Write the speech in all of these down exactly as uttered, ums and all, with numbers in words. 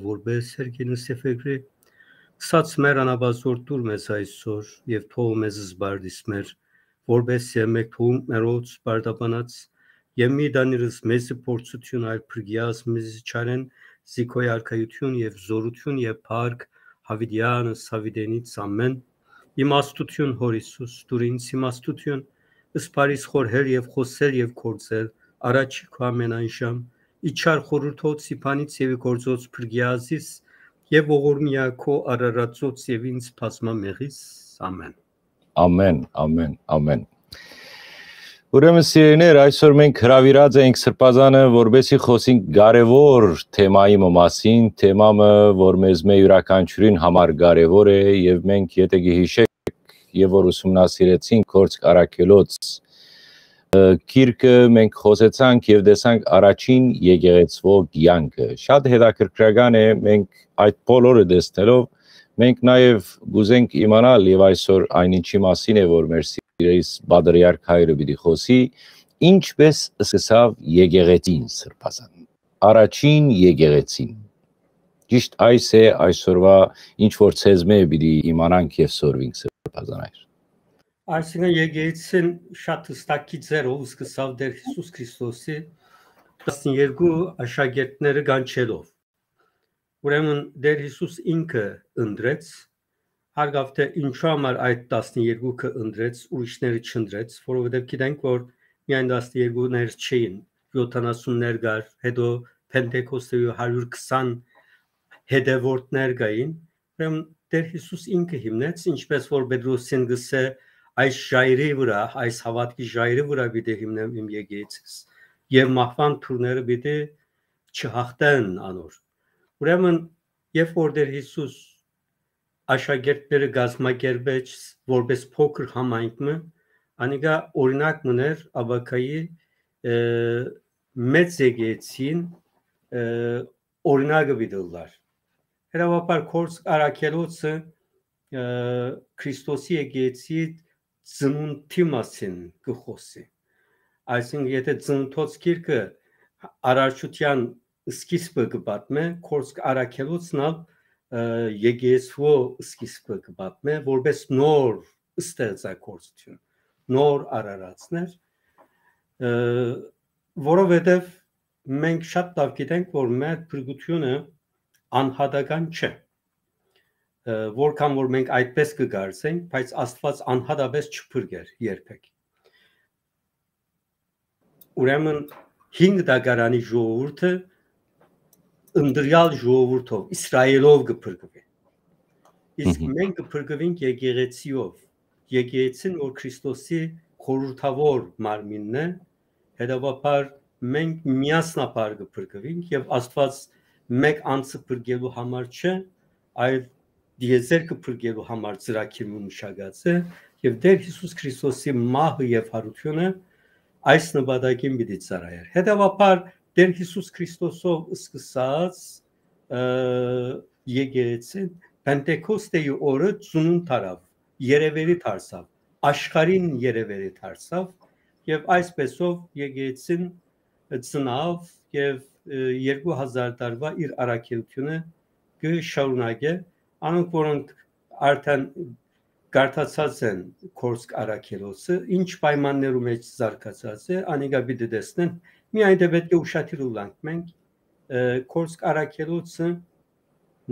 որպէս հերքին սեֆեգրի, սած մեր անապազոր տուր մեզ այսօր եւ թող մեզ զբարդիս մեր, որպէս եւ մեկ թողունքներոց բարդաբանած, եւ մի դանիրս մեզի փորձութիւն, այլ փրկիաս մեզի չարեն, զի քոյ արքայութիւն եւ զորութիւն եւ փառք, հավիտեանս հավիտենից ամեն։ Իմաստութիւն, Հոր Յիսուս, տուր ինձ իմաստութիւն, սպարիս խորհել եւ խօսել եւ գործել, առաջի քո ամենայն ժամ, իջար խորհուրդոց, ի բանից եւ ի գործոց փրկիազիս, եւ ողորմիա քո արարածոց եւ ինձ բազմամեղիս։ Ամեն։ Ամեն, ամեն, ամեն։ Ուրեմն, սիրելիներ, այսօր մենք հրաւիրած ենք Սրբազանը, որպեսզի խօսենք կարեւոր թեմայի մը մասին, թեմա մը, որ մեզմէ իւրաքանչիւրին համար կարեւոր է, եւ մենք, եթէ կ'յիշեք, եւ որ ուսումնասիրեցինք Գործք Առաքելոց, ը, գիրքը, մենք խօսեցանք եւ տեսանք առաջին եկեղեցւոյ կեանքը։ Շատ հետաքրքրական է, մենք այդ բոլորը տեսնելով, մենք նաեւ կ'ուզենք իմանալ, եւ այսօր այն ինչի մասին է, որ մեր սիրելիս պատրիարք հայրը պիտի խօսի, ինչպէս սկսաւ եկեղեցին, Սրբազան, առաջին եկեղեցին։ Ճիշտ այս է այսօրվա, ինչ որ ցեզմէ պիտի իմանանք եւ սորվինք, Սրբազան հայր։ Այսինքն, եկեղեցին շատ հստակ գիծերով սկսաւ Տեր Յիսուս Քրիստոսի տասներկու աշակերտները կանչելով։ Ուրեմն, Տեր Յիսուս ինքը ընտրեց, հարգաւ թէ ինչու համար այդ տասներկուքը ընտրեց, ուրիշները չընտրեց, որովհետեւ գիտենք, որ միայն տասներկուներ չէին, յոթանասուններ կար, հետո Փենտեկոստի հարիւր քսան հետեւորդներ կային, ուրեմն Տեր Յիսուս ինքը հիմնեց, ինչպէս որ Պետրոսին կ'ըսէ, «Այս ժայռի վրայ, այս հաւատքի ժայռի վրայ պիտի հիմնեմ իմ եկեղեցիս, եւ մահուան թուրները պիտի չյաղթեն անոր»։ Ուրեմն, երբ որ Տեր Յիսուս աշակերտները կազմակերպեց որպէս փոքր համայնք մը, անիկա օրինակ մըն էր ապագայի, ը, մեծ եկեղեցին, ը, օրինակը պիտի ըլլար։ Հետեւաբար, Գործք Առաքելոցը, ը, Քրիստոսի եկեղեցի ծնունդի մասին կը խօսի։ Այսինքն, եթէ Ծննդոց գիրքը արարչութեան սկիզբը կը պատմէ, Գործք Առաքելոցն ալ, ը, եկեղեցւոյ սկիզբը կը պատմէ, որպէս նոր ստեղծագործութիւն, նոր արարածներ, ը, որովհետեւ մենք շատ լաւ գիտենք, որ մեր փրկութիւնը անհատական չէ։ Ը, որքան որ մենք այդպես կը կարծենք, բայց Աստուած անհատապես չփրկեր երբեք։ Ուրեմն, հինգ դագարանի ժողովուրդը ընտրեալ ժողովուրդով, Իսրայէլով կը փրկուի։ Իսկ Մհմ։ մենք կը փրկուինք եկեղեցիով, եկեղեցին, որ Քրիստոսի խորհրդաւոր մարմինն է, հետեւաբար մենք միասնաբար կը փրկուինք, եւ Աստուած մէկ անձը փրկելու համար չէ, այլ դիեզերքը փրկելու համար ծրագիր մը մշակած է, եւ Տեր Յիսուս Քրիստոսի մահը եւ յարութիւնը այս նպատակին պիտի ծառայեր։ Հետեւաբար, Տեր Յիսուս Քրիստոսով սկսած, ը, եկեղեցին Պենտեկոստեի օրը ծնունդ առաւ, երեւերի դարձաւ, աշխարհին երեւերի դարձաւ, եւ այսպեսով եկեղեցին ծնաւ եւ, ը, երկու հազար տարուա իր առաքելութիւնը կը շարունակէ։ Անոնք, որոնք արդեն կարդացած են Կորսկ առաքելոցը, ինչ պայմաններու մեջ զարգացած է, անիկա պիտի տեսնեն։ Միայն դե պէտք է ուշադիր ըլլանք մենք, ը, Կորսկ առաքելոցը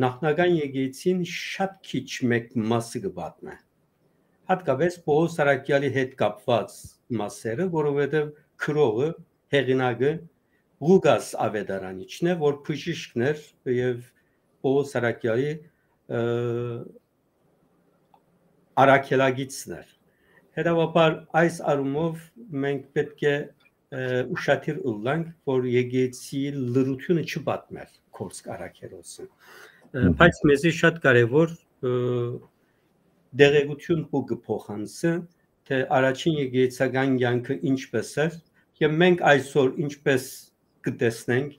նախնական եկեղեցին շատ քիչ մէկ մասը կը պատմէ։ Հատկապես Պողոս առաքյալի հետ կապված մասերը, որովհետև գրողը, հեղինակը Ղուկաս ավետարանիչն է, որ բժիշկն էր եւ Պողոս առաքյալի, ը, առաքելագիծն էր։ Հետեւաբար այս առումով մենք պէտք է, ը, ուշադիր ըլլանք, որ եկեղեցի լրությունը չպատմեր Կորսկ առաքելոցը։ Ը, Մհմ։ բայց մեզի շատ կարեւոր, ը, տեղեկություն պու կը փոխանցը, թե առաջին եկեղեցական կյանքը ինչպես էր, եւ մենք այսօր ինչպես կը տեսնենք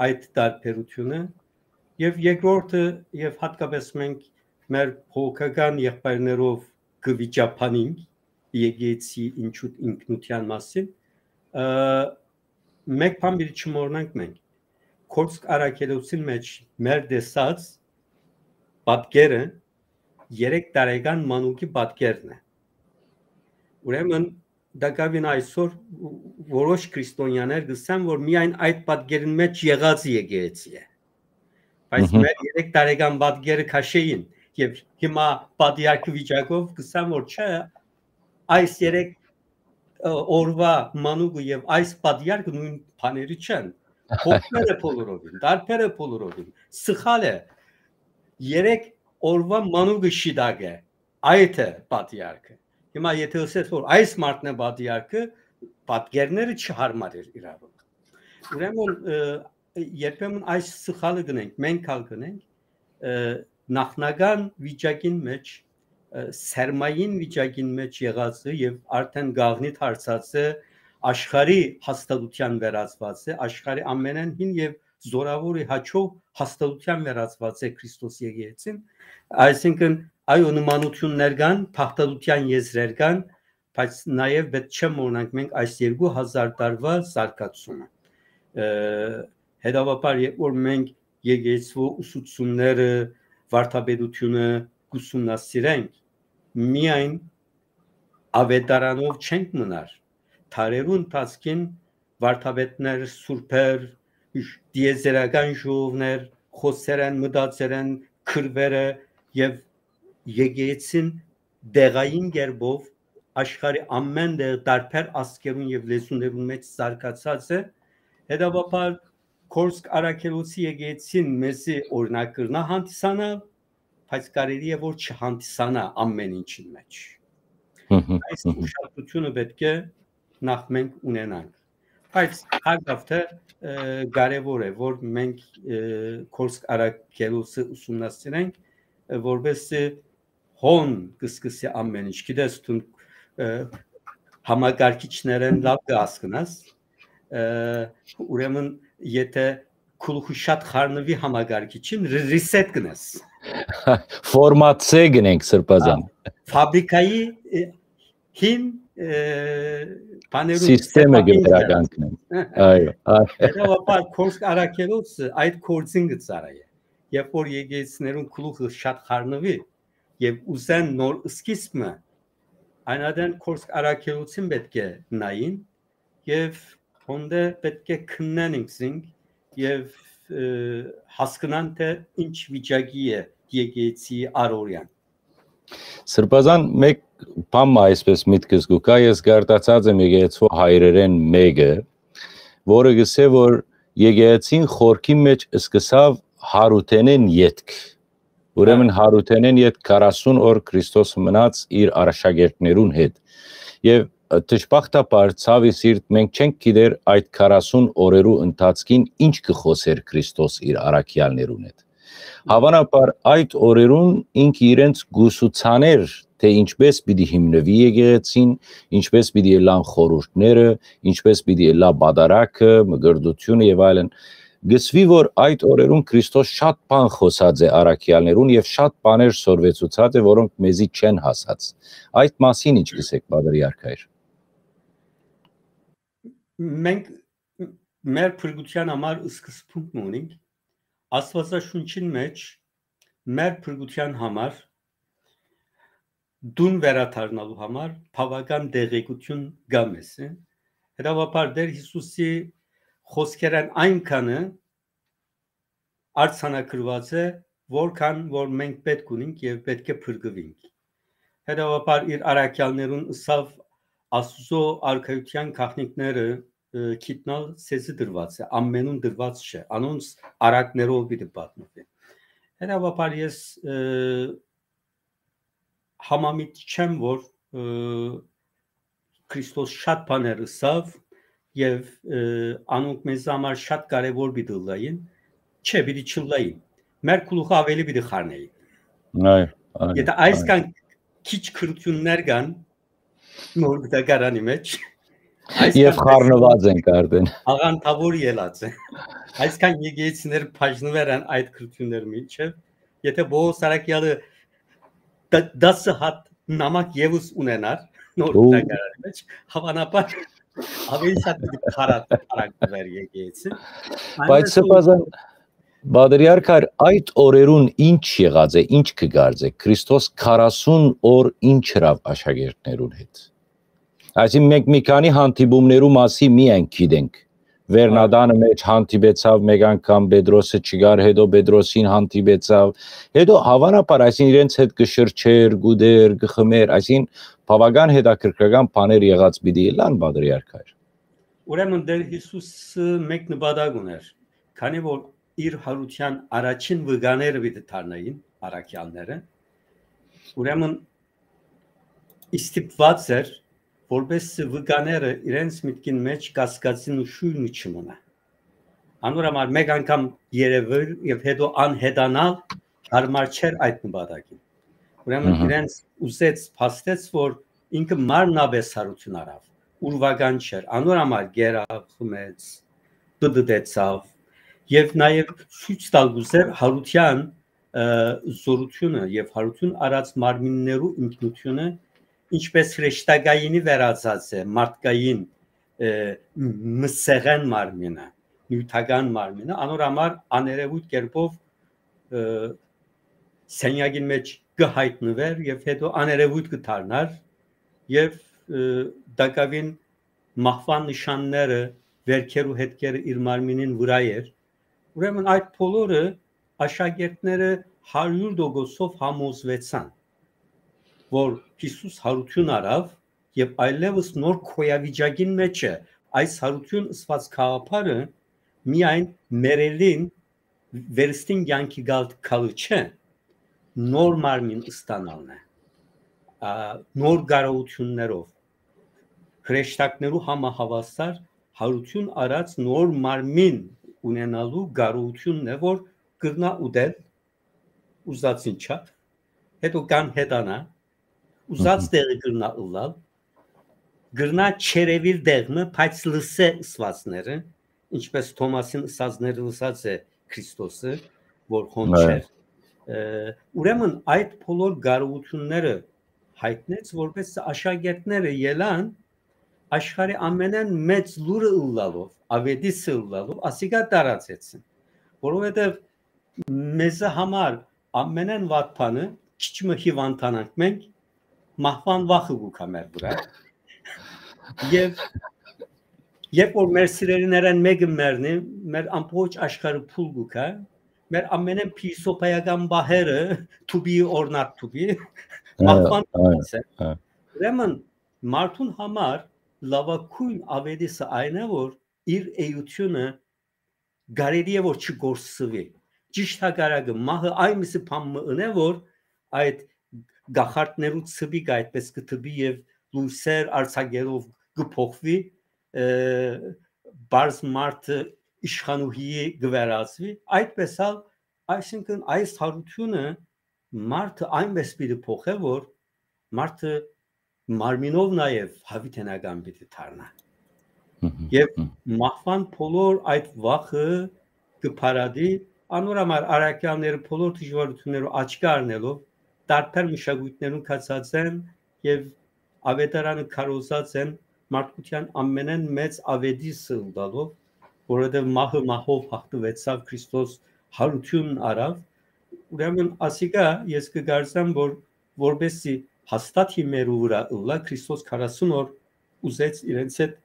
այդ տարբերությունը, եւ երկրորդը, եւ հատկապես մենք մեր բողոքական եղբայրներով կը վիճաբանենք եկեղեցի ինչու-, ինքնության մասին, ը, մեկ բան պիտի չմոռնանք մենք, Կորսկ Արաքելոսին մէջ մեր տեսած պատկերը երեք տարեկան մանուկի պատկերն է։ Ուրեմն տակաւին այսօր որոշ քրիստոնյաներ կ'ըսեն, որ միայն այդ պատկերին մէջ եղածը եկեղեցի է։ Բայց Մհմ։ մեր երեք տարեկան պատկերը քաշեին եւ հիմա պատիարքի վիճակով կ'ըսեն, որ չէ, այս երեք, ը, օրուայ մանուկը եւ այս պատիարքը նոյն բաները չեն։ Փոխներ է բոլորովին, տարբեր է բոլորովին, սխալ է։ Երեք օրուայ մանուկը շիտակ է, այդ է պատիարքը։ Հիմա եթե ըսես, որ այս մարդն է պատիարքը, պատկերները չհարմար էր իրարու։ Ուրեմն, ը, երբեմն այս սխալը կ'ընենք, մենք ալ կ'ընենք, ը, նախնական վիճակին մէջ, ը, սերմային վիճակին մէջ եղածը եւ արդեն գաղտնի դարձածը աշխարհի հաստատութեան վերածուած է, աշխարհի ամենէն հին եւ զորաւորի հաճոյ հաստատութեան վերածուած է Քրիստոս եկեղեցին, այսինքն այո, նմանութիւններ կան, փախտատութեան եզրեր կան, բայց նաեւ պետք չէ մոռնանք մենք այս երկու հազար տարուայ զարգացումը։ Ը, հետեւաբար, երբ որ մենք եկեղեցու ուսուցումները, վարդապետությունը կ'ուսումնասիրենք, միայն աւետարանով չենք մնար։ Դարերու ընթացքին վարդապետներ, սուրբեր, տիեզերական ժողովներ, խօսեր են, մտածեր են, քրուերը եւ եկեղեցին տեղային կերպով աշխարհի ամեն տեղ տարբեր ազգերուն եւ լեզուներուն մէջ զարգացած է։ Հետեւաբար, Կորսկ Արաքելոսի եկեղեցին մեզի օրինակ կրնայ հանդիսանալ, բայց կարելի է որ չհանդիսանայ ամեն ինչին մէջ։ Մհմ, Այս մհմ։ ուշադրությունը պետք է նախ մենք ունենանք։ Բայց հակաւ թէ, ը, կարեւոր է, որ մենք, ը, Կորսկ Արաքելոսը ուսումնասիրենք, ը, որպեսզի հոն կը սկսի ամեն ինչ։ Գիտես, դուն, ը, համակարգիչներէն լաւ կը հասկնաս, ը, ուրեմն, եթե գլուխը շատ խառնուի համակարգիչին, ռ-, reset կ'ընես։ Ֆորմատ C կ'ընենք, Սրբազան։ Ա, ֆաբրիկայի, ը, հին, ը, բաներուն, Սիստեմը կը սրբապինքը։ Վերականգնենք։ Այո, այո։ Հետեւաբար, Կորսկ Արաքելոսը այդ գործին կը ծառայէ։ Երբ որ եկեղեցիներուն գլուխը շատ խառնուի եւ ուզեն նոր սկիզբ մը, այն ատեն Կորսկ Արաքելոսին պետք է նային եւ հոնդէ պետք է քննեն ինքզինք եւ, ը, հասկնան, թէ ինչ վիճակի է եկեղեցի առօրեան։ Սրբազան, մէկ բան մը այսպես միտքս կու գայ, ես գարտացած եմ եկեղեցու հայրերէն մէկը, որը կ'ըսէ, որ եկեղեցին խորքի մէջ սկսաւ Հարութենէն ետք։ Ուրեմն Հա։ Հարութենէն ետք քառասուն օր Քրիստոս մնաց իր աշակերտներուն հետ։ Եւ, ը, դժբախտաբար, ցաւի սիրտ, մենք չենք գիտեր այդ քառասուն օրերու ընթացքին ինչ կը խօսէր Քրիստոս իր առաքեալներուն հետ։ Հավանաբար այդ օրերուն ինքը իրենց կուսուցաներ, թէ ինչպես պիտի հիմնուի եկեղեցին, ինչպես պիտի ըլլան խորհուրդները, ինչպես պիտի ըլլայ պատարագը, մկրտությունը եւ այլն։ Գսուի, որ այդ օրերուն Քրիստոս շատ բան խօսած է առաքեալներուն եւ շատ բաներ սորվեցուցած է, որոնք մեզի չեն հասած։ Այդ մասին ինչ կ'ըսեք, պատրիարք հայր։ Մենք մեր փրկութեան համար սկզբունք մը ունենք, Աստուածաշունչին մէջ մեր փրկութեան համար, դուն վերադառնալու համար բաւական տեղեկութիւն կայ մեզի։ Հետեւաբար Տէր Յիսուսի խօսքերէն այնքանը արձանագրուած է, որքան որ մենք պէտք ունենք եւ պէտք է փրկուինք։ Հետեւաբար իր առաքեալներուն ըսաւ Աստուծոյ արքայութեան գաղտնիքները, ը, գիտնալ ձեզի տրուած է, ամենուն տրուած չէ, անոնց առակներով պիտի պատմուի։ Հետեւաբար ես, ը, համամիտ չեմ, որ, ը, Քրիստոս շատ բաներ ըսաւ եւ, ը, անոնք մեզ համար շատ կարեւոր պիտի ըլլային, չէ, պիտի չըլլային։ Մեր գլուխը աւելի պիտի խառնէին։ Այո, այո, Եթե այսքան քիչ քրութիւններ կան Նոր Գտակարանի մէջ, այսքան Եւ խառնուած ենք արդեն։ աղանդաւոր ելած է։ Այսքան եկեղեցիներ բաժնուեր են այդ քրութիւններ մինչեւ, եթե Պողոս Արաքեալը դ-, դասը հատ նամակ եւս ունենար Նոր Ու- Գտակարանի մէջ, հավանաբար Աւելի շատ պիտի փառատ փառակտուեր եկեցին։ Բայց սրբազան պատրիարք, այդ օրերուն ինչ եղած է, ինչ կը կարծէ, Քրիստոս քառասուն օր ինչ ըրավ աշակերտներուն հետ։ Այսինքն մենք մի քանի հանդիպումներու մասի միայն գիտենք։ Վերնադանը մեջ հանդիպեցավ մեկ անգամ, Պետրոսը չկար, հետո Պետրոսին հանդիպեցավ, հետո հավանաբար այսինքն իրենց հետ կը շրջեր, գուդեր, կը խմեր, այսինքն բավական հետաքրքրական բաներ եղած պիտի ըլլան պատրիարքայր։ Ուրեմն Տեր Հիսուսը մեկ նպատակ ուներ, քանի որ իր յարութեան առաջին վկաները պիտի դառնային առաքեալները, ուրեմն ստիպված էր, որպեսզի վկաները իրենց մտքին մեջ կասկածին ու շոյլն չմնայ։ Անոր համար մեկ անգամ երեւել եւ հետո անհետանալ յարմար չէր այդ նպատակին։ Ուրեմն իրենց ուզեց, փաստեց, որ ինքը մարմնապէս յարութիւն առաւ, ուրվական չէր, անոր համար գերավ, խմեց, պտտեցավ եւ նաեւ ցոյց տալ գուզեր յարութեան զորութիւնը եւ յարութիւն առած մարմիններու ինքնութիւնը, ինչպես հրեշտակայինի վերածած է մարդկային մսեղեն մարմինը, նիւթական մարմինը, անոր համար աներևույթ կերպով սենյակին մեջ կը յայտնուէր եւ հետո աներևույթ կը դառնար եւ տակաւին մահուան նշանները, վերքերու հետքերը իր մարմինին վրայ էր։ Ուրեմն այդ բոլորը աշակերտները հարիւր տոկոսով համոզուեցան, որ Հիսուս յարութիւն առաւ եւ այլեւս նոր քոյավիճակին մեջ է։ Այս յարութիւն ըսուած գաղափարը միայն մեռելին վերստին կեանքի գալ գալը չէ, նոր մարմին ստանալն է, նոր կարողութիւններով, հրեշտակներու համահաւասար յարութիւն առած նոր մարմին ունենալու կարողութիւնն է, որ կրնայ ուտել ուզածին չափ, հետո կան հետանա, ուզած տեղը կրնայ ըլլալ, կրնայ չերևիլ տեղ մը, բայց լսե ըսվածները, ինչպես Թոմասին ըսածները լսած է Քրիստոսը, որ հոն չէր։ Ուրեմն այդ բոլոր կարողութիւնները յայտնեց, որպեսզի աշակերտները ելան աշխարհի ամենէն մեծ լուրը ըլլալով, աւետիսը ըլլալով, ասիկա տարածեցին, որովհետեւ մեզի համար ամենէն վատ բանը, քիչ մը հիւանդանանք մենք, մահուան վախը կու գայ մեր վրայ։ Եւ երբ որ մեր սիրելիներէն մէկը մեռնի, մեր ամբողջ աշխարհը փուլ կու գայ, մեր ամենէն փիլիսոփայական պահերը թուբի, օրնակ թուբի, մահուան։ Ուրեմն մարդուն համար լաւագոյն աւետիսը այն է, որ իր էությունը կարելի է որ չկորսուի։ Ճիշդ հակառակը, մահը այնպիսի բան մը ընէ, որ այդ գախարդներու ցպիկը այդպես կը թպի եւ լույսեր արձակելով կը փոխուի, պարզ մարդը իշխանուհի կը վերածուի, այդպես ալ, այսինքն այս յարութիւնը մարդը այնպես պիտի փոխէ, որ մարդը մարմինով նաեւ յաւիտենական պիտի դառնա։ Եւ մահուան բոլոր այդ վախը կը փարատի, անոր համար առաքեալները բոլոր դժուարութիւններով աչքի առնելով, տարբեր մշակոյթներուն գացած են եւ աւետարանը քարոզած են մարդկութեան ամենէն մեծ աւետիսը ըլլալով, որովհետեւ մահը մահով յաղթուեցաւ, Քրիստոս յարութիւն առաւ։ Ուրեմն ասիկա ես կը կարծեմ, որ որպեսզի հաստատ հիմերու վրայ ըլլայ, Քրիստոս քառասուն օր ուզեց իրենց հետ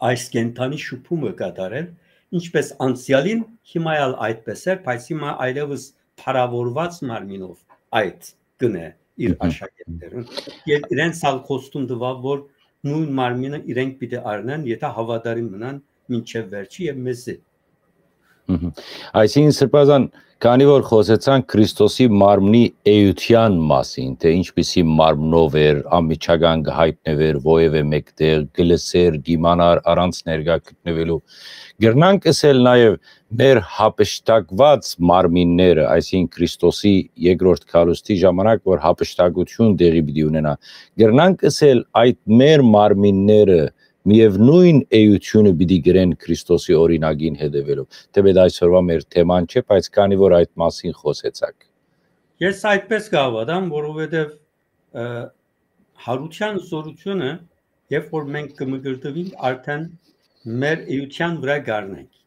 այս կենդանի շփումը կատարել, ինչպես անցեալին, հիմա ալ այդպես էր, բայց հիմա այլևս փառաւորուած մարմինով այդ կնե իր աշակերտներուն։ Եւ իրենց ալ խոստում տուաւ, որ նոյն մարմինը իրենք պիտի առնեն, եթե հաւատարիմ մնան մինչեւ վերջը եւ մեզի։ Այսինքն, Սրբազան, քանի որ խոսեցանք Քրիստոսի մարմնի էության մասին, թե ինչպիսի մարմնով էր, անմիջական կը յայտնվեր որևէ մեկտեղ, կը լսեր, կ'iմանար առանց ներկայ գտնվելու, կրնանք ըսել նաեւ մեր յափշտակուած մարմինները, այսինքն Քրիստոսի երկրորդ գալուստի ժամանակ, որ յափշտակութիւն տեղի պիտի ունենայ, կրնանք ըսել այդ մեր մարմինները միեւնոյն էությունը պիտի կրեն Քրիստոսի օրինակին հետեւելով, թէպէտ այսօրուայ մեր թեման չէ, բայց քանի որ այդ մասին խօսեցաք։ Ես այդպես կհաւատամ, որովհետեւ յարութեան զօրութիւնը Երբ որ մենք կը մկրտուինք, արդեն մեր էութեան վրայ կ'առնենք։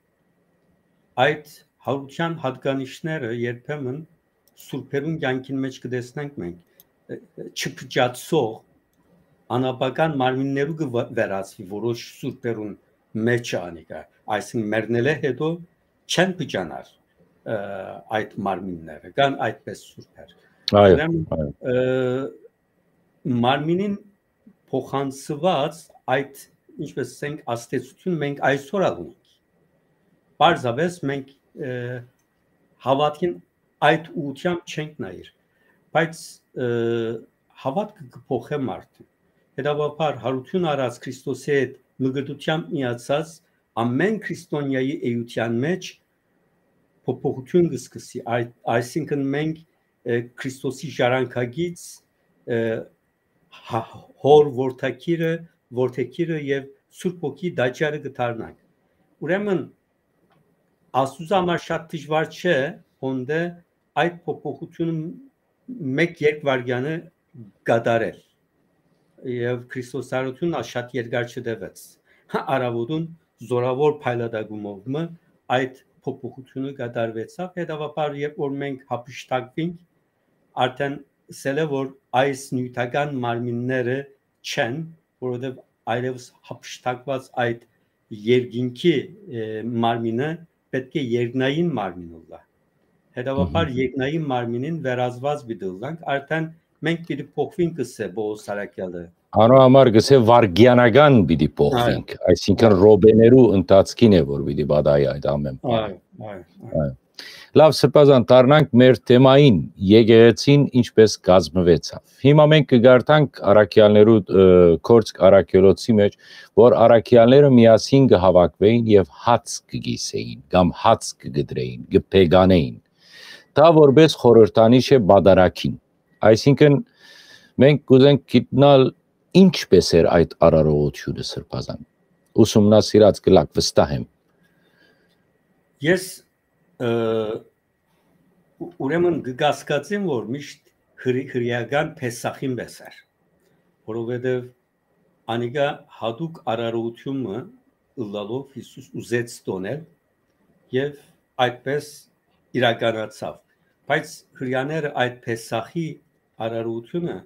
Այդ յարութեան յատկանիշները երբեմն սուրբերուն կեանքին մէջ կը տեսնենք մենք, ը, ը, չփճացող անապական մարմիններու կը վը-, վերածուի որոշ սուրբերուն մէջը անիկա, այսինքն մեռնելէ հետո չեն փճանար, ը, այդ մարմինները, կան այդպես սուրբեր։ Այո, Ուրեմն, այո։ ը, մարմինին փոխանցուած այդ, ինչպես ասենք, ազդեցություն մենք այսօր ալ ունենք։ Պարզապէս մենք, ը, հաւատքին այդ ուղղությամբ չենք նայիր, բայց, ը, հաւատքը կը փոխէ մարդը։ Հետաբաբար, յարութիւն առած Քրիստոսի հետ մկրտութեամբ միացած ամեն քրիստոնեայի էութեան մէջ փոփոխութիւն կը սկսի։ Այդ, այսինքն մենք, ը, Քրիստոսի ժառանգագից, ը, հա-, հոր որդեգիրը, որդեգիրը եւ Սուրբ Հոգի տաճարը կը դառնանք։ Ուրեմն, Աստուծոյ համար շատ դժուար չէ, հոն դէ այդ փոփոխութիւնը մէկ-երկու վայրկեանը կատարել։ Եւ Քրիստոսարութիւնն ալ շատ երկար չտեւեց։ Հա, առաւօտուն զորաւոր փայլատակումով մը այդ փոփոխութիւնը կատարուեցաւ։ Հետաբաբար, երբ որ մենք յափշտակուինք, արդեն ըսել է, որ այս նիւթական մարմինները չեն, որովհետեւ այլեւս յափշտակուած այդ երկինքի, ը, մարմինը պէտք է երկնային մարմին ըլլայ։ Հետաբաբար, Մհմ։ երկնային մարմինին վերածուած պիտի ըլլանք, արդեն մենք պիտի փոխուինք, կ'ըսէ Պողոս առաքեալը։ Անոր համար կ'ըսէ վարգեանական պիտի փոխուինք, Այո։ այսինքն Այո։ րոպեներու ընթացքին է, որ պիտի պատահի այդ ամեն բանը։ Այո, այո, այո։ Այո։ Լաւ, սրբազան, դառնանք մեր թեմային, եկեղեցին ինչպես կազմուեցաւ։ Հիմա մենք կը կարդանք առաքեալներու, ը, Գործք առաքելոցի մէջ, որ առաքեալները միասին կը հաւաքուէին եւ հաց կը կիսէին, կամ հաց կը կտրէին, կը փեկանէին։ Դա որպես խորհրդանիշ է պատարագին։ Այսինքն, մենք կ'ուզենք գիտնալ ինչպես էր այդ արարողությունը, սրբազան։ Ուսումնասիրած կ'ըլաք, վստահ եմ։ Ես, ը, ու-, ուրեմն կը կասկածեմ, որ միշտ հրի-, հրեական Փեսախին պէս էր, որովհետեւ անիկա յատուկ արարողութիւնը ըլլալով Յիսուս ուզեց տոնել եւ այդպես իրականացաւ։ Բայց հրեաները այդ Փեսախի արարողութիւնը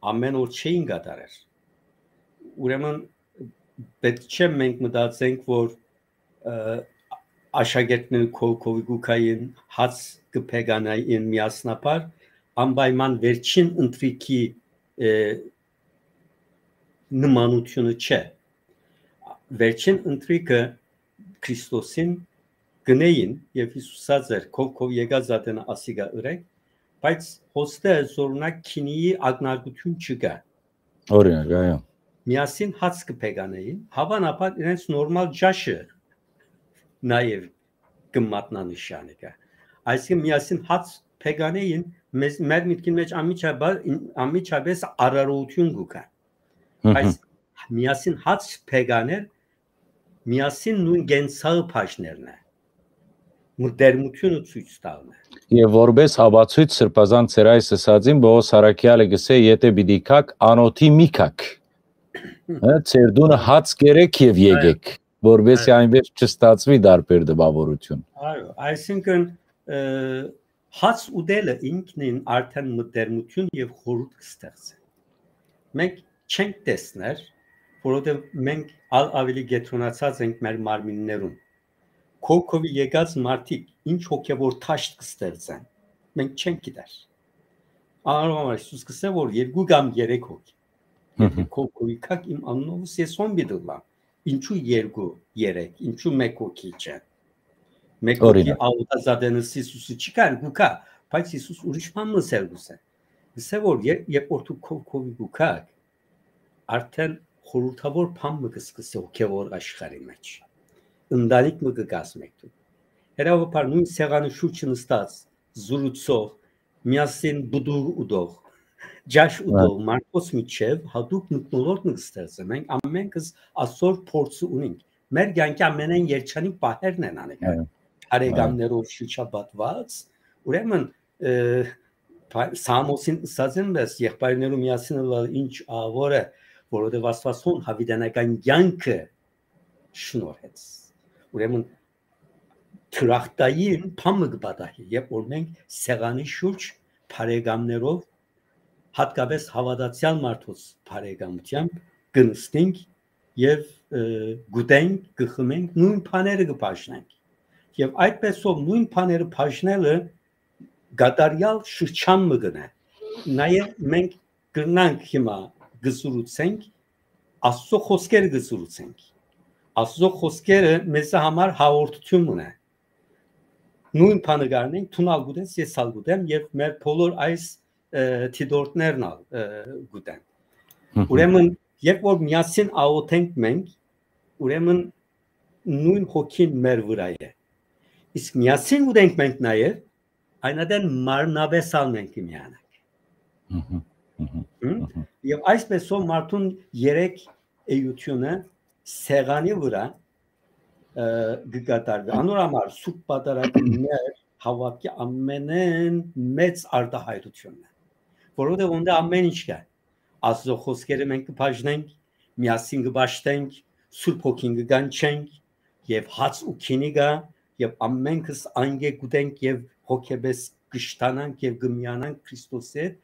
ամեն օր չէին կատարեր։ Ուրեմն պէտք չէ մենք մտածենք, որ, ը, աշակերտները քով-, քովի կու գային, հաց կը փեկանային միասնաբար, անպայման վերջին ընթրիքի, ը, նմանութիւնը չէ։ Վերջին ընթրիքը Քրիստոսին գնային եւ Յիսուս ըսած էր, «Քով-քով եկած ատենը ասիկա ըրեք», բայց հոստը, զօրինակ, գինիի ակնարկութիւն չկայ։ Օրինակ, այո։ Միասին հաց կը փեկանային, հաւանաբար իրենց նորմալ ճաշը նաեւ կը մատնանշի անիկա։ Այսինքն, միասին հաց փեկանային, մեզ, մեր միտքին մէջ անմիջաբար-, անմիջապես արարողութիւն կու գայ։ Մհմ։ Բայց միասին հաց փեկաներ, միասին նոյն կենցաղը բաժներն է, մտերմութիւնը ցոյց տալն է։ Եւ որպես ապացոյց, սրբազան, ձեր այս ըսածին, Պողոս առաքեալը կ'ըսէ, «Եթէ պիտի գաք, անօթի մի գաք։ Հը, ձեր տունը հաց կերեք եւ Այո։ եկեք, որպեսզի Այո։ այնպես չստացուի դարբեր տպաւորութիւն»։ Այո, այսինքն, ը, հաց ուտելը ինքնին արդեն մտերմութիւն եւ խորհուրդ կը ստեղծէ։ Մենք չենք տեսներ, որովհետեւ մենք ալ ավելի կեդրոնացած ենք մեր մարմիններուն։ Քով-քովի եկած մարդիկ ինչ հոգեւոր դաշտ կը ստեղծեն, մենք չենք գիտեր։ Անոր համար Յիսուս կ'ըսէ, որ երկու կամ երեք հոգի։ Եթէ Մհմ։ քով-քովի գաք, իմ անունովս ես հոն պիտի ըլլամ։ Ինչու երկու, երեք, ինչու մէկ հոգի չէ։ Մէկ հոգի Օրինակ։ աղոթած ատենս Յիսուսը չի կար, կու գայ, բայց Յիսուս ուրիշ բան մը ըսել կ'ուզէ։ Ըսէ, որ ե-, երբ որ դուք քով-քովի կու գաք, արդեն խորհրդաւոր բան մը կը սկսի հոգեւոր աշխարհի մէջ։ Ընտանիք մը կը կազմեք դուք։ Հետաբաբար նոյն սեղանի շուրջը նստած, զրուցող, միասին պտուղ ուտող, ճաշ Հա։ ուտող մարդոց միջեւ յատուկ մթնոլորտ մը կը ստեղծէ։ Մենք ամենքս ասոր փորձը ունենք։ Մեր կյանքի ամենայն երջանիկ պահերն են անիկա։ Հա։ Հա։ Բարեկամներով շրջապատված, ուրեմն, ը, Պա-, Սամոսին ըսած են, բայց եղբայրներու միասին ըլլալ ինչ աղաւոր է, որովհետեւ Աստուած հոն յաւիտենական կեանքը շնորհեց։ Ուրեմն դրախտային բան մը կը պատահի, երբ որ մենք սեղանի շուրջ բարեկամներով, հատկապես հաւատացեալ մարդոց բարեկամութեամբ կը նստենք եւ, ը, կ'ուտենք, կը խմենք, նոյն բաները կը բաժնենք։ Եւ այդպեսով նոյն բաները բաժնելը կատարեալ շրջան մը կ'ընէ։ Նաեւ մենք կրնանք հիմա կը զրուցենք, Աստուծոյ խօսքերը կը զրուցենք։ Աստուծոյ խօսքերը մեզի համար հաղորդութիւն մը կ'ընէ։ Նոյն բանը կ'առնենք, դուն ալ կ'ուտես, ես ալ կ'ուտեմ, եւ մեր բոլոր այս, ը, դիտորդներն ալ, ը, կ'ուտեն։ Մհմ։ Ուրեմն, երբ որ միասին աղօթենք մենք, ուրեմն նոյն հոգին մեր վրայ է։ Իսկ միասին ուտենք մենք նաեւ, այն ատեն մարմնապէս ալ մենք կը միանանք։ Մհմ, մհմ, հմ? Մհմ։ Եւ այսպեսով մարդուն երեք էությունը սեղանի վրայ, ը, կը կատարուի։ Անոր համար Սուրբ Պատարագը մեր հաւատքի ամենէն մեծ արտայայտութիւնն է, որովհետեւ օնտե ամեն ինչ կայ։ Աստուծոյ խօսքերը մենք կը բաժնենք, միասին կը պաշտենք, Սուրբ Հոգին կը կանչենք, եւ հաց ու գինի կայ, եւ ամենքս անկէ կ'ուտենք եւ հոգեպէս կշտանանք եւ կը միանանք Քրիստոսի հետ,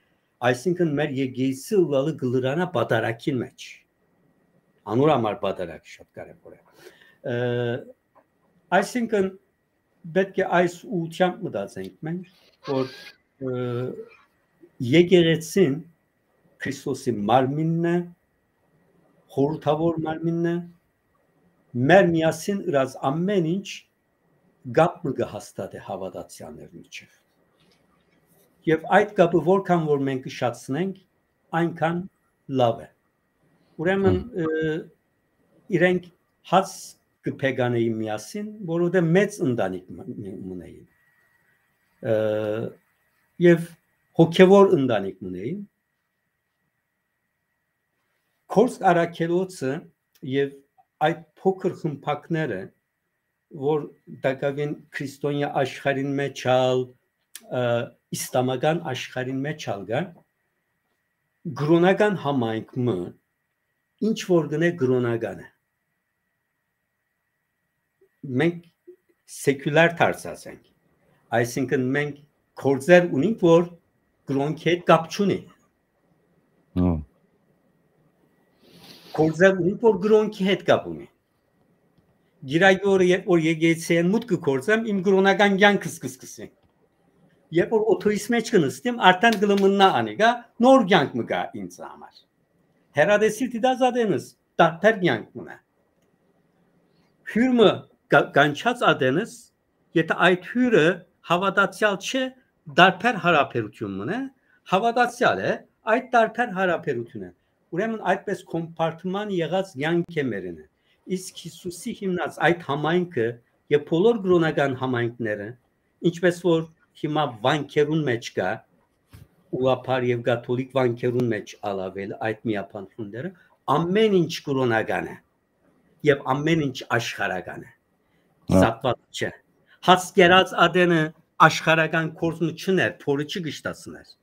այսինքն մեր եկեղեցի ըլլալը կը լրանայ պատարագին մէջ։ Անոր համար պատարագը շատ կարեւոր է։ Ը, այսինքն պէտք է այս ուղղութեամբ մտածենք մենք, որ, ը, եկեղեցին Քրիստոսի մարմինն է, խորհրդաւոր մարմինն է, մեր միասին ըրած ամեն ինչ կապ մը կը հաստատէ հաւատացեալներ միջեւ։ Եւ այդ կապը որքան որ մենք կշատցնենք, այնքան լաւ է։ Ուրեմն, Հմ։ ը, իրենք հաց կը փեկանային միասին, որովհետեւ մեծ ընտանիք մը-, մը-, մնային։ Ը, եւ հոգեվոր ընտանիք մնային։ Քորս առաքելոցը եւ այդ փոքր խմբակները, որ տակաւին քրիստոնեայ աշխարհին մէջ ալ, ը, իսլամական աշխարհին մէջ ալ կա, կրօնական համայնք մը, ինչ որ կ'ընէ կրօնական է։ Մենք սեկուլար դարձած ենք, այսինքն մենք գործեր ունենք, որ կրօնքի հետ կապ չունի։ Հմ։ Գործեր ունենք, որ կրօնքի հետ կապ ունի։ Գիրագի օրը, երբ որ եկեղեցիէն մուտքը գործեմ, իմ կրօնական կեանքս կը սկսի։ Երբ որ օթոյիս մէջ կը նստեմ, արդեն կը լմննայ անիկա, նոր կեանք մը կայ ինձ համար։ Հեռատեսիլ դիտած ատենս, տարբեր կեանք մը։ Հիւր մը կա-, կանչած ատենս, եթե այդ հիւրը հաւատացեալ չէ, տարբեր յարաբերութիւն մը, հաւատացեալ է, այդ տարբեր յարաբերութիւն է։ Ուրեմն այդպես կոմպարտման եղած կեանք է մերինը։ Իսկ Յիսուսի հիմնած այդ համայնքը եւ բոլոր կրօնական համայնքները, ինչպես որ հիմա վանքերուն մէջ կայ, ուղղափառ եւ կաթոլիկ վանքերուն մէջ ալ աւել այդ միաբանութիւնները, ամեն ինչ կրօնական է եւ ամեն ինչ աշխարհական է։ Հա։ Զատված չէ։ Հաց կերած ատենը աշխարհական գործ մը չ'ընէր, փորը չի կշտացներ։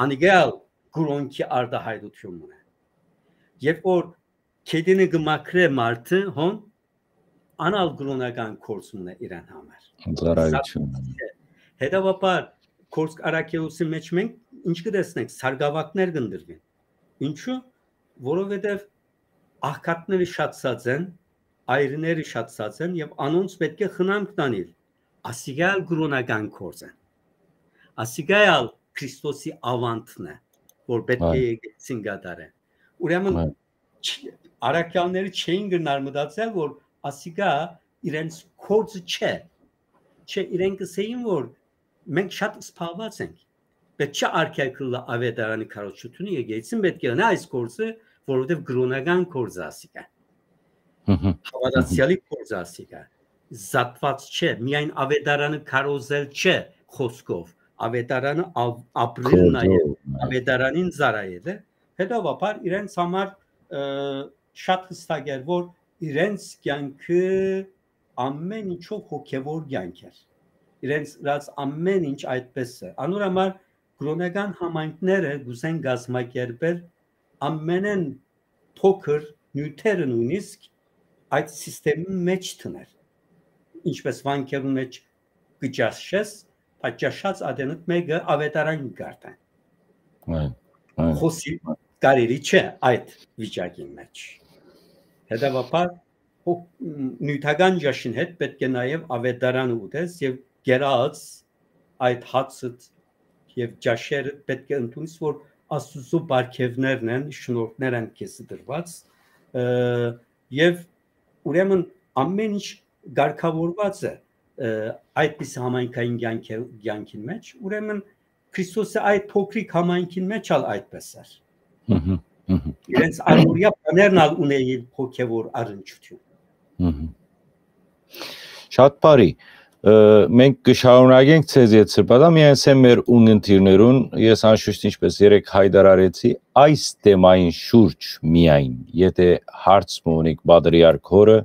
Անիկա ալ կրօնքի արտայայտութիւն մը։ Երբ որ գետինը կը մաքրէ մարդը, հոն, անալ կրօնական գործ մը իրեն համար։ Ծառայութիւն։ Զատված չէ։ Հետեւաբար, Քորս առաքելոցի մէջ մենք ինչ կը տեսնենք, սարգաւակներ կ'ընտրուին։ Ինչու՞։ Որովհետեւ աղքատները շատացած են, այրները շատացած են եւ անոնց պէտք է խնամք տանիլ։ Ասիկա ալ կրօնական գործ են։ Ասիկա ալ Քրիստոսի աւանդն է, որ պէտք է Այո։ եկեղեցին կատարեն։ Ուրեմն Այո։ չ-, առաքյալները չէին գնար մտածել, որ ասիկա իրենց գործը չէ։ Չէ, իրենք կ'ըսէին, որ մենք շատ սպառված ենք։ Պէտք չէ արգելք ըլլայ աւետարանի քարոզչութիւնը, եկեղեցին պէտք է ընէ այս գործը, որովհետեւ կրօնական գործ է ասիկա։ Հմ, հմ, հм։ Հաւատացեալի գործ է ասիկա։ Զատված չէ, միայն աւետարանը քարոզել չէ խօսքով, աւետարանը ավ-, ապրիլն է եւ Գործով, այո։ Աւետարանին ծառայել է։ Հետեւաբար իրենց համար, ը, շատ յստակ էր, որ իրենց կեանքը ամեն ինչով հոգեվոր կեանք էր։ Իրենց ըրած ամեն ինչ այդպես է։ Անոր համար կրօնական համայնքները կ'ուզեն կազմակերպել ամենեն փոքր նիւթերը նոյնիսկ այդ սիստեմին մէջ դներ։ Ինչպէս վանքերուն մէջ կը ճաշես, բայց ճաշած ատենդ մէկը աւետարան կը կարդան։ Այն, այն։ Խօսի կարելի չէ այդ վիճակին մէջ։ Հետեւաբար, հո-, նիւթական ճաշին հետ պէտք է նաեւ աւետարանը ուտես եւ կերած այդ հացը եւ ճաշերը պէտք է ընդունես, որ Աստուծոյ պարգեւներն են, շնորհքներ են քեզի տրուած, ը, եւ ուրեմն ամէն ինչ կարգաւորուած է, ը, այդպիսի համայնքային կեանքը-, կեանքին մէջ, ուրեմն Քրիստոսի այդ փոքրիկ համայնքին մէջ ալ այդպես էր։ Մհմ, մհմ։ Իրենց առօրեայ բաներն ալ ունէին հոգեվոր առնչութիւն։ Մհմ։ Շատ բարի։ Ը, մենք կը շարունակենք ձեզ հետ սրբազան, միայն սեմ մեր ունգընտիրներուն, ես անշուշտ ինչպես երեկ հայտարարեցի, այս թեմային շուրջ միայն, եթե հարց մը ունիք պատրիարք հորը,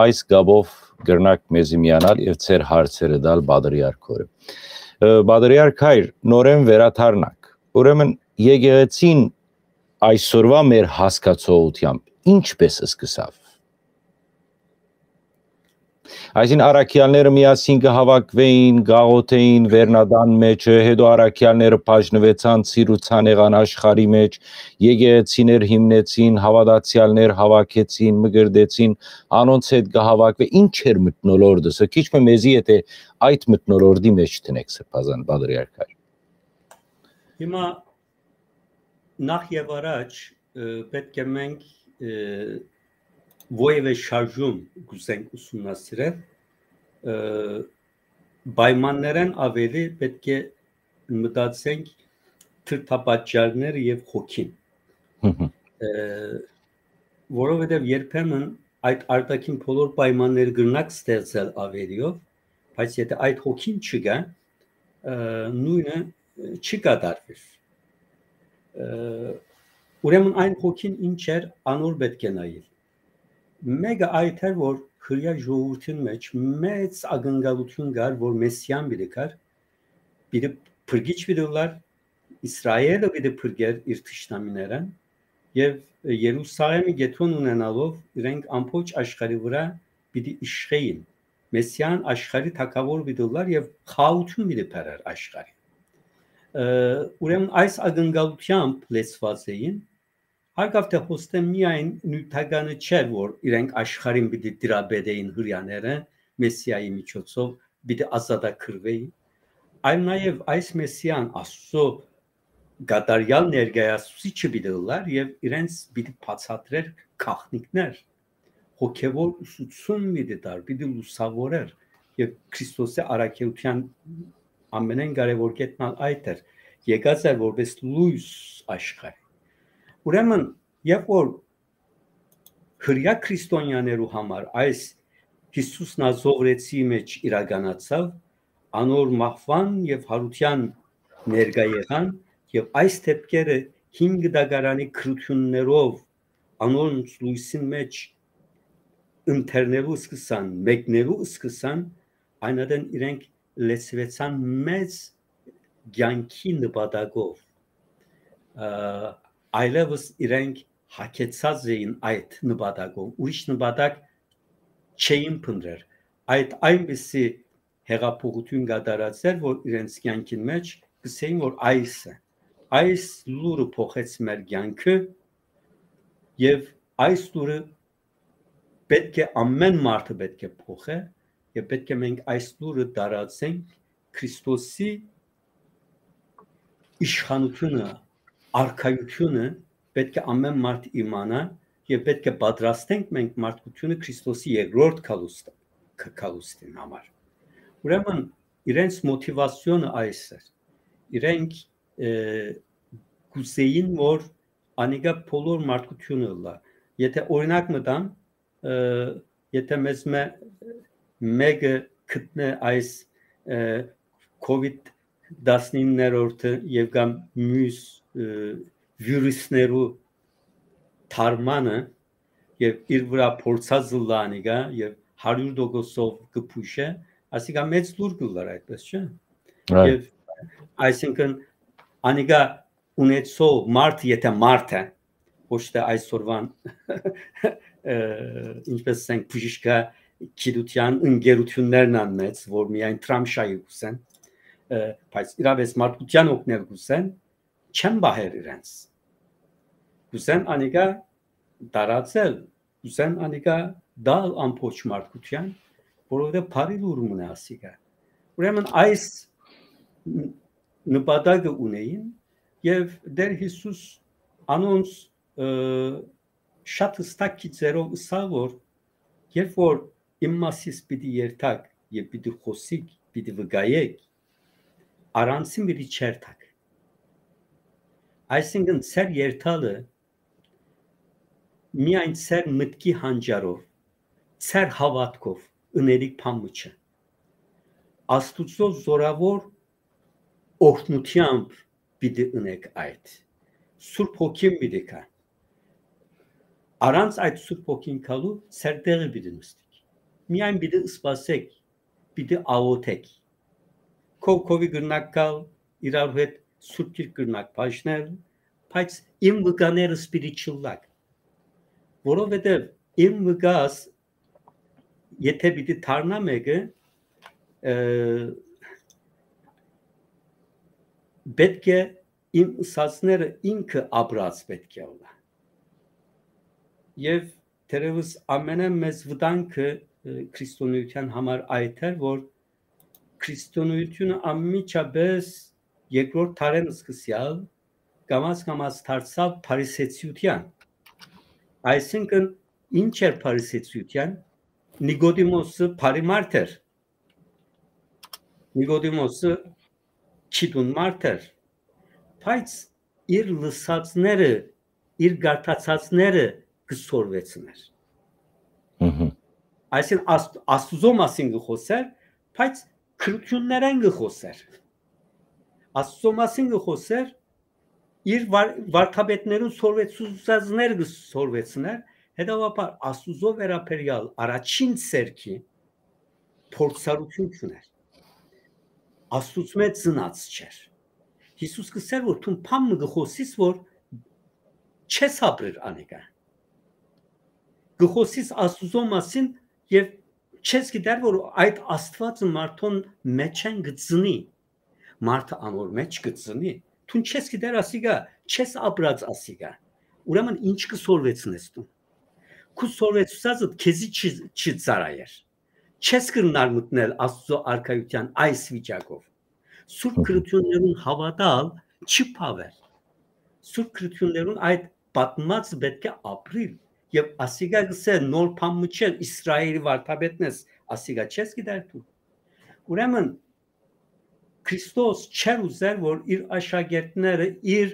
այս կապով կրնաք մեզի միանալ եւ ձեր հարցերը տալ պատրիարք հորը։ Ը, պատրիարք հայր, նորեն վերադառնանք։ Ուրեմն եկեղեցին այսօրվա մեր հասկացողությամբ ինչպես սկսավ։ Այսինքն առաքեալները միասին կը հաւաքուէին, կաղոթէին վերնատան մէջը, հետո առաքեալները բաժնուեցան, ցիրուցան եղան աշխարհի մէջ, եկեղեցիներ հիմնեցին, հաւատացեալներ հաւաքեցին, մկրտեցին, անոնց հետ կը հաւաքուէ։ Ինչ էր մթնոլորտը, սա քիչ մը մեզի եթե այդ մթնոլորտի մէջ դնեք, սրբազան պատրիարք հայր։ Հիմա նախ եւ առաջ, ը, պէտք է մենք, ը, որեւէ շարժում կուզենք ուսումնասիրել, ը, պայմաններէն աւելի պէտք է մտածենք դրդապատճառները եւ հոգին։ Մհմ։ Ը, որովհետեւ երբեմն այդ արտաքին բոլոր պայմանները կրնաք ստեղծել աւելիով, բայց եթե այդ հոգին չկա, ը, նոյնը, ը, չի կատարվիր։ Ը, ուրեմն այն հոգին ինչ էր, անոր պէտք է նայել։ Մէկը այդ էր, որ Հրեայ ժողովուրդին մէջ մեծ ակնկալութիւն կար, որ Մեսիան պիտի գար, պիտի փրկիչ պիտի ըլլար, Իսրայէլը պիտի փրկեր իր թշնամիներէն, եւ Երուսաղէմի կեդրոն ունենալով իրենք ամբողջ աշխարհի վրայ պիտի իշխէին։ Մեսիան աշխարհի թագաւոր պիտի ըլլար եւ խաղաղութիւն պիտի բերեր աշխարհի։ Ը, ուրեմն այս ակնկալութեամբ լեցուած էին, հարկաւ թէ հոստե միայն նիւթականը չէր, որ իրենք աշխարհին պիտի տիրապետէին հրեաները, Մեսիայի միջոցով պիտի ազատագրուէին, այլ նաեւ այս Մեսիան Աստուծոյ կատարեալ ներկայացուցիչը պիտի ըլլար եւ իրենց պիտի բացատրեր գաղտնիքներ, հոգեվոր ուսուցում պիտի տար, պիտի լուսաւորեր եւ Քրիստոսի առաքելութեան ամենէն կարեւոր կետն ալ այդ էր, եկած էր որպես լոյս աշխարհի։ Ուրեմն, երբ որ Հրեայ քրիստոնեաներու համար այս Յիսուս Նազովրեցի մէջ իրականացաւ, անոր մահուան եւ յարութեան ներկայ եղան, եւ այս դէպքերը հին կտակարանի գրութիւններով անոնց լոյսին մէջ ընթերնելու սկսան, մեկնելու սկսան, այն ատեն իրենք լեցուեցան մեծ կեանքի նպատակով, ը, այլեւս իրենք հագեցած էին այդ նպատակով, ուրիշ նպատակ չէին փնտրեր։ Այդ այնպիսի հեղափոխութիւն կատարած էր, որ իրենց կեանքին մէջ կսեին, որ այս է, այս լուրը փոխեց մեր կեանքը եւ այս լուրը պէտք է, ամէն մարդը պէտք է փոխէ եւ պէտք է մենք այս լուրը տարածենք, Քրիստոսի իշխանութիւնը, արքայութիւնը պէտք է ամէն մարդ իմանայ եւ պէտք է պատրաստենք մենք մարդկութիւնը Քրիստոսի երկրորդ գալուստ-, գ-, գալուստին համար։ Ուրեմն իրենց մոտիվացիոնը այս էր։ Իրենք, ը, կուզեին, որ անիկա բոլոր մարդկութիւնը ըլլայ։ Եթե օրինակ մը տամ, ը, եթե մեզ մէ-, մէկը գտնէ այս, ը, COVID տասնիններորդը եւ կամ միւս, ը, վիրուսներու թարմանը եւ իր վրայ փորձած ըլլայ անիկա եւ հարիւր տոկոսով կը փուշէ, ասիկա մեծ լուր կը լար, այդպես չէ՞։ Այո։ Եւ այսինքն անիկա ունեցող մարդը, եթե մարդ է, ոչ թէ այսօրուան, ը, ինչպես ասենք, բժիշկա գիտութեան ընկերութիւններն աննեց, որ միայն Թրամշայի կ'ուզեն, ը, բայց իրապէս մարդկութեան օգնել կ'ուզեն, չեն պահեր իրենց։ Կ'ուզեն անիկա տարածել, կ'ուզեն անիկա տալ ամբողջ մարդկութեան, որովհետեւ բարի լուր մնա ասիկա։ Ուրեմն այս ն-, նպատակը ունէին եւ Տէր Յիսուս անոնց, ը, շատ հստակ գիծերով ըսաւ, որ երբ որ իմ մասիս պիտի երթաք եւ պիտի խօսիք, պիտի վկայեք, առանցին պիտի չերթաք։ Այսինքն ձեր երթալը միայն ձեր մտքի հանճարով, ձեր հաւատքով ընելիք բան մը չէ։ Աստուծոյ զորաւոր օրհնութեամբ պիտի ընեք այդ։ Սուրբ Հոգին պիտի գայ։ Առանց այդ Սուրբ Հոգին գալու ձեր տեղը պիտի նստիք։ Միայն պիտի սպասեք, պիտի աղօթեք։ Քով քովի կրնակ գալ, իրար հետ Սուրբ Գիրք կրնակ բաժնել, բայց իմ վկաներս պիտի չլլաք։ Որովհետեւ իմ վկաս, եթե պիտի դառնայ մէկը, ը, պէտք է իմ ըսածները ինքը ապրած պէտք է ըլլայ։ Եւ թերեւս ամենամեծ վտանգը, ը, քրիստոնէութեան համար այդ էր, որ քրիստոնէութիւնը անմիջապէս երկրորդ դարէն սկսեալ կամաց-կամաց դարձաւ փարիսեցիութեան։ Այսինքն, ինչ էր փարիսեցիութեան։ Նիկոդիմոսը բարի մարդ էր։ Նիկոդիմոսը գիտուն մարդ էր, բայց իր լսածները, իր գարտացածները կը սորվեցնէր։ Մհմ։ Այսինքն, Աստուծոյ մասին կը խօսէր, բայց քրիստոնեաներէն կը խօսէր։ Աստուծոյ մասին կը խօսէր, իր վար-, վարդապետներուն սորվեցուցածները կը սորվեցնէր, հետեւաբար Աստուծոյ վերաբերեալ առաջին սերքի փորձառութիւն չունէր։ Աստուծմէ ծնած չէր։ Յիսուս կ'ըսէր, որ դուն բան մը կը խօսիս, որ չես ապրիր անիկա։ Կը խօսիս Աստուծոյ մասին եւ չես գիտեր, որ այդ Աստուածը մարդուն մէջէն կը ծնի, մարդը անոր մէջ կը ծնի։ Դուն չես գիտեր ասիկա, չես ապրած ասիկա։ Ուրեմն ի՞նչ կը սորվեցնես դուն։ Քու սորվեցուցածդ քեզի չի, չի ծառայեր։ Չես կրնար մտնել Աստուծոյ արքայութեան այս վիճակով։ Սուրբ Մհմ։ Գրութիւններուն հաւատալ չի բաւեր։ Սուրբ գրութիւններուն այդ պատմած պէտք է ապրիլ։ Եւ ասիկա կ'ըսէ նոր բան մը չէ, Իսրայէլի վարդապետն ես, ասիկա չես գիտեր դու։ Ուրեմն Քրիստոս չէր ուզեր, որ իր աշակերտները իր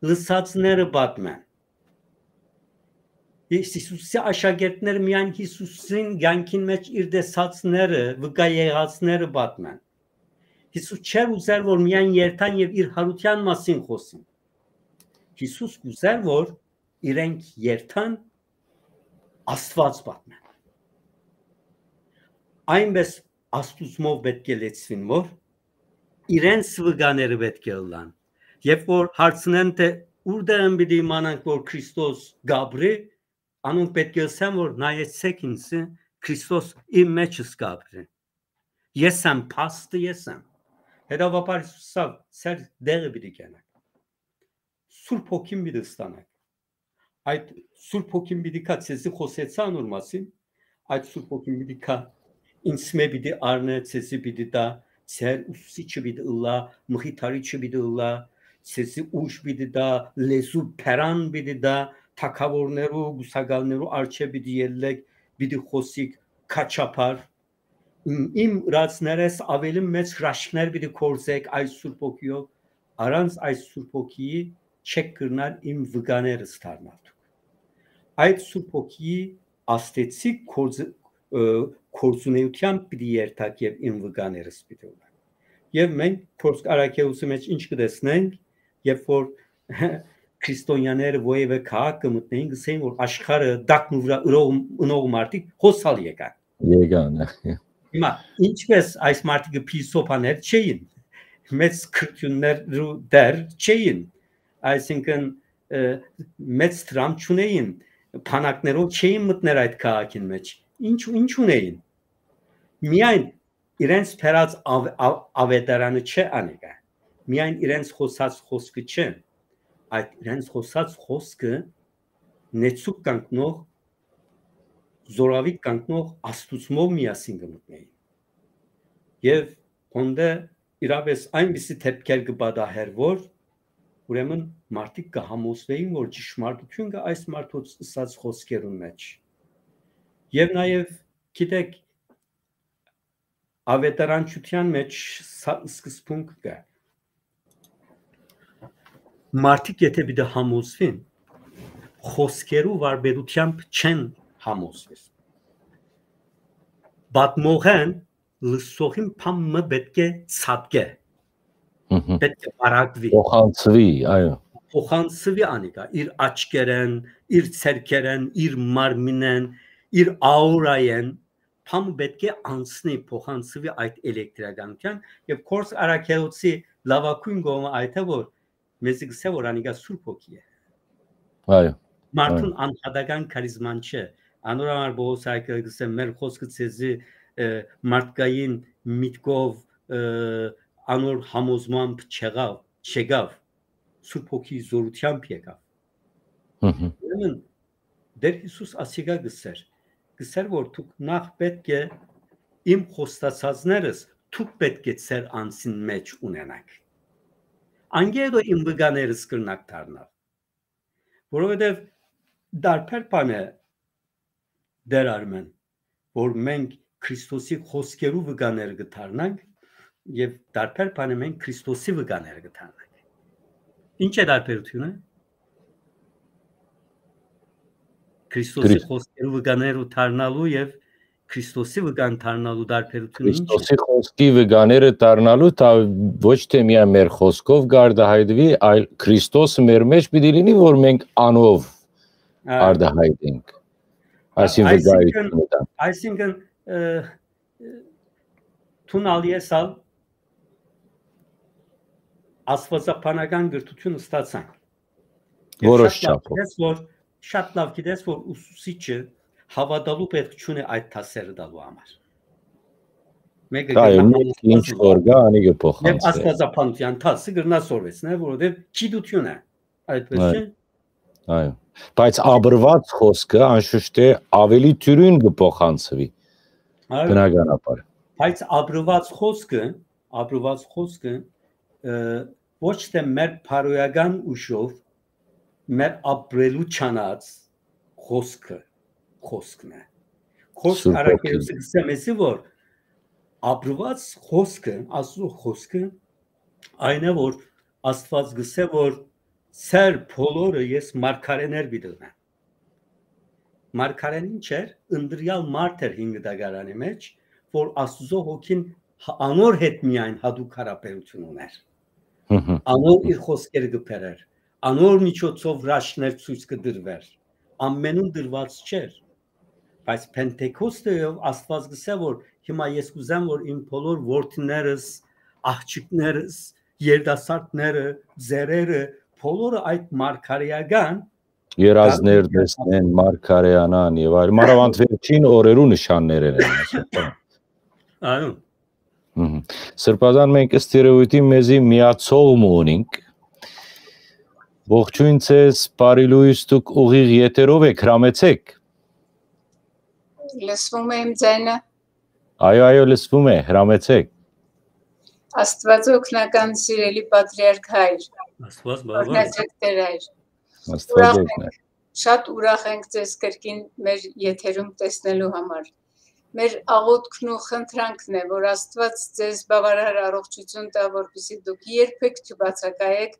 լսածները պատմեն։ Յիսուսի աշակերտները միայն Յիսուսին կյանքին մէջ իր տեսածները, վկայ եղածները պատմեն։ Յիսուս չէր ուզեր, որ միայն երթան եւ իր յարութեան մասին խօսին։ Յիսուս կ'ուզեր, որ իրենք երթան Աստուած պատմեն։ Այնպէս Աստուծմով պէտք է լեցուին, որ իրենց վկաները պէտք է ըլլան։ Երբ որ հարցնեն, թէ ուրտեղ են պիտի իմանանք, որ Քրիստոս կ'ապրի, անոնք պէտք է ըսեն, որ նայեցէք ինձ, Քրիստոս իմ մէջս կ'ապրի։ Ես եմ փաստը, ես եմ։ Հետեւաբար Յիսուս ասաւ, ձեր դեղը պիտի կենաք։ Սուրբ Հոգին պիտի ստանաք։ Այդ Սուրբ Հոգին պիտի գայ, ձեզի խօսեցայ անոր մասին, այդ Սուրբ Հոգին պիտի գայ, ինձ մէ պիտի առնէ, ձեզի պիտի տայ, ձեր ուսուցիչը պիտի ըլլայ, մխիթարիչը պիտի ըլլայ, ձեզի ուժ պիտի տայ, լեզու բերան պիտի տայ, թագաւորներու, կուսակալներու առջեւ պիտի ելլէք, պիտի խօսիք քաչափար։ Իմ, իմ ըրածներէս աւելի մեծ հրաշքներ պիտի գործէք այս Սուրբ Հոգիով, առանց այս Սուրբ Հոգիի չեք կրնար իմ վկաներս դառնալ դուք։ Այդ Սուրբ Հոգիի աստեցիկ գործ-, ը, գործունեութեամբ պիտի երթաք եւ իմ վկաներս պիտի ըլլաք։ Եւ մենք Փորձ առաքելոցի մէջ ինչ կը տեսնենք, երբ որ քրիստոնյաները որեւէ քաղաք կը մտնեին, կ'ըսէին, որ աշխարհը տակն ու վրայ ըրող, ընող մարդիկ հոսալ եկան։ Եկան, ը։ Հիմա, ինչպես այս մարդիկը փիլիսոփաներ չէին, մեծ քրիստոնեաներու դեր չէին, այսինքն ը, մեծ դրամ չունէին, բանակներով չէին մտներ այդ քաղաքին մեջ։ Ինչ, ինչ ունէին։ Միայն իրենց բերած ավ-, ավ-, ավետարանը չէ անիկա։ Միայն իրենց խօսած խօսքը չէ։ Այդ իրենց խօսած խօսքը նեցուկ կանգնող, զորավիգ կանգնող Աստուծմով միասին կը մտնէին։ Եւ հոն դէ իրապէս այնպիսի դէպքեր կը պատահէր, որ ուրեմն մարդիկ կը համոզուէին, որ ճշմարտութիւն կայ այս մարդոց ըսած խօսքերուն մեջ։ Եւ նաեւ, գիտէք, ավետարանչութեան մեջ սա սկզբունք կայ։ Մարդիկ եթէ պիտի համոզուին, խօսքերու վարպետութեամբ չեն համոզուիր։ Պատմողէն լսողին բան մը պէտք է ցատկէ, Մհմ։ պէտք է պարագուի, Փոխանցուի, այո։ փոխանցուի անիկա, իր աչքերեն, իր ցերկերեն, իր մարմինեն, իր աուրայեն, բան մը պէտք է անցնի, փոխանցուի այդ էլեկտրականութեան, եւ Կորս Արաքելոցի լաւագոյն կողմը այդ է, որ մեզի կսե, որ անիկա Սուրբ Հոգի է։ Այո, Մարդուն այո։ անհատական քարիզման չէ։ Անոր համար Պողոս Արաքելը կսե, մեր խօսքը ձեզի, ը, մարդկային միտքով, ը, անոր համոզմամբ չեղաւ, չեկաւ, Սուրբ Հոգի զորութեամբ եկաւ։ Մհմ։ Ուրեմն Տեր Յիսուս ասիկա կսեր, կսեր, որ դուք նախ պէտք է իմ խոստացածներս դուք պէտք է ձեր անձին մեջ ունենաք։ Անկէ հետո իմ վկաներս կրնաք դառնալ, որովհետեւ դարբեր բան է, Տեր Արմեն, որ մենք Քրիստոսի խօսքերու վկաներ կը դառնանք եւ դարբեր բան է մենք Քրիստոսի վկաներ կը դառնանք։ Ինչ է դարբերությունը։ Քրիստոսի Քրի- խօսքերու վկաներու դառնալու եւ Քրիստոսի վկան դառնալու դարբերությունը ինչ է։ Քրիստոսի խօսքի վկաները դառնալու, դա ոչ թե միայն մեր խօսքով կարտահայտուի, այլ Քրիստոսը մեր մեջ պիտի լինի, որ մենք անով Ա, արտահայտենք։ Այսինքն, վկայությունը տանք։ Այսինքն, ը, ը, դուն ալ ես ալ աստվածաբանական կրթութիւն ստացանք։ Եւ Որոշ շատ լաւ չափով։ գիտես, որ, շատ լաւ գիտես, որ ուսուցիչը հաւատալու պէտք չունի այդ դասերը տալու համար։ Մեկը Դա կրնայ է, մեկը ինչ որ կա, անի կը փոխանցի։ Եւ աստվածաբանության դասը կրնա սորվեցնել, որովհետեւ գիտություն է, այդպես Այո, չէ՞։ այո։ Բայց ապրված խոսքը, անշուշտ է, ավելի դյուրին կը փոխանցվի, Այո։ բնականաբար։ Բայց ապրված խոսքը, ապրված խոսքը, ը, ոչ թե մեր բարոյական ուժով, մեր ապրելու չանած խոսքը, խոսքն է։ Կորս Սուրբ Արաքելոցը Հոգին։ գսե մեզի, որ ապրված խոսքը, Աստուծոյ խոսքը, այն է, որ Աստուած գսե, որ «Ձեր բոլորը ես մարգարէներ պիտի ըլնեմ»։ Մարգարեն ինչ էր։ Ընտրյալ մարդ էր հինգ դագարանի մեջ, որ Աստուծոյ Հոգին հա-, անոր հետ միայն հատուկ հարաբերություն ուներ։ Հմ, հմ, Անոր հմ։ իր խոսքերը կը բերեր, անոր միջոցով հրաշքներ ցոյց կը տրուէր։ Ամենուն տրուած չէր, բայց Փենտեկոստեով Աստուած գսե, որ հիմա ես կուզեմ, որ իմ բոլոր որդիներս, աղջիկներս, երիտասարդները, ծերերը, բոլորը այդ մարգարեական Երազներ գալու տեսնեն, մարգարեանան եւ այլ։ Մանավանդ վերջին օրերու նշաններ են, ասենք։ Այո։ Մհմ։ Սրբազան, մենք ըստ երևույթին մեզի միացող մը ունենք։ Ողջույն ձեզ, բարի լույս, դուք ուղիղ եթերով եք, հրամեցեք։ Լսվում է իմ ձայնը։ Այո, այո, լսվում է, հրամեցեք։ Աստված օգնական, սիրելի պատրիարք հայր, Աստված բավարար։ օրհնեցեք Տեր հայր։ Աստված Ուրախ օգնե։ ենք, շատ ուրախ ենք ձեզ կրկին մեր եթերում տեսնելու համար։ Մեր աղոթքն ու խնդրանքն է, որ Աստված ձեզ բավարար առողջություն տա, որպեսզի դուք երբեք չբացակայեք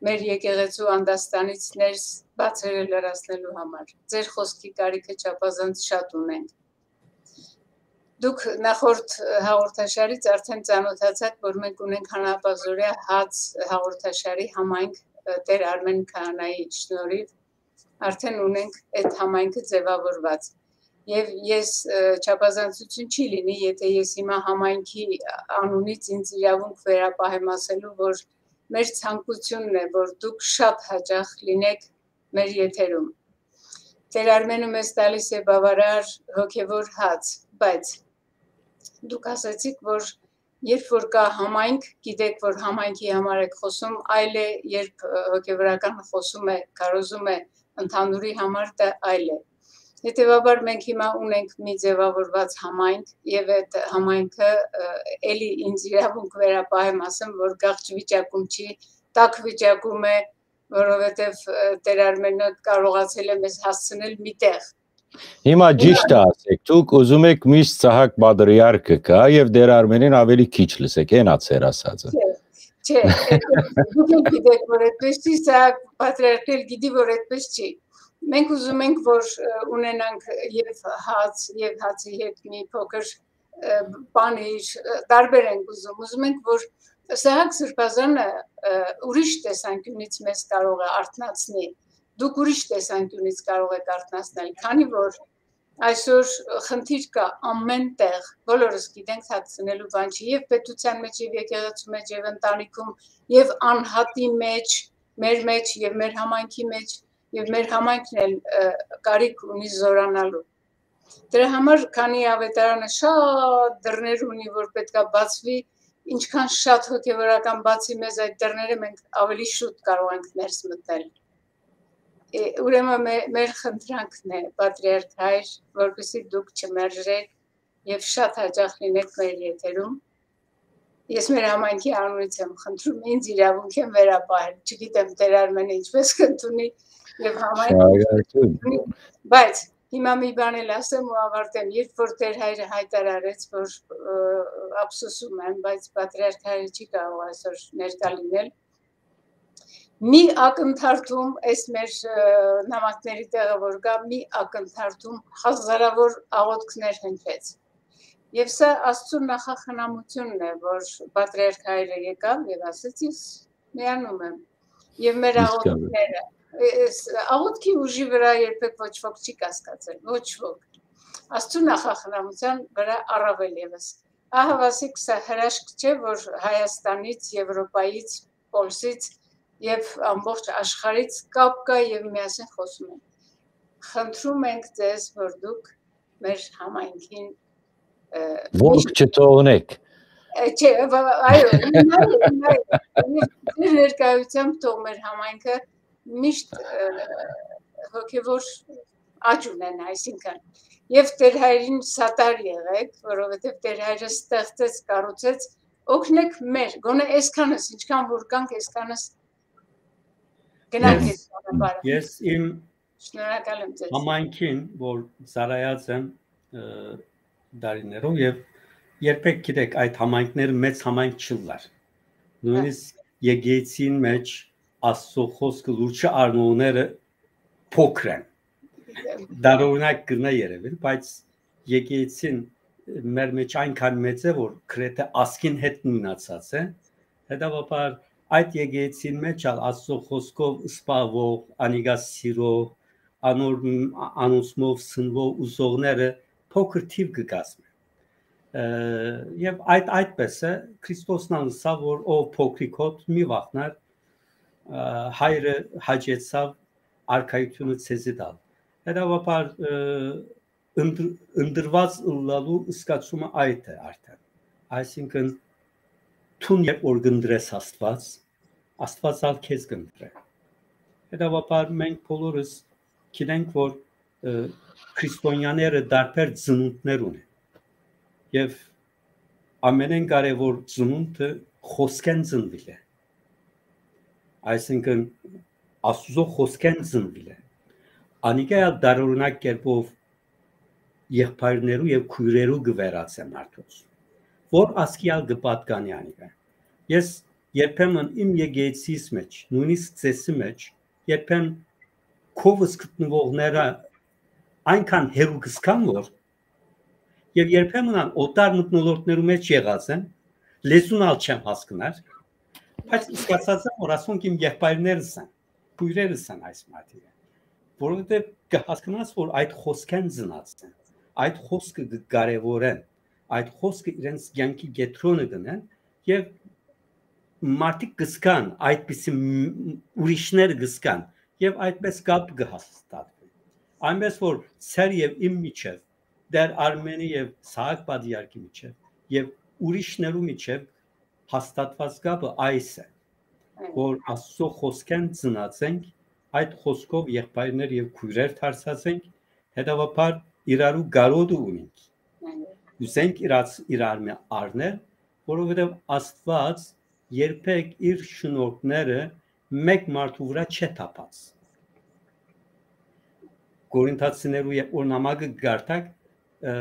մեր եկեղեցու անդաստանից ներս բացերը լրացնելու համար։ Ձեր խոսքի կարիքը չափազանց շատ ունենք։ Դուք նախորդ, ը, հաղորդաշարից արդեն ծանոթացաք, որ մենք ունենք Հանապազորյա հաց հաղորդաշարի համայնք, ը, Տեր Արմեն Քահանայի շնորհիվ, արդեն ունենք այդ համայնքը ձևավորված։ Եվ ես, ը, չափազանցություն չի լինի, եթե ես հիմա համայնքի անունից ինձ իրավունք վերապահեմ ասելու, որ մեր ցանկությունն է, որ դուք շատ հաճախ լինեք մեր եթերում։ Տեր Արմենը մեզ տալիս է բավարար հոգեվոր հաց, բայց դուք ասացիք, որ երբ որ կա համայնք, գիտեք, որ համայնքի համար եք խոսում, այլ է, երբ, ը, հոգեվորական խոսում է, քարոզում է ընդհանուրի համար, դա այլ է։ Հետեւաբար մենք հիմա ունենք մի ձեւաւորուած համայնք, եւ այդ համայնքը, ը, էլի ինձ իրաւունք վերապահեմ ասեմ, որ գաղջ վիճակում չի, տաք վիճակում է, որովհետեւ, ը, Տեր Արմենը կարողացել է մեզ հասցնել միտեղ։ Հիմա Հիմա ճիշտ է ասեք, դուք ուզում եք միշտ Սահակ պատրիարքը գայ եւ Տեր Արմենին ավելի քիչ լսեք, հեն ա ձեր ասածը։ Չէ, չէ, այդպես, դուք էլ գիտեք, որ այդպես չի, սա պատրիարքն էլ գիտի, որ այդպես չի։ Մենք ուզում ենք, որ, ը, ունենանք եւ հաց, եւ հացի հետ մի փոքր, ը, պանիր, ը, տարբեր ենք ուզում։ Ուզում ենք, որ Սահակ Սրբազանը, ը, ուրիշ տեսանկիւնից մեզ կարող է արթնացնի։ Դուք ուրիշ տեսանկիւնից կարող եք արթնացնել, քանի որ այսօր խնդիր կա ամէն տեղ, բոլորս գիտենք, թաքցնելու բան չի, եւ պետության մեջ, եւ եկեղեցու մեջ, եւ ընտանիքում, եւ անհատի մեջ, մեր մեջ, եւ մեր համայնքի մեջ, եւ մեր համայնքն էլ, ը, կարիք ունի զօրանալու։ Դրա համար, քանի աւետարանը շատ դռներ ունի, որ պետք է բացուի, ինչքան շատ հոգեվորական բացի մեզ այդ դռները, մենք ավելի շուտ կարող ենք ներս մտնել։ Է, ուրեմն մե-, մեր խնդրանքն է, պատրիարք հայր, որպեսզի դուք չմերժեք եւ շատ հաճախ լինեք մեր եթերում։ Ես մեր համայնքի անունից եմ խնդրում, ինձ իրաւունք եմ վերապահել, չգիտեմ, Տեր Արմենը ինչպես կընդունի, եւ համայնքը ինչպես Շնորհակալություն։ կընդունի, բայց հիմա մի բան էլ ասեմ ու ավարտեմ, երբ որ Տեր հայրը հայտարարեց, որ, ը, ափսոսում եմ, բայց պատրիարք հայրը չի կարող այսօր ներկա լինել, մի ակնթարթում, այս մեր, ը, նամակների տեղը որ կա, մի ակնթարթում հազարավոր աղոթքներ հնչեց։ Եվ սա Աստծու նախախնամությունն է, որ պատրիարք հայրը եկավ եւ ասեց, «Ես միանում եմ»։ Եւ մեր Իսկ աղոթքները, ը, ս-, աղոթքի ուժի վրա երբեք ոչ ոք չի կասկածել, ոչ ոք։ Աստծու նախախնամության վրա առավել եւս։ Ահա, ասիկ, սա հրաշք չէ, որ Հայաստանից, Եվրոպայից, Պոլսից եւ ամբողջ աշխարհից կապ կա եւ միասին խոսում ենք։ Խնդրում ենք ձեզ, որ դուք մեր համայնքին, ը, Ո-, միշտ չթողնեք։ Ը, չէ, վ-, այո, հիմա, հիմա, եւ ձեր ներկայությամբ թող մեր համայնքը միշտ, ը, հոգեվոր աճ ունենա, այսինքն, եւ Տեր հայրին սատար եղեք, որովհետեւ Տեր հայրը ստեղծեց, կառուցեց, օգնեք մեր, գոնե այսքանս, ինչքան որ կանք, այսքանս գնանք Ես, այդ ճանապարհը։ ես իմ Շնորհակալ եմ ձեզ։ Համայնքին, որ ծառայած եմ, ը, տարիներով, եւ երբեք, գիտեք, այդ համայնքները մեծ համայնք չըլլար։ Հա։ Նույնիսկ եկեղեցին մեջ Աստծո խոսքը լուրջ առնողները փոքր են։ Դարօրինակ կրնա երևել, բայց եկեղեցին մեր մեջ այնքան մեծ է, որ գրեթե ազգին հետ նույնացած է։ Հետևաբար այդ եկեղեցին մեջ ալ Աստծո խոսքով սպահվող, անիկա սիրող, անոր, անոնցմով սնվող, ուզողները փոքր թիվ կը կազմեն։ Ը, եւ այդ այդպես է, Քրիստոսն ալ ըսաւ, որ «Ով փոքրիկ հոտ, մի վախնար, ը, հայրը հաճեցաւ արքայությունը ձեզի տալ»։ Հետևաբար, ը, ընդ-, ընտրված ըլլալու զգացումը այդ է արդեն։ Այսինքն, դուն երբ որ կընտրես Աստված, Աստված ալ քեզ կընտրե։ Հետևաբար մենք բոլորս գիտենք, որ, ը, քրիստոնյաները տարբեր ծնունդներ ունեն։ Եւ ամենէն կարեւոր ծնունդը խոսքեն ծնուիլ է։ Այսինքն, Աստուծո խոսքեն ծնուիլ է։ Անիկա ալ տարօրինակ կերպով եղբայրներու եւ քոյրերու կը վերածե մարդոց, որ ազգի ալ կը պատկանի անիկա։ Ես երբեմն իմ եկեղեցիս մեջ, նույնիսկ ծեսի մեջ, երբեմն քովս գտնուողները այնքան հերու կսկան, որ, եւ երբեմն ան օտար մթնոլորտներու մեջ եղած են, լեզուն ալ չեմ հասկնար, բայց զգացած եմ, որ ասոնք իմ եղբայրներս են, քոյրերս են այս մարդիկը, որովհետեւ կը հասկնաս, որ այդ խոսքեն ծնած են, այդ խոսքը կը կարեւորեն, այդ խոսքը իրենց կյանքի կեդրոնը կ'ընեն, եւ մարդիկ կը զգան, այդպիսի մ-, ուրիշները կը զգան, եւ այդպես կապ կը հաստատուի։ Այնպես որ ձեր եւ իմ միջեւ, Տէր Արմէնի եւ Սահակ Պատրիարքի միջեւ եւ ուրիշներու միջեւ հաստատուած կապը այս է, որ Աստուծոյ խօսքէն ծնած ենք, այդ խօսքով եղբայրներ եւ քոյրեր դարձած ենք, հետեւաբար իրարու կարօտը ունենք։ Կ'ուզենք իրաց-, իրար մէ առնել, որովհետեւ Աստուած երբեք իր շնորհքները մէկ մարդու վրայ չէ թափած։ Կորինթացիներու, երբ որ նամակը կկարդաք, ը,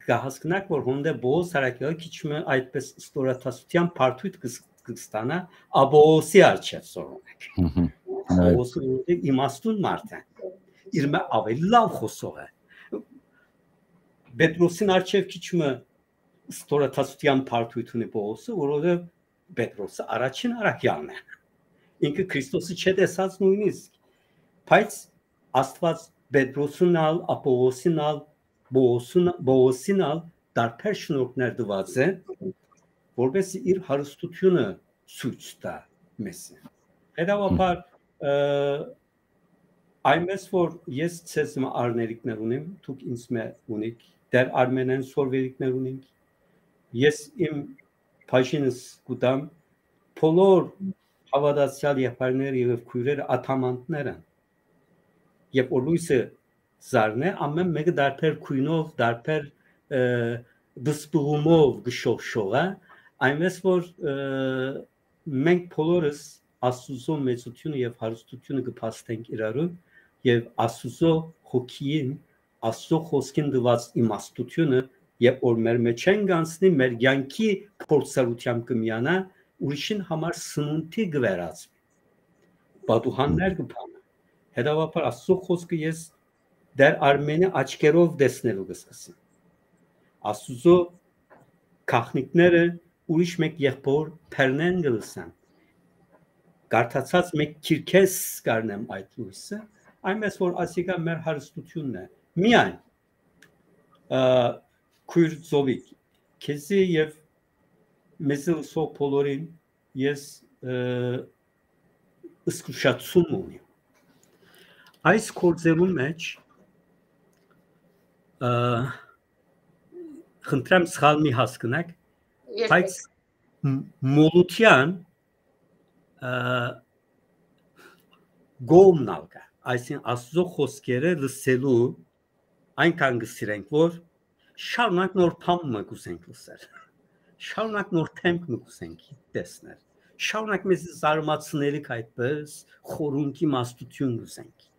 կհասկնաք, որ հոն դէ Պողոս Առաքյալը քիչ մը այդպես ստորադասութեան բարդոյթ կը ս-, կը ստանայ Աբովոսի առջեւ, սորոնեք։ Մհմ։ Այդ Պողոսը որովհետեւ իմաստուն մարդ է, իր մէ աւելի լաւ խօսող է։ Պետրոսին առջեւ քիչ մը ստորադասութեան բարդոյթ ունի Պողոսը, որովհետեւ Պետրոսը առաջին առաքեալն է։ Ինքը Քրիստոսը չէ տեսած նոյնիսկ, բայց Աստուած Պետրոսին ալ, Աբովոսին ալ, Պողոսին, Պողոսին ալ տարբեր շնորհքներ տուած է, որպեսզի իր հարստությունը ցոյց տայ մեզի։ Հետեւաբար, ը, այնպես որ ես ձեզ մը առներիքներ ունիմ, դուք ինձ մը ունիք, Տէր Արմէնէն սորվերիքներ ունինք, ես իմ բաժինս կու տամ, բոլոր հաւատացեալ եղբայրները եւ քոյրերը ադամանդներ են, եւ որ լոյսը զարնէ, ամէն մէկը տարբեր գոյնով, տարբեր, ը, բսպղումով կը շողշողայ, այնպես որ, ը, մենք բոլորս Աստուծոյ մեծութիւնը եւ հարստութիւնը կը փաստենք իրարու, եւ Աստուծոյ հոգիին, Աստուծոյ խօսքին տուած իմաստութիւնը, երբ որ մեր մէջէն կ'անցնի, մեր կեանքի փորձառութեամբ կը միանայ, ուրիշին համար սնունդի կը վերածուի, պատուհաններ կը բանայ։ Հետեւաբար Աստուծոյ խօսքը ես Տէր Արմէնի աչքերով տեսնելու կը սկսեմ։ Աստուծոյ գաղտնիքները ուրիշ մէկ եղբոր բեռնէն կը լսեմ։ Կարդացած մէկ գիրքէս կ'առնեմ այդ լոյսը, այնպես որ ասիկա մեր հարստութիւնն է։ Միայն, ը, քոյր Զովիկ, քեզի եւ մեզի լսող բոլորին ես, ը, զգուշացում ունիմ։ Այս գործերուն մէջ, ը, խնդրեմ սխալ մի հասկնաք, Երբեք։ բայց մ-, մոլութեան, ը, կողմն ալ կայ, այսինքն Աստուծոյ խօսքերը լսելու այնքան կը սիրենք, որ շարունակ նոր բան մը կ'ուզենք լսել, շարունակ նոր դեմք մը կ'ուզենք տեսնել, շարունակ մեզ զարմացնելիք այդպես խորունկ իմաստութիւն կ'ուզենք։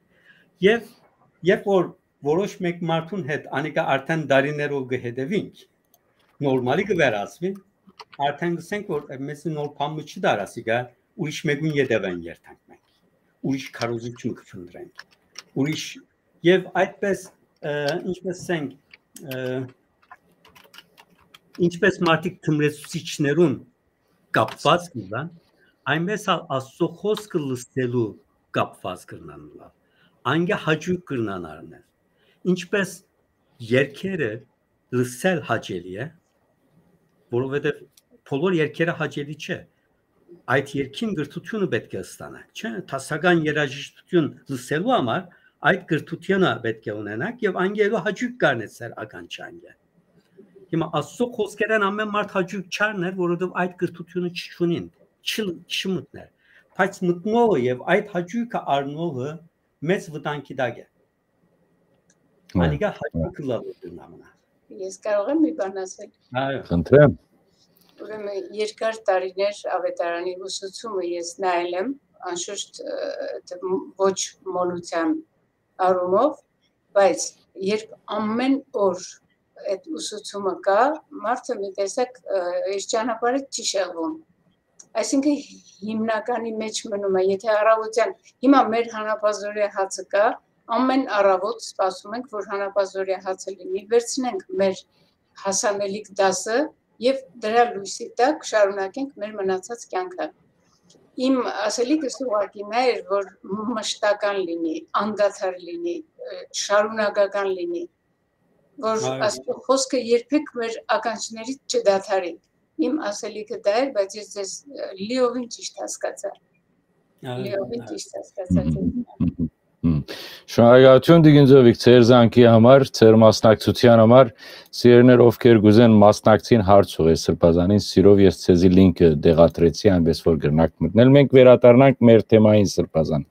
Եւ երբ որ որոշ մէկ մարդուն հետ անիկա արդեն տարիներով կը հետեւինք, նորմալի կը վերածուի, արդեն կ'ըսենք, որ մեզի նոր բան մը չի դար ասիկա, ուրիշ մէկուն ետեւէն երթանք մենք, ուրիշ քարոզիչ մը կը փնտռենք, ուրիշ, եւ այդպես, ը, ինչպես ասենք, ը, ինչպես մարդիկ թմրեցուցիչներուն կապված կ'ըլլան, այնպես ալ Աստուծոյ խօսքը լսելու կապված կրնան ըլլալ, անկէ հաճոյք կրնան առնել, ինչպես երկերը լսել հաճելի է, որովհետեւ բոլոր երկերը հաճելի չէ։ Այդ երկին կրթութիւնը պէտք է ստանանք, չէ՞։ Դասական երաժշտութիւն լսելու համար այդ կրթութիւնը պէտք է ունենանք եւ անկէ հաճոյք կ'առնեք ձեր ականջը անկէ։ Հիմա Աստուծոյ խօսքերէն ամէն մարդ հաճոյք չ'առներ, որովհետեւ այդ կրթութիւնը չունին, չի, չի մտներ։ Բայց մտնողը եւ այդ հաճոյքը առնողը մեծ վտանգի տակ է։ Այո, անիկա հաճոյք ըլլալու դրնամնա։ Ես կարող եմ մի բան ասել։ Այո։ Խնդրեմ։ Ուրեմն երկար տարիներ Ավետարանի ուսուցումը ես նայել եմ, անշուշտ, ը, դ-, ոչ մոլության առումով, բայց երբ ամեն օր այդ ուսուցումը կա, մարդը մի տեսակ, ը, իր ճանապարհից չի շեղվում։ Այսինքն հիմնականի մեջ մնում է, եթե առավոտյան, հիմա մեր հանապազօրյա հացը կա, ամեն առավոտ սպասում ենք, որ հանապազօրյա հացը լինի, վերցնենք մեր հասանելիք դասը եւ դրա լույսի տակ շարունակենք մեր մնացած կյանքը։ Իմ ասելիքս ուղղակի նա էր, որ մշտական լինի, անդադար լինի, ը, շարունակական լինի, որ Այո։ Աստուծո խոսքը երբեք մեր ականջներից չդադարի։ Իմ ասելիքը դա էր, բայց ես ձեզ, ը, լիովին ճիշտ հասկացայ։ Լիովին ճիշտ հասկացայ ձեզ։ Հմ, հմ, հմ։ Շնորհակալութիւն, Տիկին Ծովիկ, ձեր զանգի համար, ձեր մասնակցութեան համար։ Սիրելիներ, ովքեր կ'ուզեն մասնակցին, հարց ուղղէ Սրբազանին, սիրով ես ձեզի link-ը տեղադրեցի, այնպես որ կրնաք մտնել։ Մենք վերադառնանք մեր թեմային, Սրբազան։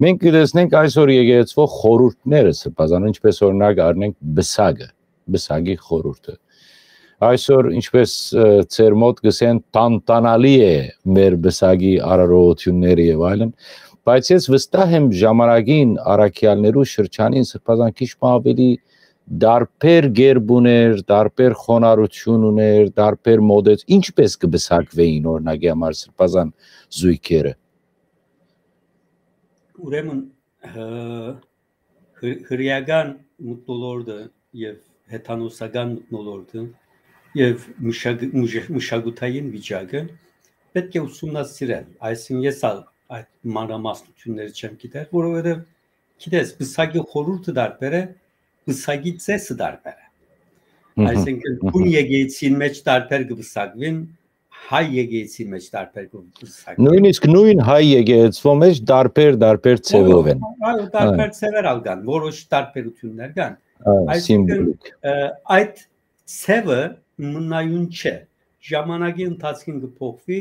Մենք կը տեսնենք այսօր եկեղեցվող խորհուրդները, Սրբազան, ինչպես օրինակ առնենք պսակը, պսակի խորհուրդը։ Այսօր, ինչպես, ը, ձեր մոտ կ'ըսեն, տանտանալի է մեր պսակի արարողութիւնները եւ այլն, բայց ես վստահ եմ ժամանակին, առաքեալներու շրջանին, Սրբազան, քիչ մը ավելի տարբեր կերպ ուներ, տարբեր խոնարհութիւն ուներ, տարբեր մոդեց, ինչպես կը պսակուէին, օրինակի համար, Սրբազան, զոյգերը։ Ուրեմն, ը, հր-, հրեական մթնոլորտը եւ հեթանոսական մթնոլորտը եւ մշակ-, մշ-, մշակութային վիճակը պէտք է ուսումնասիրել։ Այսինքն, ես ալ այդ մանրամասնութիւնները չեմ գիտեր, որովհետեւ, գիտես, պսակի խորհուրդը տարբեր է, պսակի ծեսը տարբեր է։ Մհմ, Այսինքն, մհմ։ Բուն եկեղեցին մէջ տարբեր կը պսակուին, հայ եկեղեցի մէջ տարբեր կը պսակուին։ Նոյնիսկ նոյն հայ եկեղեցվո մէջ տարբեր, տարբեր ձևով են։ Այո, տարբեր Այո։ ձևեր ալ կան, որոշ տարբերութիւններ կան։ Այո, Այսինքն, սիմվոլիկ։ ը, այդ ձևը մնայուն չէ։ Ժամանակի ընթացքին կը փոխուի,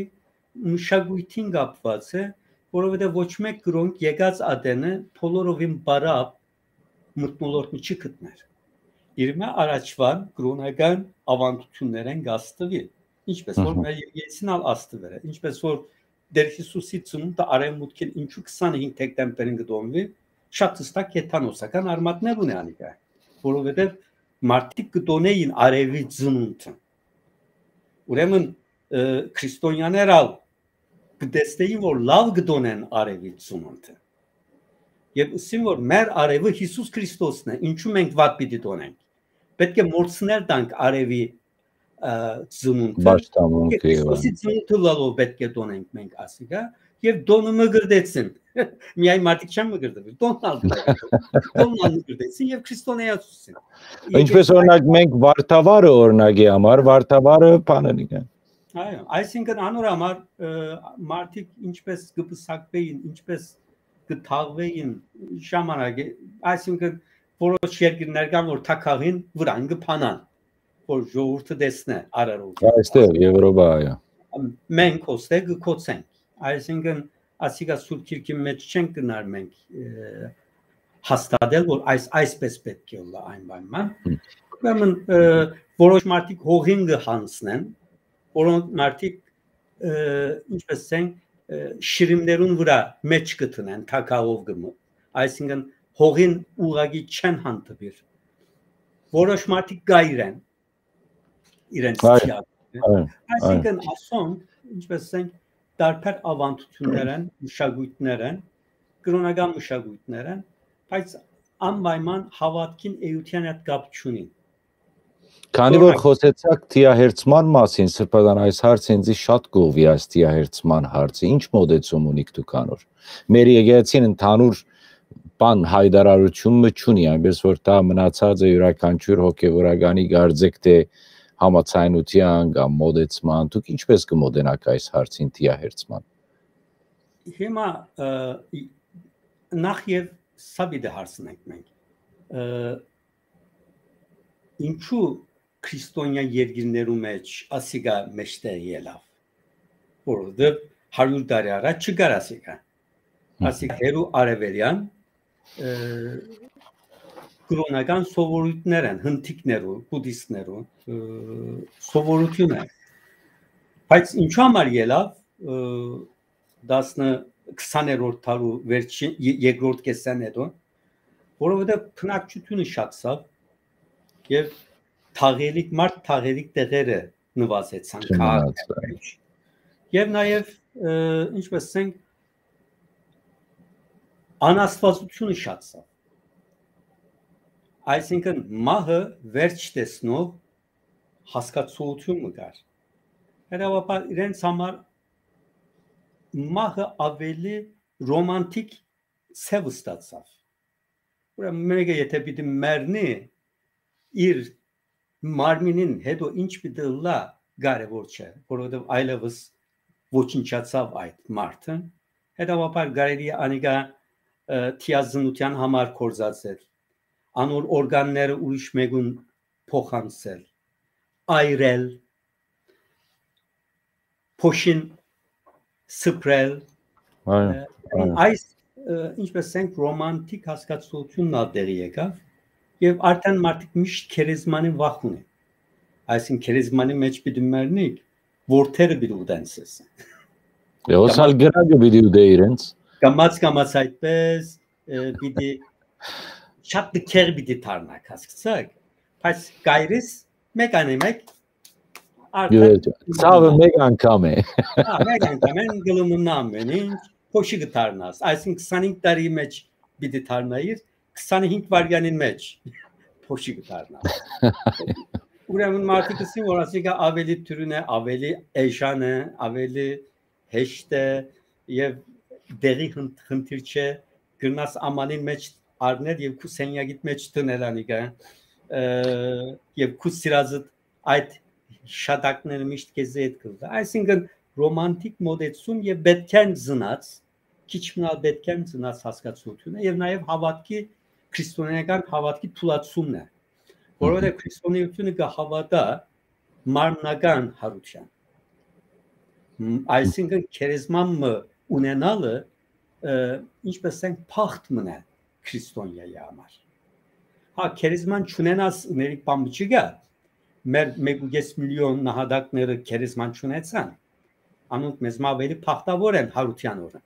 մշակոյթին կապուած է, որովհետեւ ոչ մէկ կրոնք եկած ատենը բոլորովին բարապ մթնոլորտը չի գտներ։ Իրմէ առաջվան կրոնական աւանդութիւններէն կ'աստուի, ինչպես որ Մհմ։ մեր եկեղեցին ալ աստուեր է, ինչպես որ Տեր Յիսուսի ծնունդը արեւմուտքին ինչու քսանհինգ դեկտեմբերին կը տոնուի, շատ հստակ հեթանոսական արմատներ ունի անիկա, որովհետեւ մարդիկ կը տոնէին արեւի ծնունդը։ Ուրեմն, ը, քրիստոնյաներ ալ կը տեսնեին, որ լաւ կը տոնեն արեւի ծնունդը։ Եւ ըսին, որ մեր արեւը Յիսուս Քրիստոսն է, ինչու մենք վատ պիտի տոնենք։ Պէտք է մորցնել տանք արեւի, ը, ծնունդը։ Պաշտամունքը Եւ Քրիստոսի եւ ծնունդը լալով պէտք է տոնենք մենք ասիկա, եւ տոնը մկրտեցին։ Միայն մարդիկ չեն մկրտվել, տոնն ալ մկրտեցին։ Տոնն ալ մկրտեցին եւ քրիստոնեացուցին։ Ինչպես, օրինակ, մենք Վարդավառը, օրինակի համար, Վարդավառը բանալի կան։ Այո, այսինքն անոր համար, ը, մարդիկ ինչպես կը պսակվեին, ինչպես կը թաղվեին ժամանակը, այսինքն որոշ երկիրներ կան, որ թագաղին վրան կը փանան, որ ժողովուրդը տեսնէ արարողը։ Այստեղ, Եվրոպա, այո։ Մենք ոստեղ կը կոչենք, այսինքն ասիկա Սուրբ Գիրքի մէջ չենք գնար մենք, ը, հաստատել, որ այս, այսպես պէտք է ըլլայ այն պայման։ Հմ։ Ուրեմն, ը, որոշ մարդիկ հողին կը յանցնեն, որոնք մարդիկ, ը, ինչպես ասենք, ը, շիրիմներուն վրայ մէջ կը դնեն, թագաով կը մը-, այսինքն հողին ուղղակի չեն հանդիպիր։ Որոշ մարդիկ գայր են իրենց Այո, թիակը։ այո, Այսինքն այո։ Ասոնք, ինչպես ասենք, տարբեր աւանդութիւններ են, մշակույթներ են, կրոնական մշակույթներ են, բայց անպայման հաւատքին էութեան հետ կապ չունին։ Քանի որ Օրինակ։ Խոսեցաք թիահերձման մասին, Սրբազան, այս հարցը ինձ շատ կողվի, այս թիահերձման հարցը, ինչ մոտեցում ունիք դուք անոր։ Մեր եկեղեցին ընդհանուր բան հայտարարություն մը չունի, այնպես որ դա մնացած է յուրաքանչյուր հոգեվորականի կարծեք թե համաձայնության կամ մոտեցման, դուք ինչպես կը մոտենաք այս հարցին թիահերձման։ Հիմա, ը, ի-, նախ եւ սա պիտի հարցնենք մենք, ը, ինչու քրիստոնեայ երկիրներու մէջ ասիկա մէջտեղ ելաւ, որովհետեւ հարիւր տարի առաջ չկար ասիկա։ Հմ։ Ասիկ հերու արևելյան, ը, կրոնական սովորույթներ են, հնդիկներու, բուդիստներու, ը, սովորութիւն է։ Բայց ինչու համար ելաւ, ը, տասնը, քսաներորդ դարու վերջին, ե-, երկրորդ կեսէն հետո, որովհետեւ բնակչութիւնը շատացաւ եւ թաղերիկ, մարդ թաղերիկ տեղերը նվազեցան Չմնաց, քաղաքներու այո։ Մէջ։ Եւ նաեւ, ը, ինչպես ասենք, անաստվածությունը շատացաւ։ Այսինքն մահը վերջ տեսնող հասկացողութիւն մը կար։ Հետեւաբար իրենց համար մահը ավելի ռոմանտիկ ցեւ ստացաւ։ Ուրեմն մեկը եթե պիտի մեռնի, իր մարմինին հետո ինչ պիտի ըլլայ, կարեւոր չէ, որովհետեւ այլեւս ոչնչացաւ այդ մարդը։ Հետեւաբար կարելի է անիկա, ը, թիազնութեան համար կործածել, անոր օրգանները ուրիշ մեկուն փոխանցել, այրել, փոշին սփռել, Այո, ը, այո։ այս, ը, ինչպես ասենք, ռոմանտիկ հասկացողութիւնն ալ տեղի եկաւ, եւ արդեն մարդիկ միշտ քերեզմանի վախ ունին։ Այսինքն, քերեզմանի մեջ պիտի մեռնիք, որդերը պիտի ուտեն սեզ։ Ե, հոս ալ կամաց, կրակը պիտի ուտէ իրենց։ Կամաց, կամաց այդպես, ը, պիտի շատ լքեղ պիտի դառնաք, հասկացաք, բայց կայրիս մեկ անե մեկ, Յո, արդեն յո, ցաւը մեկ անգամ է։ Հա, մեկ անգամ են գլմունն ամեն ինչ, փոշի կդառնաս, այսինքն քսանհինգ տարի մեջ պիտի դառնայիր, քսանհինգ վայրկյանին մեջ փոշի կդառնաս։ Ուրեմն մարդիկ ասին, որ ասիկա ավելի դրուն է, ավելի էժան է, ավելի հեշտ է եւ դեղի խն-, խնդիր չէ, կրնաս ամանին մեջ առնել եւ քու սենյակիդ մեջ դնել անիկա, ը, եւ քու սիրածդ այդ շատակները միշտ քեզի հետ կլինի։ Այսինքն, ռոմանտիկ մոտեցում եւ պետքեն ծնած, քիչ մնալ պետքեն ծնած հասկացությունը եւ նաեւ հաւատքի, քրիստոնեական հաւատքի թուլացումն է, որովհետեւ քրիստոնեությունը կը հաւատա մարմնական յարութեան։ Մ, այսինքն, քերեզման մը ունենալը, ը, ինչպես ենք, փախտ մնա քրիստոնեայի համար։ Հա, քերեզման չունենաս, մերի պամպ չկա, մեր մեկուկես միլիոն նահատակները քերեզման չունեցան, անոնք մեզ մը ավելի փախտավոր են յարութեան օրը,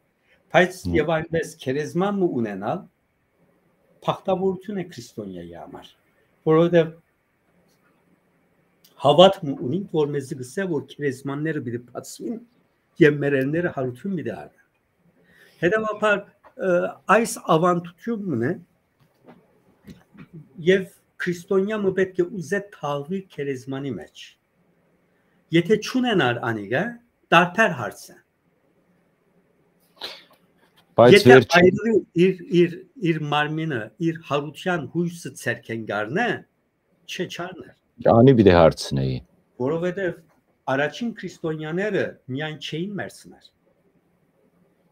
բայց Հմ։ եւ այնպես քերեզման մը ունենալ փախտավորություն է քրիստոնեայի համար, որովհետեւ հաւատք մը ունինք, որ մեզի կսե, որ քերեզմանները պիտի բացուին եւ մեր էլները յարութիւն պիտի առնեն։ Հետեւաբար, ը, այս աւանդութիւնն է եւ քրիստոնեայ մը պէտք է ուզէ թաղուի քերեզմանի մեջ։ Եթե չունենար անիկա, տարբեր հարց է։ Բայց Եթե վերջին այրի իր, իր, իր մարմինը, իր յարութեան յոյսը ձեռքէն կառնէ, չէ, չառներ։ Անի պիտի հարցնեի։ Որովհետեւ առաջին քրիստոնեաները միայն չէին մեռցներ։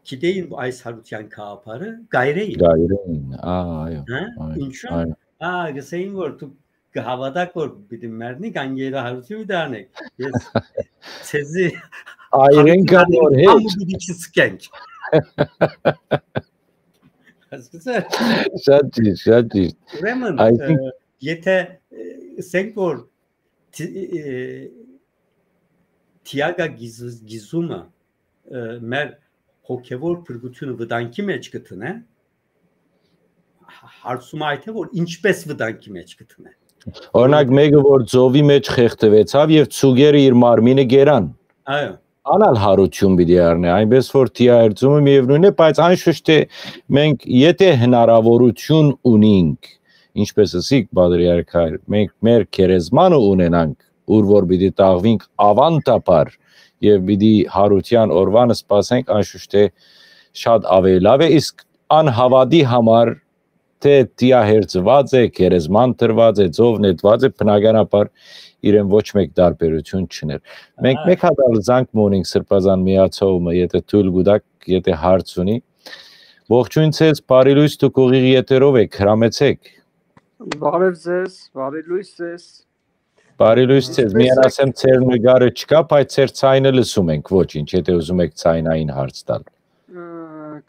Գիտեին, որ այս յարութեան գաղափարը կայրեին։ Կայրեին, ա, այո, հա? Այո, ինչու՞։ Այո։ Ա, գսեին, որ դուք կհաւատաք, որ պիտի մեռնիք, անգերահարութիւն պիտի անեք։ Ես ձեզի Այրեն կան, որ համ հետ։ Պիտի չսկենք։ Հասկացա՞ր։ Շատ ճիշտ, շատ ճիշտ։ Ուրեմն, Այսինքն- ը, եթե, ը, ասենք, որ թի-, ը, թիակա գիզ-, գիզումը, ը, մեր հոգեվոր փրկությունը վտանգի մեջ կդնե, հարցումը այդ է, որ ինչպես վտանգի մեջ կդնե։ Օրինակ, մեկը, որ ծովի մեջ խեղդուեցաւ եւ ծուկերը իր մարմինը գերան։ Այո։ Անալ յարութիւն պիտի առնէ, այնպես որ թիա հերձումը միևնույն է, բայց անշուշտ է մենք, եթե հնարավորություն ունինք, ինչպես ասիք, պատրիարք հայր, մենք մեր քերեզմանը ունենանք, ուր որ պիտի տաղվինք ավանդաբար եւ պիտի յարութեան օրվան սպասենք, անշուշտ է շատ ավելի լավ է, իսկ անհաւատի համար, թե թիա հերձուած է, քերեզման դրուած է, ծով նետուած է, բնականաբար իրեն ոչ մեկ տարբերություն չուներ։ Մենք Ահա։ մեկ հատ ալ զանգ մը ունենք Սրբազան միացողը, եթե թույլ կուտաք, եթե հարց ունի։ Ողջույն ձեզ, բարի լույս, դուք ուղիղ եթերով եք, հրամեցեք։ Բարև ձեզ, բարի լույս ձեզ։ Բարի լույս ձեզ, Ինչպես միայն եք ասեմ, ձեր նկարը չկա, բայց ձեր ցայնը լսում ենք, ոչինչ, եթե ուզում եք ցայնային հարց տալ։ Ը,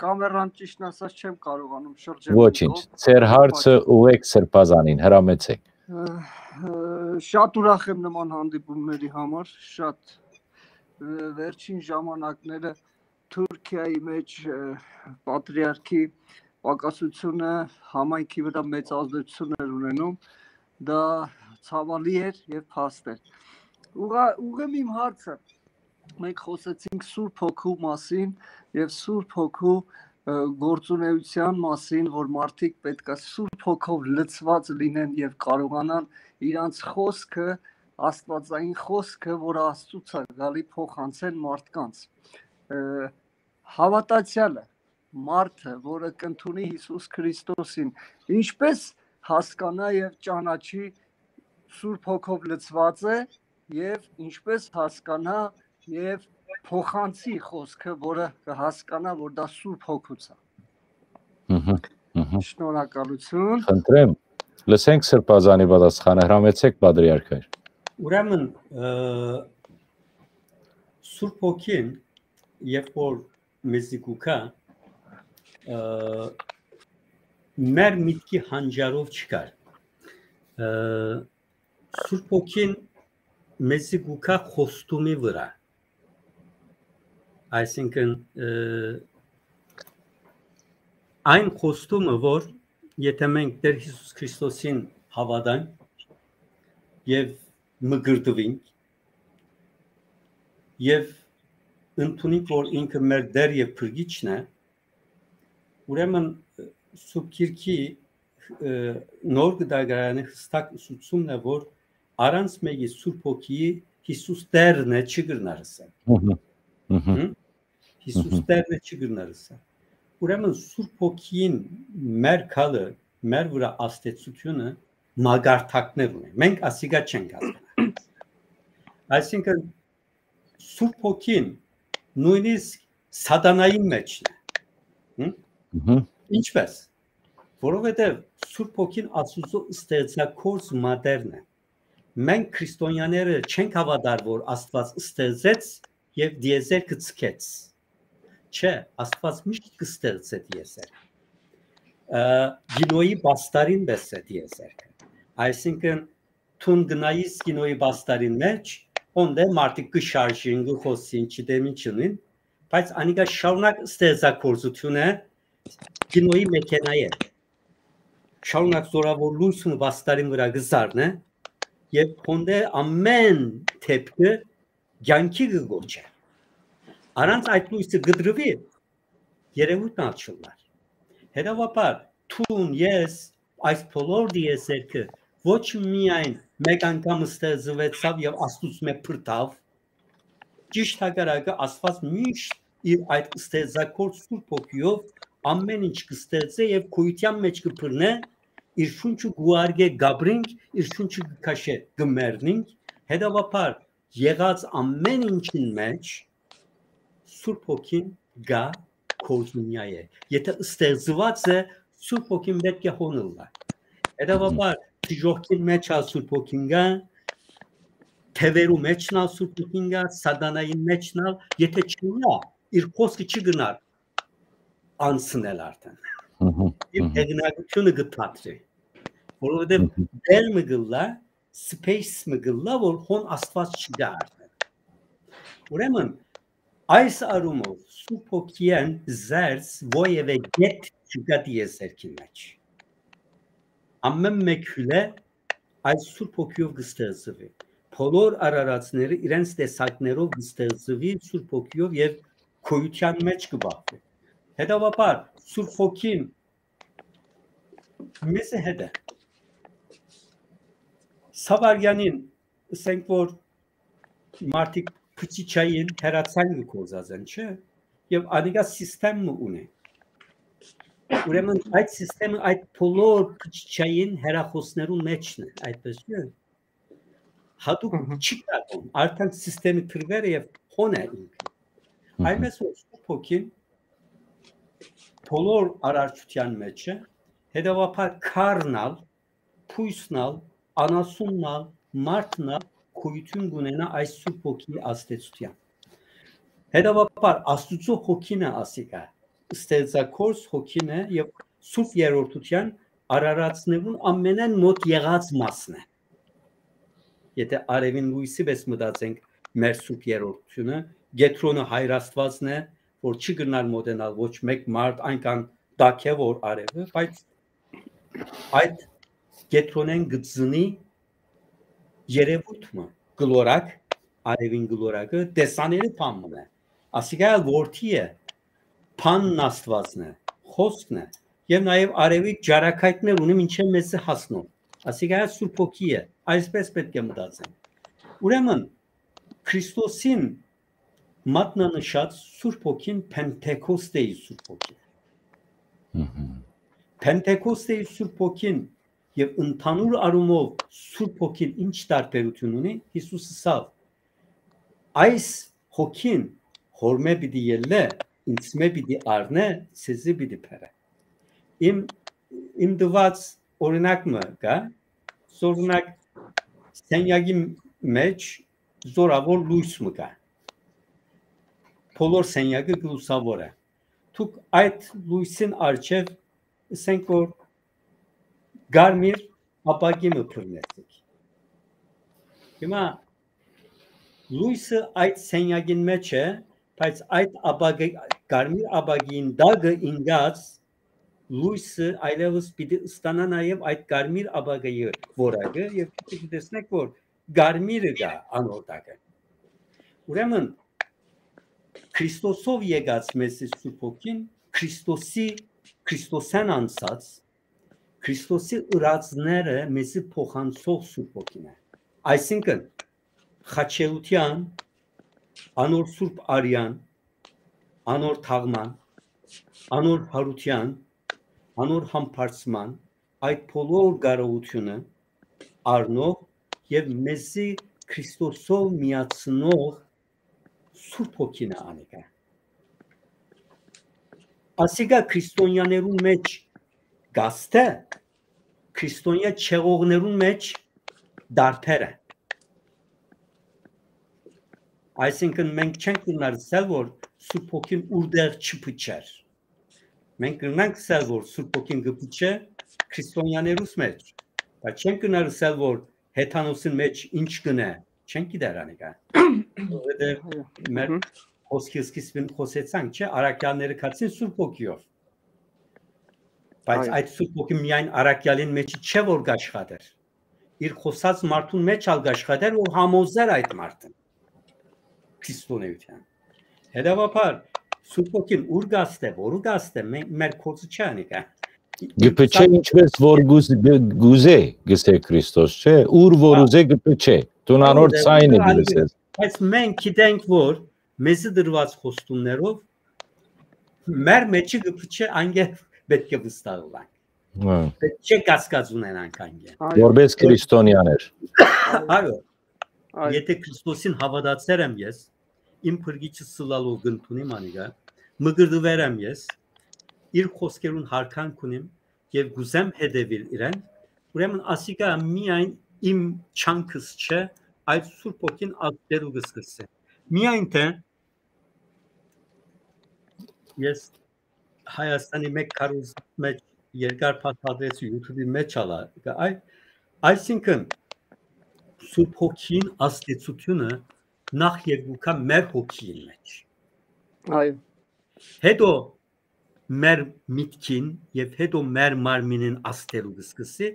կամերան, ճիշտն ասած, չեմ կարողանում շրջել Ոչինչ, ինքով, ձեր հարցը բայց ուղղեք Սրբազանին, հրամեցեք։ Ը, ը, շատ ուրախ եմ նման հանդիպումների համար, շատ, ը, վերջին ժամանակները Թուրքիայի մեջ, ը, պատրիարքի պակասությունը համայնքի վրա մեծ ազդեցություն էր ունենում, դա ցավալի էր եւ փաստ էր։ Ուղղա-, ուղղեմ իմ հարցը։ Մենք խոսեցինք Սուրբ Հոգու մասին եւ Սուրբ Հոգու, ը, գործունեության մասին, որ մարդիկ պետք է Սուրբ Հոգով լցված լինեն եւ կարողանան իրանց խոսքը, աստվածային խոսքը, որը Աստծուց է գալի, փոխանցեն մարդկանց։ Ը, հավատացյալը, մարդը, որը կընդունի Յիսուս Քրիստոսին, ինչպես հասկանա եւ ճանաչի Սուրբ Հոգով լցված է, եւ ինչպես հասկանայ եւ փոխանցի խօսքը, որը կը հասկանայ, որ դա Սուրբ Հոգուց է։ Մհմ, մհմ։ Շնորհակալություն։ Խնդրեմ, լսենք Սրբազանի պատասխանը, հրամեցեք, պատրիարք հայր։ Ուրեմն, ը, Սուրբ Հոգին, երբ որ մեզի կուքա, ը, մեր միտքի հանճարով չկար։ Ը, Սուրբ Հոգին մեզի կուքա խոստումի վրա։ Այսինքն, ը, այն խոստումը, որ եթե մենք Տեր Հիսուս Քրիստոսին հավատանք եւ մկրտուինք եւ ընդունենք, որ ինքը մեր Տեր եւ Փրկիչն է, ուրեմն Սուրբ Գիրքի, ը, նոր գդագարանի հստակ ուսուցումն է, որ առանց մեկի Սուրբ Հոգիի Հիսուս Տերն է չի կրնար ասել։ Մհմ, մհմ, Հմ? Հիսուս Տերն է չի կրնար ասել։ Ուրեմն Սուրբ Հոգին մեր քալը, մեր վրա ազդեցությունը մագարտակներ ունի։ Մենք ասիգա չենք հասկնա։ Այսինքն Սուրբ Հոգին նույնիսկ սատանային մեջն է։ Հմ? մհմ, Ինչպես։ Որովհետև Սուրբ Հոգին Աստուծո ստեղծագործ մատերն է։ Մենք քրիստոնյաները չենք հավատար, որ Աստված ստեղծեց եւ դիեզերքը ցկեց։ Չէ, Աստված միշտ կստեղծե դիեզերքը։ Ը, գինոյի բաստարին պես է դիեզերքը։ Այսինքն, դուն գնայիս գինոյի բաստարին մեջ, հոն դե մարդիկ կը շարժին, կը խօսին, չդեմ ինչ ունին, բայց անիկա շարունակ ստեղծագործություն է գինոյի մեքենայ է։ Շարունակ զորավոր լույս ու բաստարին վրա կը զարնե, եւ հոն դե ամեն դեպքը կյանքի կը գոչէ։ Առանց այդ լույսը կդրուի, երևույթն ալ չլնար։ Հետեւաբար, դուն, ես, այս բոլոր դիեզերքը ոչ միայն մեկ անգամ ստեղծուեցաւ եւ Աստուծմէ փրտաւ, ճիշդ հակառակը, Աստված միշտ իր այդ ստեղծագործ Սուրբ Հոգիով ամեն ինչ կստեղծէ եւ գոյութեան մեջ կբռնէ, իր շունչը կուարգէ գաբրինք, իր շունչը կքաշէ գմեռնինք, հետեւաբար եղած ամեն ինչին մեջ Սուրբ Հոգին գա կորզունյայ է։ Եթե ստեղծուած է, Սուրբ Հոգին պէտք է հոն ըլլայ։ Հետեւաբար, դժոխքին մեջ ալ Սուրբ Հոգին գա, թեւերու մեջն ալ Սուրբ Հոգին գա, սատանային մեջն ալ, եթե չունա, իր խոսքը չի գնար անցնել արդեն։ Մհմ, Իր մհմ, հեղինակությունը կը թատրի, որովհետև մհմ, դեր մը գլլա, space մը գլլա, որ հոն Աստված չկա արդեն։ Ուրեմն, այս առումով Սուրբ Հոգիեն զերծ ովեւէ գետ չկա դիեզերքի մեջ։ Ամեն մեկ հիւլէ այս Սուրբ Հոգիով կստեղծուի։ Բոլոր արարածները իրենց տեսակներով կստեղծուի Սուրբ Հոգիով եւ գոյութեան մեջ կբախվի։ Հետեւաբար, Սուրբ Հոգին մեզի հետ է։ Սավարյանին, ասենք որ մարդիկ փչիչային հեռացան կը կործած են, չէ՞։ Եւ անիկա սիստեմ մը ունի։ Ուրեմն այդ սիստեմը այդ բոլոր փչիչային հեռախոսներուն մեջն է, այդպես չէ՞։ Հատուկ Մհմ։ Չի կարող, արդեն սիստեմի դրվերը եւ հոն է ինքը։ Մհմ։ Այնպես որ Սուրբ Հոգին բոլոր արարչության մեջ է, հետեւաբար քարն ալ, բոյսն ալ, անասունն ալ, մարդն ալ գոյություն կունենա այս Սուրբ Հոգիի ազդեցության։ Հետեւաբար Աստուծո Հոգին է ասիկա, ստեղծագործ Հոգին է եւ Սուրբ Երրորդության արարածներուն ամենէն մոտ եղած մասն է։ Եթե արևին լույսի պես մտածենք մեր Սուրբ Երրորդությունը, Կեդրոնը Հայր Աստվածն է, որ չի կրնար մոտենալ ոչ մեկ մարդ, այնքան տաք է որ արևը, բայց այդ Կեդրոնեն գծնի երևույթ մը, գլորակ, արևին գլորակը տեսանելի բան մը է։ Ասիկա ալ որդի է, բանն Աստվածն է, խոսքն է, եւ նաեւ արևի ջարակայտներ ունի մինչեւ մեզի հասնող։ Ասիկա ալ Սուրբ Հոգի է, այսպես պէտք է մտածենք։ Ուրեմն, Քրիստոսին մատնանշած Սուրբ Հոգին Փենտեքոստեի Սուրբ Հոգին։ Մհմ։ Փենտեքոստեի Սուրբ Հոգին Եւ ընդհանուր առումով Սուրբ Հոգին ինչ տարբերութիւն ունի, Յիսուս ըսաւ. «Այս Հոգին Հօրմէ պիտի ելլէ, ինծմէ պիտի առնէ, ձեզի պիտի բերէ»։ Իմ, իմ տուած օրինակ մը կայ, օրինակ, սենյակի մէջ զօրաւոր լոյս մը կայ։ Բոլոր սենյակը կը լուսաւոր է։ Դուք այդ լոյսին առջեւ, ըսենք որ կարմիր ապակի մը բռնեցիք։ Հիմա լոյսը այդ սենյակին մէջ է, բայց այդ ապակի, կարմիր ապակին տակը ինկած լոյսը այլեւս պիտի ստանայ նաեւ այդ կարմիր ապակիի որակը, եւ դուք պիտի տեսնէք որ կարմիրը կայ անոր տակը։ Ուրեմն Քրիստոսով եկած մեզի Սուրբ Հոգին, Քրիստոսի, Քրիստոսէն անցած, Քրիստոսի ըրածները մեզի փոխանցող Սուրբ Հոգին է։ Այսինքն՝ խաչելութեան, անոր սուրբ արեան, անոր թաղման, անոր յարութեան, անոր համբարձման, այդ բոլոր կարողութիւնը առնող եւ մեզի Քրիստոսով միացնող Սուրբ Հոգին է անիկա։ Ասիկա քրիստոնյաներուն մէջ կ'աստէ, քրիստոնեայ չեղողներուն մէջ տարբեր է։ Այսինքն մենք չենք կրնար ըսել որ Սուրբ Հոգին ուրտեղ չփչեր։ Մենք կրնանք ըսել որ Սուրբ Հոգին կը փչէ քրիստոնյաներուս մէջ, բայց չենք կրնար ըսել որ հեթանոսին մէջ ինչ կ'ընէ, չենք գիտեր անիկա։ Որովհետեւ մեր Մհմ։ Խոսքի սկիզբին խօսեցանք, չէ՞, առաքեալները գացին Սուրբ Հոգիով։ Բայց Այո։ Այդ Սուրբ Հոգին միայն առաքեալին մէջ չէ որ կ'աշխատեր։ Իր խօսած մարդուն մէջ ալ կ'աշխատեր որ համոզեր այդ մարդը քրիստոնեութեան։ Հետեւաբար Սուրբ Հոգին ո՞ւր կ'աստէ, որու կ'աստէ, մե-, մեր գործը չէ անիկա։ Գպչէ ինչպես որ գուզ-, գ-, գուզե, գսե Քրիստոս, չէ՞, ուր որ Հա։ Ուզե գպչէ, դուն անոր Անոր ձայնը անի-, գլսես։ Բայց մենք գիտենք որ մեզի դրուած խոստումներով մեր մեջը գպչէ անգե պետք է վստահ ըլանք։ Հա։ Պետք չէ կասկած ունենանք անգե։ Այո։ Որպես քրիստոնյաներ։ Այո։ Այո։ Եթե Քրիստոսին հաւատացեր եմ ես, իմ փրկիչը սլալով կ'ընդունիմ անիկա, մկրտուեր եմ ես, իր խոսքերուն յարգանք ունիմ եւ կ'ուզեմ հետեւիլ իրեն, ուրեմն ասիկա միայն իմ չանքս չէ, այլ Սուրբ Հոգին ատտերու կը սկսե։ Միայն թե ես Հայաստանի մէկ քարոզ մէջ երկար փաստադրեցի YouTube-ի մէջ ալա, այ, այսինքն Սուրբ Հոգին ազդեցությունը նախ երկուքա մեր հոգիին մէջ։ Այո։ Հետո մեր միտքին եւ հետո մեր մարմինին ազդելու կը սկսի,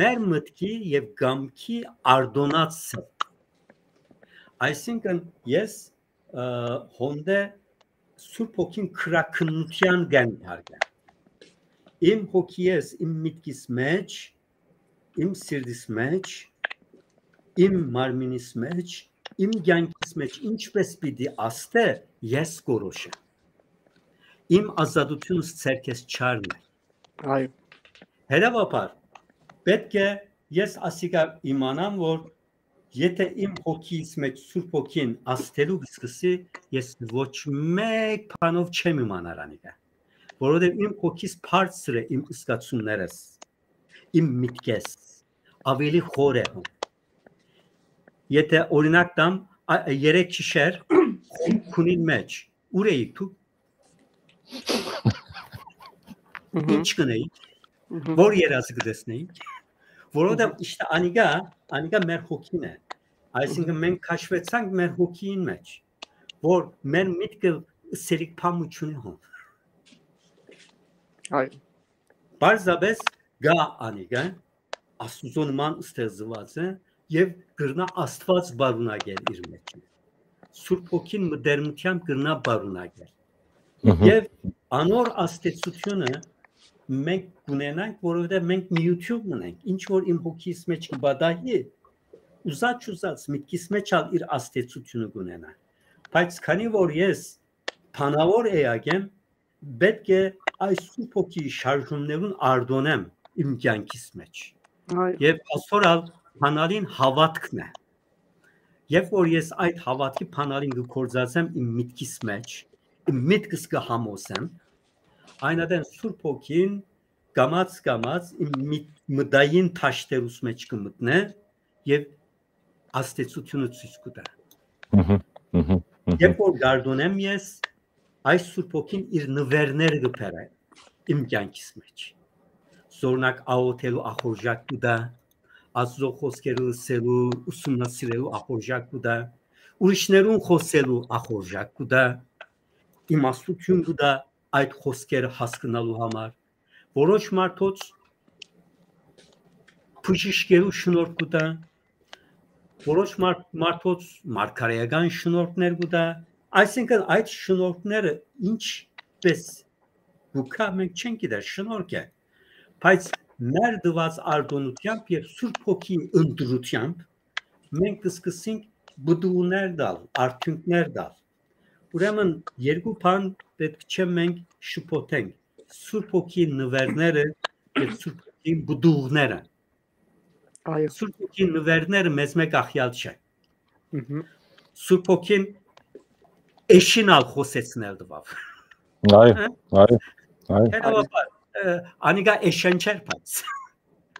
մեր մտքի եւ կամքի արտոնացը։ Այսինքն ես, ը, հոնդե Սուրբ Հոգին քրաքննութեան կ'ընդարկեմ։ Իմ հոգիես, իմ միտքիս մէջ, իմ սիրտիս մէջ, իմ մարմինիս մէջ, իմ կյանքիս մէջ ինչպես պիտի ազդէ, ես կորոշեմ։ Իմ ազատությունս ձեռքես չառնեմ։ Այո։ Հետեւաբար, պետք է ես ասիկա իմանամ, որ եթե իմ հոգիս մէջ Սուրբ Հոգին ազդելու կը սկսի, ես ոչ մէկ բանով չեմ իմանար անիկա, որովհետեւ իմ հոգիս բարձր է իմ զգացումներս, իմ միտքես, ավելի խոր է հոն։ Եթե օրինակ տամ, ա, երեք գիշեր Խումբ քունին մէջ, ո՞ւր էիք դուք։ Մհմ։ Ի՞նչ կ'ընէիք, Մհմ։ Ո՞ր երազը կը տեսնէիք, որովհետեւ Մհմ։ Իշտը անիկա, անիկա մեր հոգին է, այսինքն մենք քաշուեցանք մեր հոգիին մէջ, որ մեր միտքը սերիկ փամու չունի հոն։ Այո։ Պարզապէս գայ անիկա, Աստուծոյ նման ստեղծուած է եւ կրնայ Աստուած պարունակել իր մէջ։ Սուրբ Հոգին մտերմութեամբ կրնայ պարունակել։ Մհմ։ Եւ անոր ազդեցությունը մենք կունենանք, որովհետեւ մենք միութիւն ունենք, ինչ որ իմ հոգիս մէջ կը պատահի, ուզած-չուզած միտքիս մէջ ալ իր ազդեցությունը կունենայ։ Բայց քանի որ ես բանաւոր էակ եմ, պետք է այս Սուրբ Հոգիի շարժումներուն արտոնեմ իմ կեանքիս մէջ։ Այո։ Եւ ասոր ալ բանալին հաւատքն է։ Երբ որ ես այդ հաւատքի բանալին կը գործածեմ իմ միտքիս մէջ, իմ միտքս կը համոզեմ, այն ատեն Սուրբ Հոգին կամաց-կամաց իմ միտ-, մտային թաշտերուս մէջ կը մտնէ եւ ազդեցութիւնը ցոյց կու տայ։ Մհմ, մհմ, մհմ։ Երբ որ գարդոնեմ ես, այս Սուրբ Հոգին իր նուէրները կը բերէ իմ կեանքիս մէջ։ Զօրինակ, աղօթելու ախորժակ կու տայ, Աստուծոյ խօսքերը լսելու, ուսումնասիրելու ախորժակ կու տայ, ուրիշներուն խօսելու ախորժակ կու տայ, իմաստութիւն կու տայ այդ խօսքերը հասկնալու համար։ Որոշ մարդոց բժիշկերու շնորհք կու տայ, որոշ մարդ-, մարդոց մարգարեական շնորհքներ կու տայ, այսինքն այդ շնորհքները ինչպես կու գայ, մենք չենք գիտեր, շնորհք է, բայց մեր տուած արտոնութեամբ եւ Սուրբ Հոգիի ընտրութեամբ մենք կսկսենք պտուղներ տալ, արդիւնքներ տալ։ Ուրեմն երկու բան պէտք չէ մենք շփոթենք. Սուրբ Հոգիի նուէրները եւ Սուրբ Հոգիի պտուղները։ Այո։ Սուրբ Հոգիի նուէրները մեզմէ կախեալ չէ։ Մհմ։ Սուրբ Հոգին էշին ալ խօսեցնել տուաւ։ Այո, հա? Այո, այո։ Հետեւաբար, ը, անիկա էշեն չէր, բայց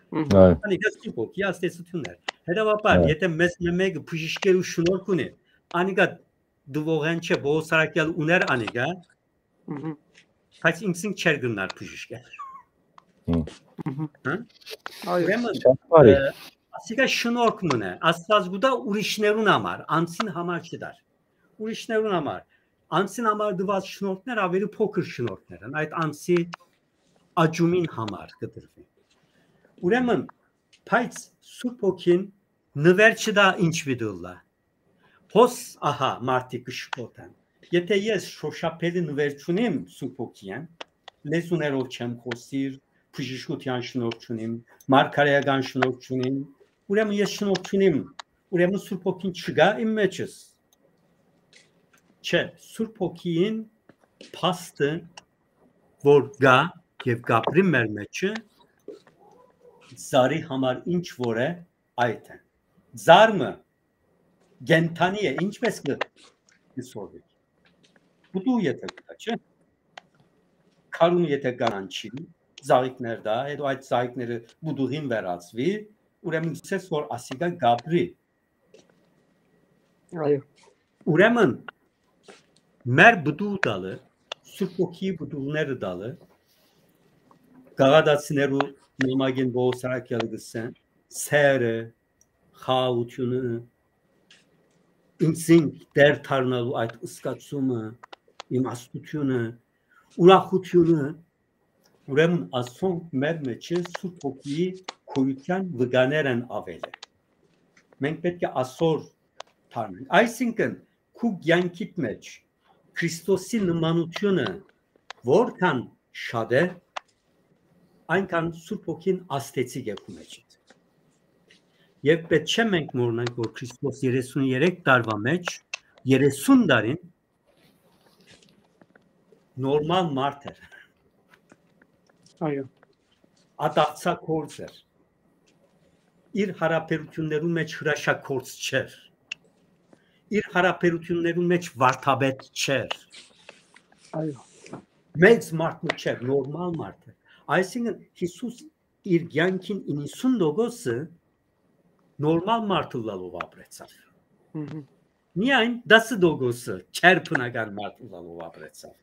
Մհմ։ Այո։ Անիկա Սուրբ Հոգի ազդեցութիւնն էր։ Հետեւաբար, այո, եթե մեզ մէ-, մեկը բժիշկերու շնորհք ունի, անիկա տուողէն չէ, Պողոս Սարակեալ ուներ անիկա, Մհմ։ բայց ինքզինք չէր գնար բժիշկը։ Մհմ։ Մհմ։ Հա? Այո։ Ուրեմն, շատ բարի։ Ը, ասիկա շնորհք մնա, Աստված կու տայ ուրիշներուն համար, անձին համար չտար։ Ուրիշներուն համար, անձին համար տուած շնորհքներ ավելի փոքր շնորհքներ են, այդ անձի աճումին համար կը տրուի։ Ուրեմն, բայց Սուրբ Հոգին նուէր չտայ ինչ պիտի ըլլայ։ Հոս, ահա, մարդիկ կը շփոթեն։ Եթե ես շոշափելի նուէր չունիմ Սուրբ Հոգիէն, լեզուներով չեմ խօսիր, բժշկութեան շնորհք չունիմ, մարգարեական շնորհք չունիմ, ուրեմն ես շնորհք չունիմ, ուրեմն Սուրբ Հոգին չկայ իմ մեջս։ Չէ, Սուրբ Հոգին փաստը, որ կայ եւ կապրի մեր մեջը, ծառի համար ինչ որ է, այդ է։ Ծառ մը կենդանի է, ինչպես կը, կը սորվի։ Պտուղ եթե կա, չէ՞։ Քարուն եթե կանանչի, ծաղիկներ տայ, հետո այդ ծաղիկները պտուղին վերածուի, ուրեմն գսես որ ասիկա կապրի։ Այո։ Ուրեմն մեր պտուղ տալը, Սուրբ Հոգիի պտուղները տալը, գաղատացիներու նամակին Պողոս Սարակեալը գսեն, սերը, խաղաղութիւնը, ինքզինք տէր դառնալու այդ զգացումը, իմաստութիւնը, ուրախութիւնը, ուրեմն ասոնք մեր մեջը Սուրբ Հոգիի գոյութեան վկաներ են աւելի։ Մենք պէտք է ասոր դառնանք։ Այսինքն, քու կեանքիդ մէջ Քրիստոսի նմանութիւնը որքան շատ է, այնքան Սուրբ Հոգին ազդեցիկ է քու մեջդ։ Եւ պէտք չէ մենք մոռնանք, որ Քրիստոս երեսուն երեք տարուա մէջ, երեսուն տարին նորմալ մարդ էր։ Այո։ Ատաղձագործ էր։ Իր յարաբերութիւններուն մէջ հրաշագործ չէր։ Իր յարաբերութիւններուն մէջ վարդապետ չէր։ Այո։ Մեծ մարդ մը չէր, նորմալ մարդ էր։ Այսինքն, Յիսուս իր կեանքին իննսուն տոկոսը նորմալ մարդ ըլլալով ապրեցաւ։ Մհմ։ Միայն տասը տոկոսը չեր բնական մարդ ըլլալով ապրեցաւ։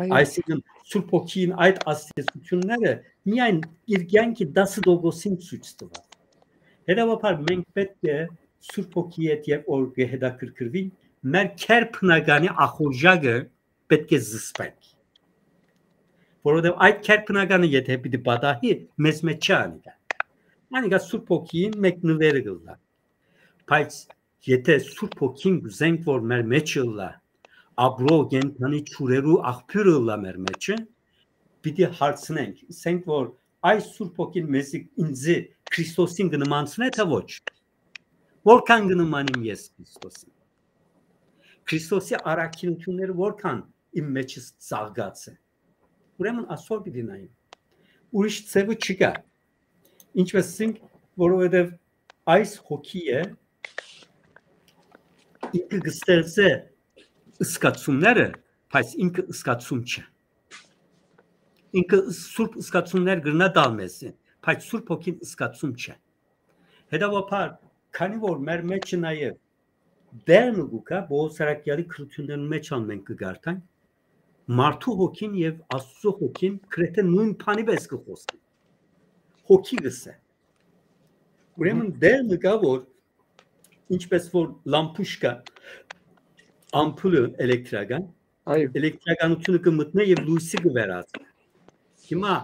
Այո։ Այսինքն, Սուրբ Հոգին այդ ազդեցությունները միայն իր կեանքի տասը տոկոսին ցոյց տուաւ։ Հետեւաբար, մենք պէտք է Սուրբ Հոգի հետ երբ որ կը հետաքրքրվենք, մեր քեր բնականի ախորժակը պէտք է զսպենք։ Որովհետեւ այդ քեր բնականը եթե պիտի պատահի, մեզ մեջ չի անիկա։ Անիկա Սուրբ Հոգին մէկ նուէրը կ'ըլլայ։ Բայց եթե Սուրբ Հոգին կ'ուզենք, որ մեր մեջ ըլլայ, ապրող կենդանի ջուրերու աղբիւրը ըլլայ մեր մեջը, պիտի հարցնենք, ասենք որ այս Սուրբ Հոգին մեզի, ինձի Քրիստոսին կը նմանցնէ, թէ ոչ։ Որքան կը նմանիմ ես Քրիստոսին։ Քրիստոսի առաքինութիւնները որքան իմ մեջս ծաղկած է։ Ուրեմն ասոր պիտի նայեմ։ Ուրիշ ձևը չկայ։ Ինչպէս ասենք, որովհետեւ այս հոգի է, ինքը կստեղծէ զգացումները, բայց ինքը զգացում չէ։ Ինքը սուրբ զգացումներ կրնայ տալ մեզի, բայց Սուրբ Հոգին զգացում չէ։ Հետեւաբար, քանի որ մեր մէջը նաեւ դեր մը կու գայ, Պողոս Սարակեալի գրութիւններուն մէջ ալ մենք կը կարդանք, մարդու հոգին եւ Աստուծոյ հոգին գրեթէ նոյն բանի պէս կը խօսեն։ Հոգի կ'ըսէ։ Ուրեմն դեր մը կայ, որ ինչպէս որ լամպուշկա, ամպուլը էլեկտրական, այո, էլեկտրականութիւնը կը մտնէ եւ լոյսը կը վերածուի։ Հիմա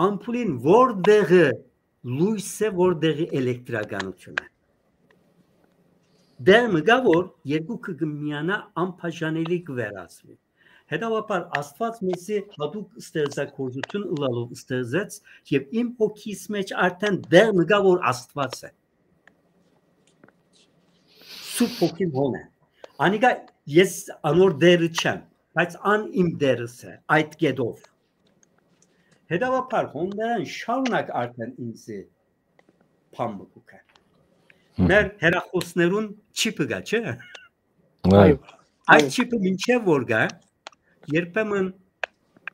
ամպուլին որտեղը լոյս է, որտեղը էլեկտրականութիւն է։ Դեր մը կայ, որ երկուքը կը միանայ, անբաժանելի կը վերածուի։ Հետեւաբար Աստուած մեզի յատուկ ստեղծագործութիւն ըլլալով ստեղծեց եւ իմ հոգիս մէջ արդեն դեր մը կայ, որ Աստուած է։ Սուրբ Հոգին հոն է։ Անիկա, ես անոր դերը չեմ, բայց ան իմ դերս է, այդ կետով։ Հետեւաբար հոն դերան շարունակ արդեն ինձի բան մը կու գայ։ Մեր հեռախօսներուն չիպը կայ, չէ՞։ Այո։ Այդ չիպը մինչեւ որ գայ, երբեմն,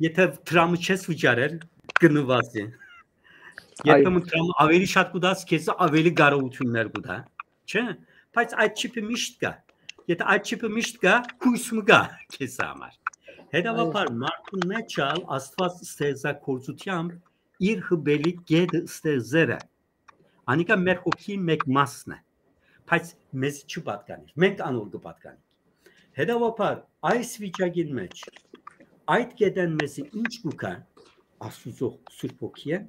եթե դրամը չես վճարեր, կը նուազի։ Երբեմն դրամը ավելի շատ կու տաս, քեզի ավելի կարողութիւններ կու տայ, չէ՞։ Բայց այդ չիպը միշտ կայ։ Եթե այդ չիպը միշտ կայ, հոյս մը կայ քեզի համար։ Հետեւաբար մարդուն մէջ ալ Աստուած ստեղծագործութեամբ իր հպելի կետը ստեղծեր է։ Անիկա մեր հոգին մէկ մասն է, բայց մեզ չի պատկանիր, մենք անոր կը պատկանենք։ Հետեւաբար այս վիճակին մէջ այդ կետեն մեզի ինչ կու գայ, Աստուծոյ Սուրբ Հոգիէն,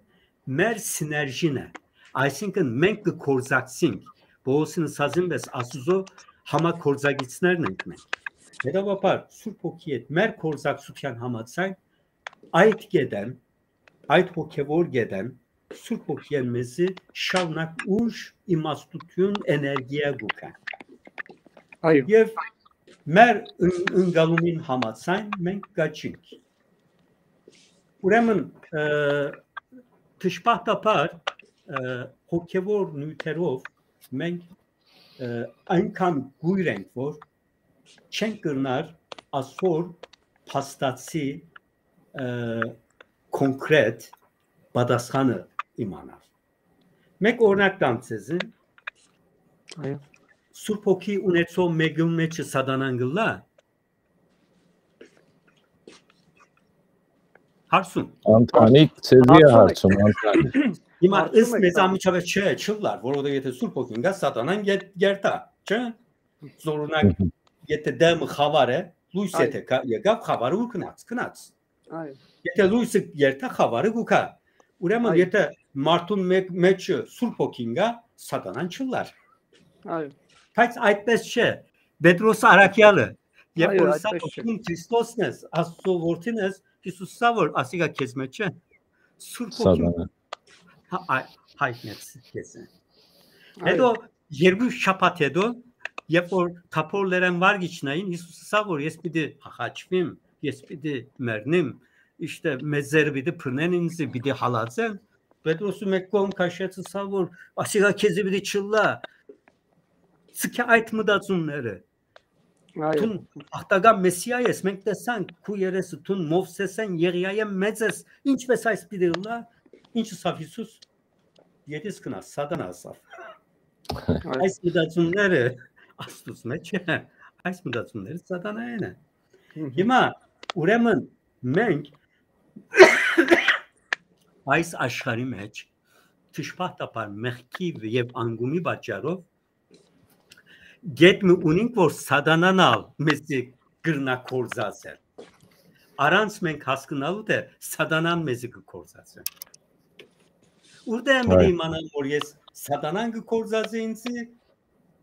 մեր սիներժին է, այսինքն մենք կը գործակցենք, Պողոսին ըսածին պէս Աստուծոյ համագործակիցներն ենք մենք։ Հետեւաբար Սուրբ Հոգի հետ մեր գործակցութեան համաձայն այդ կետեն, այդ հոգեվոր կետեն Սուրբ Հոգիէն մեզի շարունակ ուժ, իմաստութիւն, էներգիա կու գայ։ Այո։ Եւ մեր ն-, ընկալումին համաձայն մենք կաչինք։ Ուրեմն, ը, դժբախտաբար, ը, հոգեվոր նիւթերով մենք, ը, այնքան կոյր ենք, որ չենք կրնար ասոր փաստացի, ը, կոնկրետ պատասխանը իմանալ։ Մեկ օրինակ տամ ձեզի։ Այո։ Սուրբ Հոգի ունեցող մէկուն մէջը Սատանան կ'ըլլա։ Հարցում։ Անտանիկ, ձեզի է հարցում, Անտանիկ։ Հիմա ըստ մեզ անմիջապես չէ, չլար, որովհետեւ եթե Սուրբ Հոգին գայ, Սատանան գեր-, գերտայ, չէ՞։ Զօրունակ, եթե դեմը խաւար է, լոյս եթե կա-, եկաւ, խաւարը ո՞ւր գնաց, գնաց։ Այո։ Եթե լոյսը երթայ, խաւարը կու գայ։ Ուրեմն, այո, եթե մարդուն մէ-, մէջը Սուրբ Հոգին գայ, Սատանան չլար։ Այո։ Բայց այդպես չէ։ Պետրոս առաքյալը, երբ, այո, որ սա այդպես չէ։ Հոգին Քրիստոսն ես, Աստուծոյ որդին ես, Յիսուս սա որ ասիկա քեզ մեջ չէ, Սուրբ Հոգին Սատանան։ Հա, այ-, հայտնեց քեզ։ Այո։ Հետո երկու շաբաթ հետո, երբ որ թափոր լերան վար գիչնային, Յիսուս ասաւ, որ ես պիտի հաղաչվիմ, ես պիտի մեռնիմ, իշտե մեծերը պիտի բռնեն ինձ, պիտի հալածեն։ Պետրոսը մէկ կողմ քաշեց, ասաւ, որ ասիկա քեզի պիտի չլա, ցկե այդ մտածումները։ Այո։ Դուն աղտական Մեսիա ես, մենք տեսանք քու երեսը, դուն Մովսեսէն, Եղիայէն մեծ ես, ինչպես այս պիտի ըլլայ, ինչ ըսաւ Յիսուս, ետիս գնա, Սատանա ասաւ։ Այո։ Այս մտածումները Աստուծո մեջ է, այս մտածումները Սատանայեն է։ Մհմ։ Հիմա, ուրեմն, մենք այս աշխարհի մեջ դժբախտաբար մեղքի և անկումի պատճառով գետ մը ունենք, որ Սատանան ալ մեզի կրնա կործացել։ Առանց մենք հասկնալու, թէ Սատանան մեզի կը կործացնէ։ Ուրդէ պիտի Այո։ իմանամ, որ ես Սատանան կը կործացնի ինձի,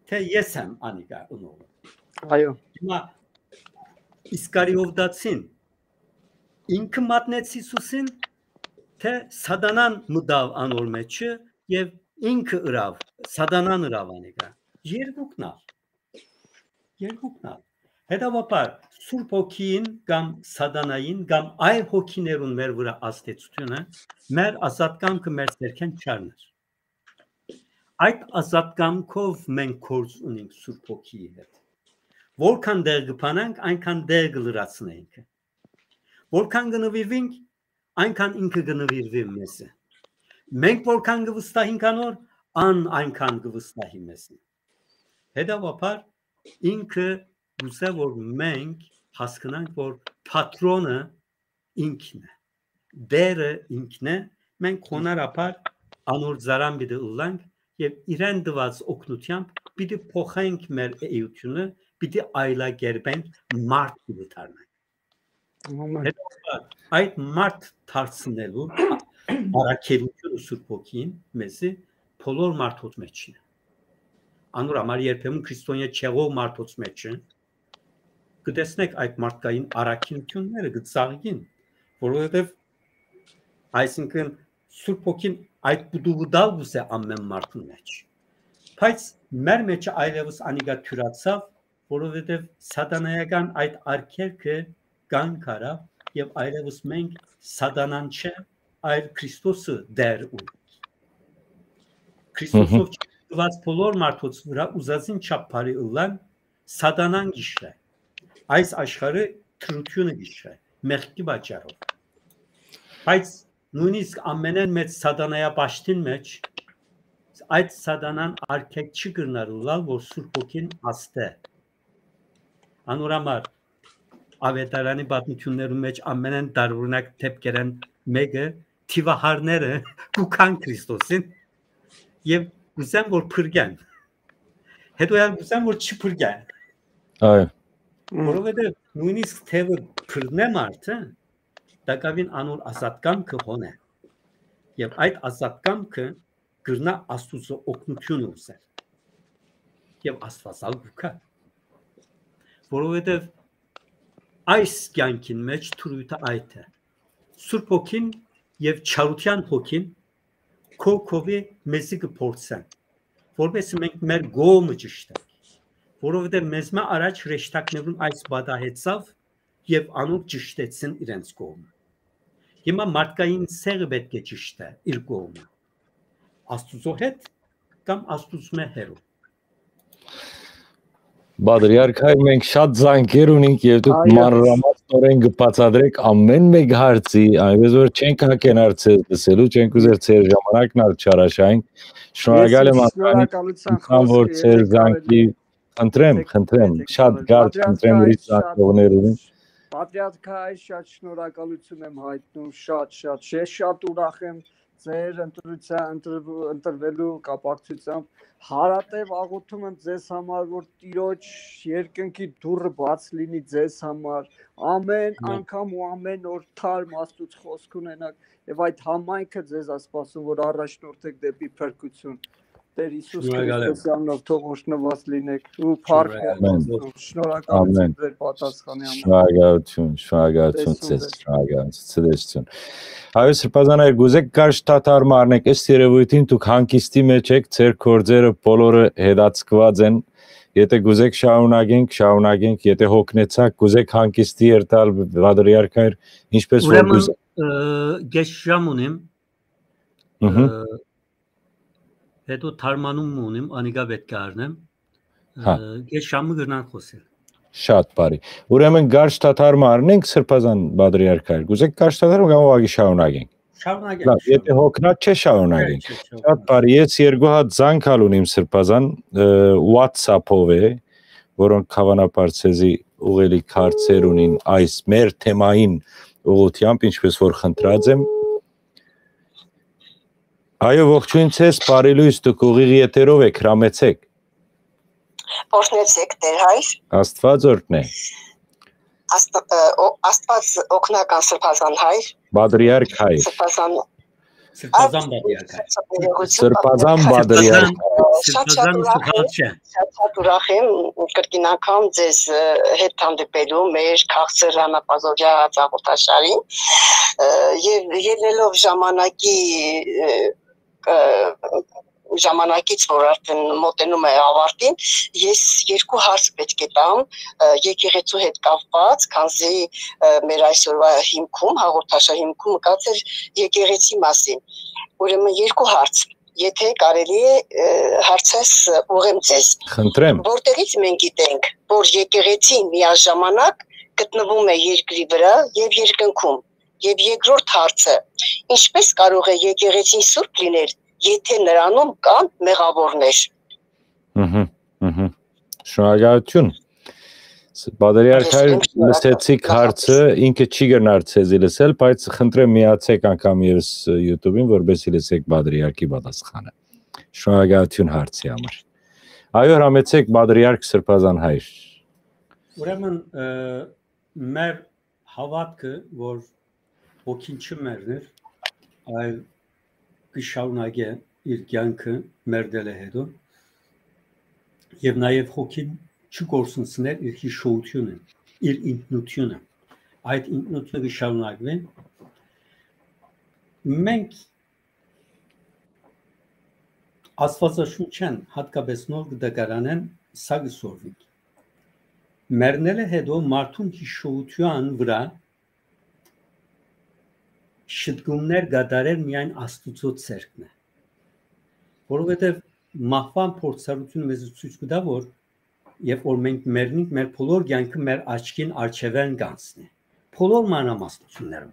թէ ես եմ անիկա ընողը։ Այո։ Հիմա Իսկարիովտացին ինքը մատնեց Յիսուսին, թէ Սատանան մտաւ անոր մեջը և ինքը ըրաւ, Սատանան ըրաւ անիկա։ Երկուքն ալ, երկուքն ալ։ Հետեւաբար, Սուրբ Հոգին կամ Սատանային կամ այլ հոգիներուն մեր վրայ ազդեցութիւնը մեր ազատ կամքը մեր ձեռքէն չառնար։ Այդ ազատ կամքով մենք գործ ունենք Սուրբ Հոգիի հետ։ Որքան տեղ կբանանք, այնքան տեղ կլրացնենք։ Որքան կնվիրվենք, այնքան ինքը կնվիրվի մեզի։ Մենք որքան կվստահենք անոր, ան այնքան կվստահի մեզի։ Հետեւաբար, ինքը կուզէ, որ մենք հասկնանք, որ պատրոնը ինքն է, Տէրը ինքն է, մենք խոնարհաբար անոր ծառան պիտի ըլլանք եւ իրեն տուած օգնութեամբ պիտի փոխենք մեր էությունը, պիտի այլակերպենք, մարդ պիտի դառնանք։ Ամեն։ Հետո այդ մարդ դարձնելու առաքելությունը Սուրբ Հոգին մեզի բոլոր մարդոց մեջ է։ Անոր համար երբեմն քրիստոնեայ չեղող մարդոց մեջ է, կը տեսնեք այդ մարդկային առաքինութիւնները, կը ծաղկին, որովհետեւ, այսինքն, Սուրբ Հոգին այդ պտուղը տալ կուզէ ամեն մարդուն մեջ։ Բայց մեր մեջ այլեւս անիկա թիւրացաւ, որովհետեւ սատանայական այդ արգելքը կանգ առաւ եւ այլեւս մենք սատանան չէ, այլ Քրիստոսը Տէր ունենք։ Քրիստոսով Մհմ։ չգրկուած բոլոր մարդոց վրայ ուզածին չափ բարի ըլլան, սատանան գիշրէ։ Այս աշխարհը թրությունը գիշրէ, մեղքի պատճառով։ Բայց նոյնիսկ ամենէն մեծ սատանայապաշտին մեջ այդ սատանան արգելք չի կրնար ըլլալ, որ Սուրբ Հոգին ազդէ։ Անոր համար Աւետարանի պատմութիւններուն մեջ ամենէն տարօրինակ դեպքերէն մէկը, թիւահարները կու գան Քրիստոսին եւ կուզեն, որ փրկեն։ Հետո ալ կուզեն, որ չփրկեն։ Այո։ Որովհետեւ նոյնիսկ թեւը բռնէ մարդը, տակաւին անոր ազատ կամքը հոն է։ Եւ այդ ազատ կամքը կրնայ Աստուծոյ օգնութիւնը ուզել։ Եւ Աստուած ալ կու գայ։ Որովհետեւ այս կեանքին մեջ թրոյթը այդ է։ Սուրբ Հոգին եւ Չարութեան Հոգին քով-քովի մեզի կը փորձեն, որպեսզի մենք մեր կողմը ճշտենք, որովհետեւ մեզմէ առաջ հրեշտակներուն այս պատահեցաւ եւ անոնք ճշտեցին իրենց կողմը։ Հիմա մարդկային ցեղը պէտք է ճշտէ իր կողմը, Աստուծոյ հետ կամ Աստուծմէ հեռու։ Պատրիարք հայր, մենք շատ զանգեր ունենք եւ դուք Այո։ մանրամասնորեն կը բացատրեք ամեն մէկ հարցի, այնպես որ չենք հակենար ձեզ լսելու, չենք ուզեր ձեր ժամանակն ալ չարաշահենք։ Ես Շնորհակալ եմ, Անդրանիկ, շնորհակալության ինքան, որ խօսքը, ձեր եթե զանգի կարելի է, խնդրեմ, եթե, խնդրեմ, եթե շատ կարելի։ կարճ, Պատրիարք խնդրեմ, հայր, ուրիշ շատ, զանգողներ ունին։ Պատրիարք հայր, շատ շնորհակալություն եմ հայտնում, շատ, շատ, ես շատ ուրախ եմ ձեր ընտրության, ընտրվու-, ընտրվելու կապակցությամբ։ Հարատև աղոթում եմ ձեզ համար, որ Տիրոջ երկնքի դուռը բաց լինի ձեզ համար, ամեն Ամեն։ անգամ ու ամեն օր թարմ Աստուծո խոսք ունենաք, եւ այդ համայնքը ձեզ ա սպասում, որ առաջնորդեք դեպի փրկություն։ Տեր Հիսուս Շնորհակալ եմ։ Քրիստոսի անունով թող օրհնված լինեք ու փառք Շնորհակալ եմ։ Ամեն։ Աստծուն։ Շնորհակալություն Ամեն։ ձեր պատասխանի համար։ Շնորհակալություն, շնորհակալություն Տեսուն ձեզ, ձեզ։ շնորհակալություն, ցտեսություն։ Հայոց Սրբազան հայր, կուզեք կարճ դադար մառնեք, ըստ երևույթին դուք հանգիստի մեջ եք, ձեր գործերը բոլորը հետաձգված են, եթե կուզեք շարունակենք, շարունակենք, եթե հոգնեցաք, կուզեք հանգիստի երթալ, պատրիարք հայր, ինչպես որ Ուրեմն, կուզեք։ ը, կես ժամ ունիմ, Մհմ։ ը, հետո թարմանում մը ունիմ, անիկա պէտք է առնեմ, Հա։ ը, կես ժամ մը կրնանք խոսել։ Շատ բարի։ Ուրեմն կարճ դադար մը առնենք, Սրբազան պատրիարք հայր, կուզեք կարճ դադար մը կամ ուղղակի շարունակենք։ Շարունակենք, Լավ, եթե շարունակենք։ հոգնած չէ, շարունակենք։ Չէ, չէ, Շատ շարունակենք։ բարի, ես երկու հատ զանգ ալ ունիմ Սրբազան, ը, WhatsApp-ով է, որոնք հավանաբար ցեզի ուղղելի հարցեր ունին այս մեր թեմային ուղղությամբ, ինչպես որ խնդրած եմ։ Այո, ողջույն ցեզ, բարի լույս, դուք ուղիղ եթերով եք, հրամեցեք։ Օրհնեցեք, Տեր հայր։ Աստված օրհնե։ Աստ-, ը, օ-, Աստված օգնական Սրբազան հայր։ Պատրիարք հայր։ Սրբազան Սրբազան պատրիարք հայր։ Սրբազան պատրիարք Սրբազան հայր։ պատրիարք։ Ը, շատ, շատ Սրբազանը ուրախ եմ, սխալ չէ։ շատ, շատ ուրախ եմ կրկին անգամ ձեզ, ը, հետ հանդիպելու մեր քաղցր Ռանապազովյա հաղորդաշարին, ը, եւ ելնելով ժամանակի, ը, ը, Ժամանակից, որ արդեն մոտենում է ավարտին, ես երկու հարց պէտք է տամ, ը, եկեղեցու հետ կապված, քանզի, ը, մեր այսօրվա հիմքում, հաղորդաշարի հիմքում եկած էր եկեղեցի մասին։ Ուրեմն երկու հարց, եթե կարելի է, ը, հարցս ուղղեմ ձեզ։ Խնդրեմ։ Որտեղից մենք գիտենք, որ եկեղեցին միաժամանակ գտնվում է երկրի վրա եւ երկնքում։ Եւ երկրորդ հարցը, ինչպես կարող է եկեղեցին սուրբ լինել, եթե նրանում կան մեղավորներ։ Ըհը, ըհը։ Շնորհակալություն։ Ս-, Պատրիարք Ես Հայր, իմ շնորհակալ լսեցիք եմ։ Հարցը, ինքը չի գնար ցեզի լսել, բայց խնդրեմ միացեք անգամ ևս, ը, YouTube-ին, որպեսզի լսեք Պատրիարքի պատասխանը։ Շնորհակալություն հարցի համար։ Այո, հրամեցեք, Պատրիարք Սրբազան Հայր։ Ուրեմն, ը, մեր հաւատքը, որ հոգին չմեռնիր, այլ կը շարունակէ իր կեանքը մեռնելէ հետո, եւ նաեւ հոգին չկորսնցնէր իր յիշողութիւնը, իր ինքնութիւնը։ Այդ ինքնութիւնը կը շարունակուի։ Մենք Աստուածաշունչէն, յատկապէս Նոր Կտակարանէն, սա կը սորվինք. մեռնելէ հետո մարդուն յիշողութեան վրայ շտկումներ կատարեր միայն Աստուծոյ ձեռքն է։ Որովհետեւ մահուան փորձառութիւնը մեզ ցոյց կու տայ, որ երբ որ մենք մեռնենք, մեր բոլոր կեանքը մեր աչքին առջեւէն կանցնի։ Բոլոր մանրամասնություններով։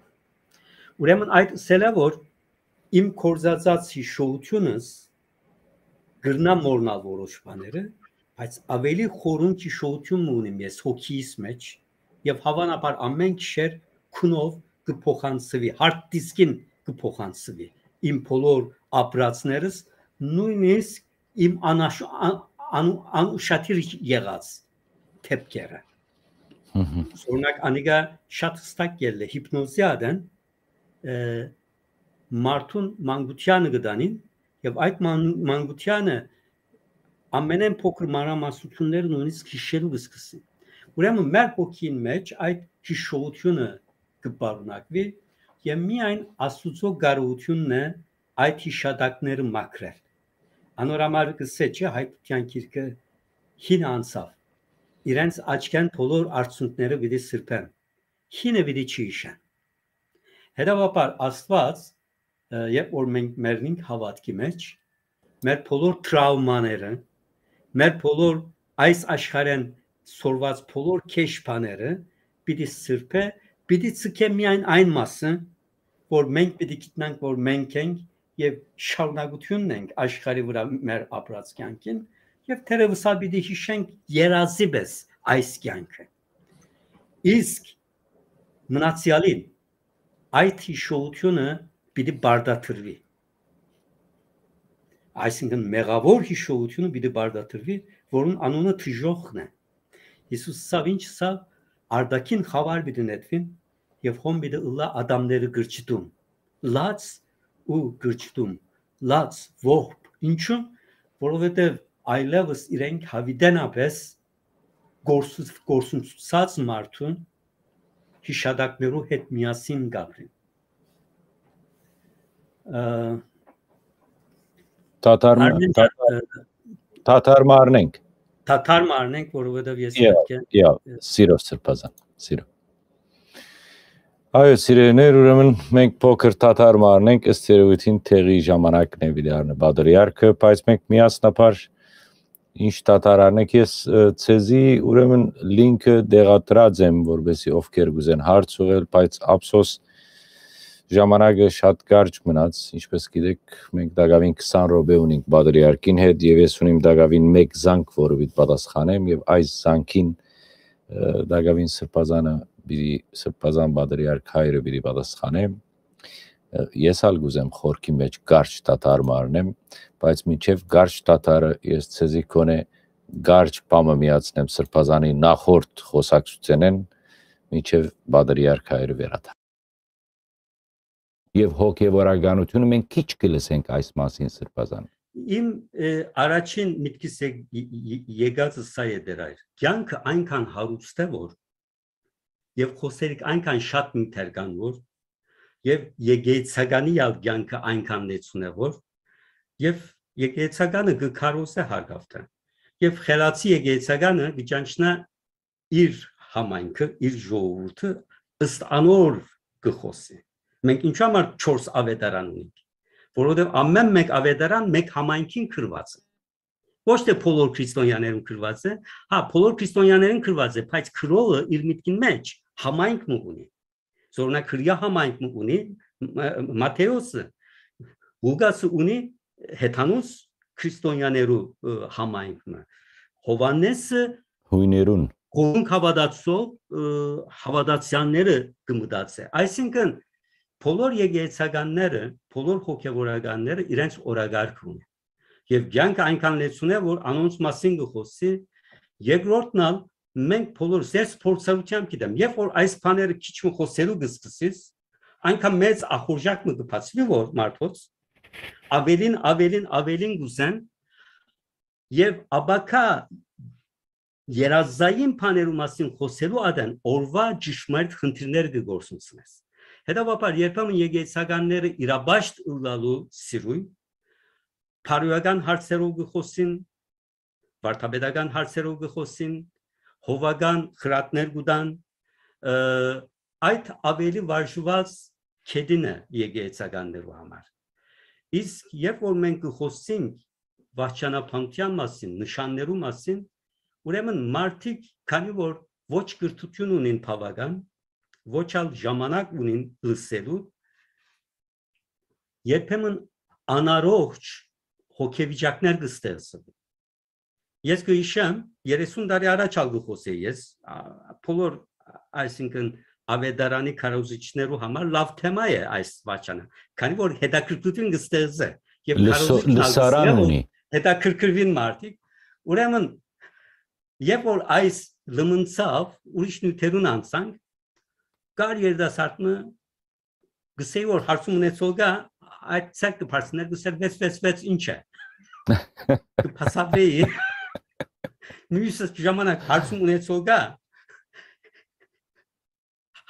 Ուրեմն այդ ըսելը, որ իմ կորզածած յիշողութիւնս կրնայ մոռնալ որոշ բաները, բայց աւելի խորուն յիշողութիւն մը ունիմ ես հոգիս մեջ, եւ հաւանաբար ամէն գիշեր քունով կը փոխանցուի, hard disk-ին կը փոխանցուի իմ բոլոր ապրածներս, նոյնիսկ իմ անաշ-, ան-, ան-, անուշադիր եղած դեպքերը։ Հմհմ։ Օրինակ, անիկա շատ հստակ ելլե հիպնոզի ադեն, ը, մարդուն մանկությանը կը տանին, եւ այդ ման-, մանկությանը ամենէն փոքր մանրամասնությունները նույնիսկ յիշելու կը սկսին։ Ուրեմն մեր հոգին մեջ այդ յիշողութիւնը կը պարունակուի, եւ միայն Աստուծոյ կարողութիւնն է այդ յիշատակները մաքրել։ Անոր համար կ'ըսէ, չէ՞, Հայտնութեան գիրքը, հինը անցաւ։ Իրենց աչքէն բոլոր արցունքները պիտի սրբեն, հինը պիտի չի յիշեն։ Հետեւաբար Աստուած, ը, երբ որ մենք մեռնենք հաւատքի մեջ, մեր բոլոր տրաւմաները, մեր բոլոր այս աշխարհէն սորված բոլոր քեշ բաները պիտի սրբէ, պիտի ցկէ միայն այն մասը, որ մենք պիտի գիտնանք, որ մենք ենք եւ շարունակությունն ենք աշխարհի վրայ մեր ապրած կեանքին, եւ թերեւս ալ պիտի յիշենք երազի պէս այս կեանքը։ Իսկ մնացեալին այդ յիշողութիւնը պիտի պարտադրուի։ Այսինքն, մեղաւոր յիշողութիւնը պիտի պարտադրուի, որուն անունը դժոխքն է։ Յիսուս ըսաւ, ինչ ըսաւ, արտաքին խաւար պիտի նետուին եւ հոն պիտի ըլլայ ատամները կրճտում, լաց ու կրճտում, լաց, ողբ։ Ինչու՞, որովհետեւ այլեւս իրենք յաւիտենապէս կորսու-, կորսնցուցած մարդուն յիշատակներու հետ միասին կ'ապրին։ Ը, Թաթար մը, Արմեն ջան, թաթար, ը, թաթար մը առնենք։ Թաթար մը առնենք, որովհետեւ ես Եա, պետք է, եա, ը, սիրով սրբազան, սիրով։ Այո, սիրելիներ, ուրեմն մենք փոքր թաթար մը առնենք, ըստ երևույթին տեղի ժամանակն է պիտի առնի պատրիարքը, բայց մենք միասնաբար ինչ թաթար առնենք, ես, ը, ցեզի ուրեմն link-ը տեղադրած եմ, որպեսզի ովքեր կուզեն հարց ուղղել, բայց ափսոս ժամանակը շատ կարճ մնաց, ինչպես գիտեք, մենք տակավին քսան րոպե ունենք պատրիարքին հետ, եւ ես ունիմ տակավին մեկ զանգ, որը պիտի պատասխանեմ, եւ այս զանգին, ը, տակավին սրբազանը պիտի, սրբազան պատրիարք հայրը պիտի պատասխանեմ։ Ը, ես ալ կուզեմ խորքի մեջ կարճ թաթար մը առնեմ, բայց մինչեւ կարճ թաթարը ես ցեզի գոնե կարճ բամը միացնեմ սրբազանի նախորդ խոսակցութենէն, մինչեւ պատրիարք հայրը վերադառնայ։ Եւ հոգեվորականությունը մենք քիչ կը լսենք այս մասին, սրբազան։ Իմ, ը, առաջին միտքիս ե-, ե-, ե-, եկածը սա է, Տեր Հայր։ Կեանքը այնքան հարուստ է, որ, եւ խօսերիք այնքան շատ նիւթեր կան, որ, եւ եկեղեցականի ալ կեանքը այնքան լեցուն է, որ, եւ եկեղեցականը կը քարոզէ հարգավտը։ Եւ խելացի եկեղեցականը կը ճանչնայ իր համայնքը, իր ժողովուրդը, ըստ անոր կը խօսի։ Մենք ինչու համար չորս ավետարան ունենք, որովհետեւ ամէն մէկ ավետարան մէկ համայնքին գրուած է։ Ոչ թէ բոլոր քրիստոնեաներուն գրուած է, հա, բոլոր քրիստոնեաներուն գրուած է, բայց գրողը իր միտքին մէջ համայնք մը ունի։ Զօրնա Քրիա համայնք մը ունի, Մա-, Մատթէոսը, Ղուկասը ունի հեթանոս քրիստոնեաներու, ը, համայնք մը, Յովհաննեսը Յոյներուն։ Կողունք հաւատացող, ը, հաւատացեալները կը մտածէ։ Այսինքն, բոլոր եկեղեցականները, բոլոր հոգեվորականները իրենց օրակարգ ունին։ Եւ կեանքը այնքան լեցուն է, որ անոնց մասին կը խօսի։ Երկրորդն ալ, մենք բոլոր, ես փորձառությամբ գիտեմ, երբ որ այս բաները քիչ մը խօսելու կը սկսես, այնքան մեծ ախորժակ մը կը բացուի, որ մարդոց ավելին, ավելին, ավելին կ'ուզեն, եւ ապագայ երազային բաներու մասին խօսելու ատեն օրուայ ճշմարիտ խնդիրներ կը գործունցնես։ Հետեւաբար, երբեմն եկեղեցականները իրապաշտ ըլլալու սիրոյ, բարոյական հարցերով կը խօսին, վարդապետական հարցերով կը խօսին, հովական խրատներ կու տան, ը, այդ ավելի վարժուած կետին է եկեղեցականներու համար։ Իսկ երբ որ մենք կը խօսենք վախճանաբանութեան մասին, նշաններու մասին, ուրեմն մարդիկ, քանի որ ոչ կրթութիւն ունին բաւական, ոչ ալ ժամանակ ունին լսելու, երբեմն անառողջ հոգեվիճակներ կը ստեղծուին։ Ես կը յիշեմ, երեսուն տարի առաջ ալ կը խօսէի ես, ա, բոլոր, այսինքն, ավետարանի քարոզիչներու համար լաւ թեմայ է այս վաճանը, քանի որ հետաքրքրութիւն կը ստեղծէ եւ Լսո-, քարոզիչն ալ կը լսարան սիրէ, որ ունի։ Հետաքրքրուին մարդիկ։ Ուրեմն, երբ որ այս լմնցաւ, ուրիշ նիւթերուն անցանք, կար երիտասարդ մը, կսեի որ հարցում ունեցող կայ, այդ ձեռքը բարձրներ, կսեր, «Վեց, վեց, վեց, ինչ է»։ Կփասաբեի։ Մյուս ժամանակ հարցում ունեցող կայ,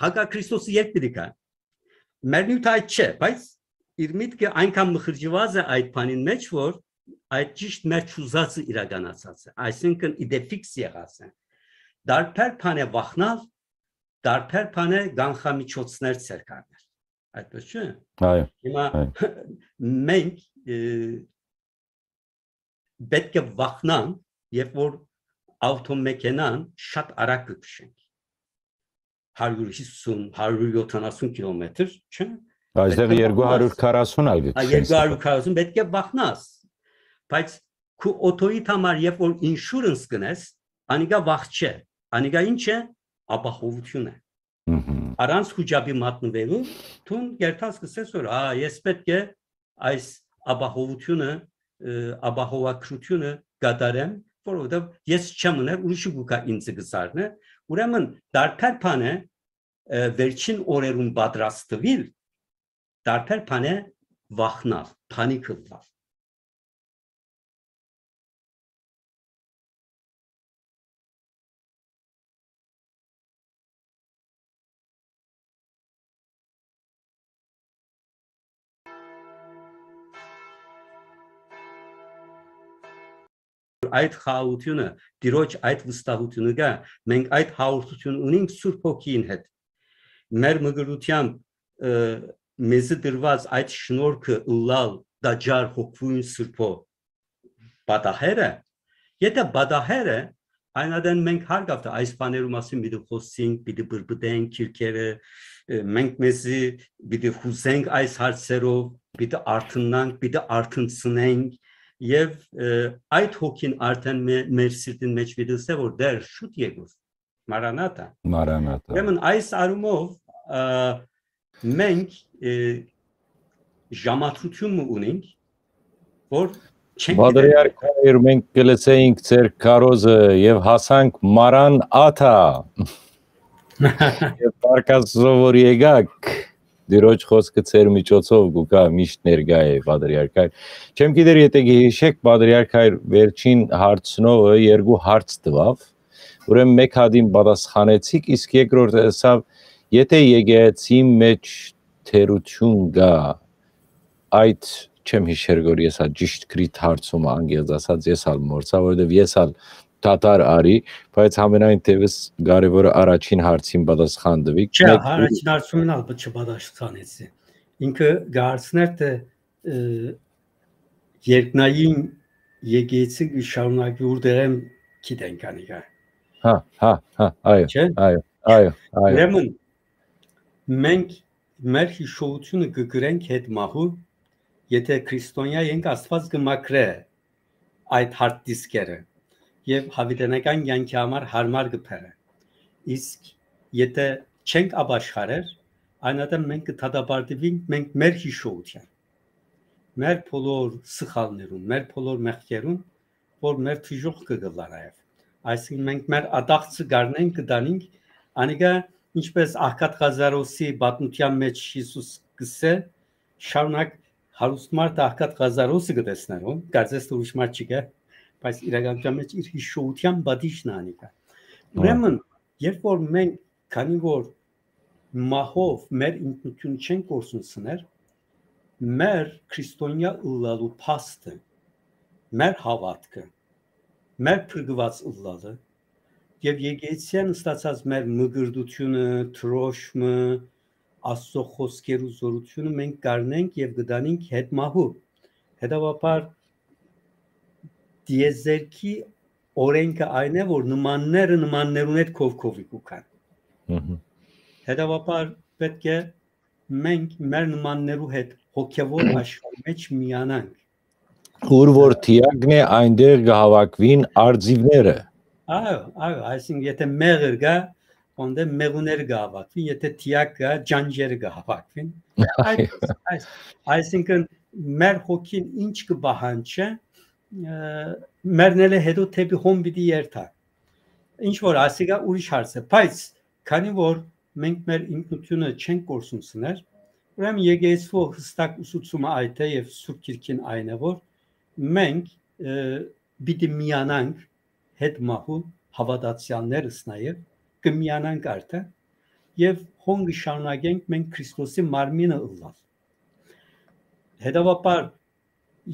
հակա Քրիստոսը երբ պիտի գայ։ Մեր նիւթը այդ չէ, բայց իր միտքը այնքան մխրճուած է այդ բանին մեջ, որ այդ ճիշդ մեր չուզածը իրականացած է, այսինքն, իդեֆիքս եղած է։ Դարբեր բան է վախնալ, դարբեր բան է կանխամիջոցներ ձեռք առնել։ Այդպես չէ՞։ Այո, Հիմա այո։ մենք, ը, պէտք է վախնանք, երբ որ ավտոմեքենան շատ արագ կը քշենք։ Հարիւր հիսուն, հարիւր յոթանասուն կիլոմետր, չէ՞։ Այստեղ Պէտք է երկու հարիւր քառասուն ալ կը վախնաս։ Հա, քշեն երկու հարիւր քառասուն, պէտք է վախնաս։ Բայց քու օթոյիդ համար, երբ որ insurance կնես, անիկա վախ չէ, անիկա ինչ է, ապահովութիւն է։ Մհմ։ Առանց խուճապի մատնուելու, դուն կերթաս կսես որ, «Ա, ես պէտք է այս ապահովութիւնը, ը, ապահովագրութիւնը կատարեմ, որովհետեւ ես չեմ ուներ, ուրիշը կու գայ ինձ կը սառնէ»։ Ուրեմն, դարբեր բան է, ը, վերջին օրերուն պատրաստուիլ, դարբեր բան է վախնալ, փանիք ըլլալ։ Այդ խաղաղութիւնը, Տիրոջ այդ վստահութիւնը կայ, մենք այդ հաղորդութիւն ունենք Սուրբ Հոգիին հետ։ Մեր մկրտութեամբ, ը, մեզի տրուած այդ շնորհքը ըլլալ տաճար հոգւոյն Սուրբոյ պատահերը, եթե պատահերը, այն ատեն մենք հարգավտը այս բաներու մասին պիտի խոսենք, պիտի բրբտենք քիրքերը, ը, մենք մեզի պիտի խուզենք այս հարցերով, պիտի արթնանանք, պիտի արթնցնենք, եւ, ը, այդ հոգին արդեն մե-, մեր սիրտին մեջ պիտի ըսէ, որ դեռ շուտ եկուր, Մարանաթա։ Մարանաթա։ Ուրեմն այս առումով, ը, մենք, ը, ժամադրութիւն մը ունենք, որ չենք գիտեր։ Պատրիարք Հայր, մենք կը լսեինք ձեր քարոզը եւ հասանք Մարան Աթա։ Եւ Պարքաստո որ եկաք, Տիրոջ խոսքը ձեր միջոցով կու գայ, միշտ ներկայ է, Պատրիարք Հայր։ Չեմ գիտեր, եթե կհիշեք, Պատրիարք Հայր, վերջին հարցնողը երկու հարց տուաւ, ուրեմն մէկ հատին պատասխանեցիք, իսկ երկրորդ ըսաւ, եթե եկեղեցի մեջ թերություն կա, այդ չեմ յիշեր որ ես ա ճիշտ գրիտ հարցումը անգերձ ասած, ես ալ մորցայ, որովհետեւ ես ալ դադար արի, բայց համենայն դեպս կարեւորը առաջին հարցին պատասխան տուիք։ Չէ, Մեկ առաջին հարցումին ալ չպատասխանեցի։ Ինքը գարցներ թե, ը, երկնային եկեցի կը շարունակի, ուրդեղեմ գիտենք անիկա։ Հա, հա, հա, այո, Չէ՞։ այո, այո, այո։ Ուրեմն, մենք մեր հիշողությունը կը գրենք հետ մահու, եթե քրիստոնեայ ենք, Աստված կը մաքրէ այդ հարթ դիսկերը եւ հավիտենական կյանքի համար հարմար կը բերէ։ Իսկ եթե չենք ապաշխարեր, այն ատեն մենք կը դատապարտուինք մենք մեր հիշողութեան, մեր բոլոր սխալներուն, մեր բոլոր մեղքերուն, որ մեր դժոխքը կ'ըլլայ նաեւ։ Այսինքն մենք մեր ատաղձը կ'առնենք, կը տանինք, անիկա ինչպես Աղքատ Ղազարոսի պատմութեան մէջ Յիսուս կ'ըսէ, շարունակ հարուստ մարդը Աղքատ Ղազարոսը կը տեսնէր, ո՞ն, կարծես թէ ուրիշ մարդ չկայ, բայց իրականութեան մէջ իր հիշողութեան պատիժն է անիկա։ Ահա։ Ուրեմն, երբ որ մենք, քանի որ մահով մեր ինքնությունը չենք կորսունցներ, մեր քրիստոնեայ ըլլալու փաստը, մեր հաւատքը, մեր փրկուած ըլլալը եւ եկեղեցիան ստացած մեր մկրտությունը, դրոշմը, Աստծո խօսքերու զօրութիւնը մենք կ'առնենք եւ կը տանենք հետ մահու։ Հետեւաբար, տիեզերքի օրէնքը այն է, որ նմանները նմաններուն հետ քովքովի կու գան։ Մհմ։ Հետեւաբար, պէտք է մենք մեր նմաններու հետ հոգեւոր աշխարհի մէջ միանանք։ Ուր որ թիակն է, այնտեղ կը հաւաքուին արծիվները։ Այո, այո, այսինքն, եթե մեղր կայ, անդէն մեղուները կը հաւաքուին, եթե թիակ կայ, ջանջերը կը հաւաքուին։ Այս, այս, այսինքն, մեր հոգին ինչ կը պահանջէ, ը, մեռնելէ հետո դէպի հոն պիտի երթայ։ Ինչ որ ասիկա ուրիշ հարց է, բայց քանի որ մենք մեր ինքնությունը չենք կորսունցներ, ուրեմն եկեղեցու հստակ ուսուցումը այդ է եւ Սուրբ Գիրքին այն է, որ մենք, ը, պիտի միանանք հետ մահու հաւատացեալներս նաեւ, կը միանանք արդեն եւ հոն կը շարունակենք մենք Քրիստոսի մարմինը ըլլալ։ Հետեւաբար,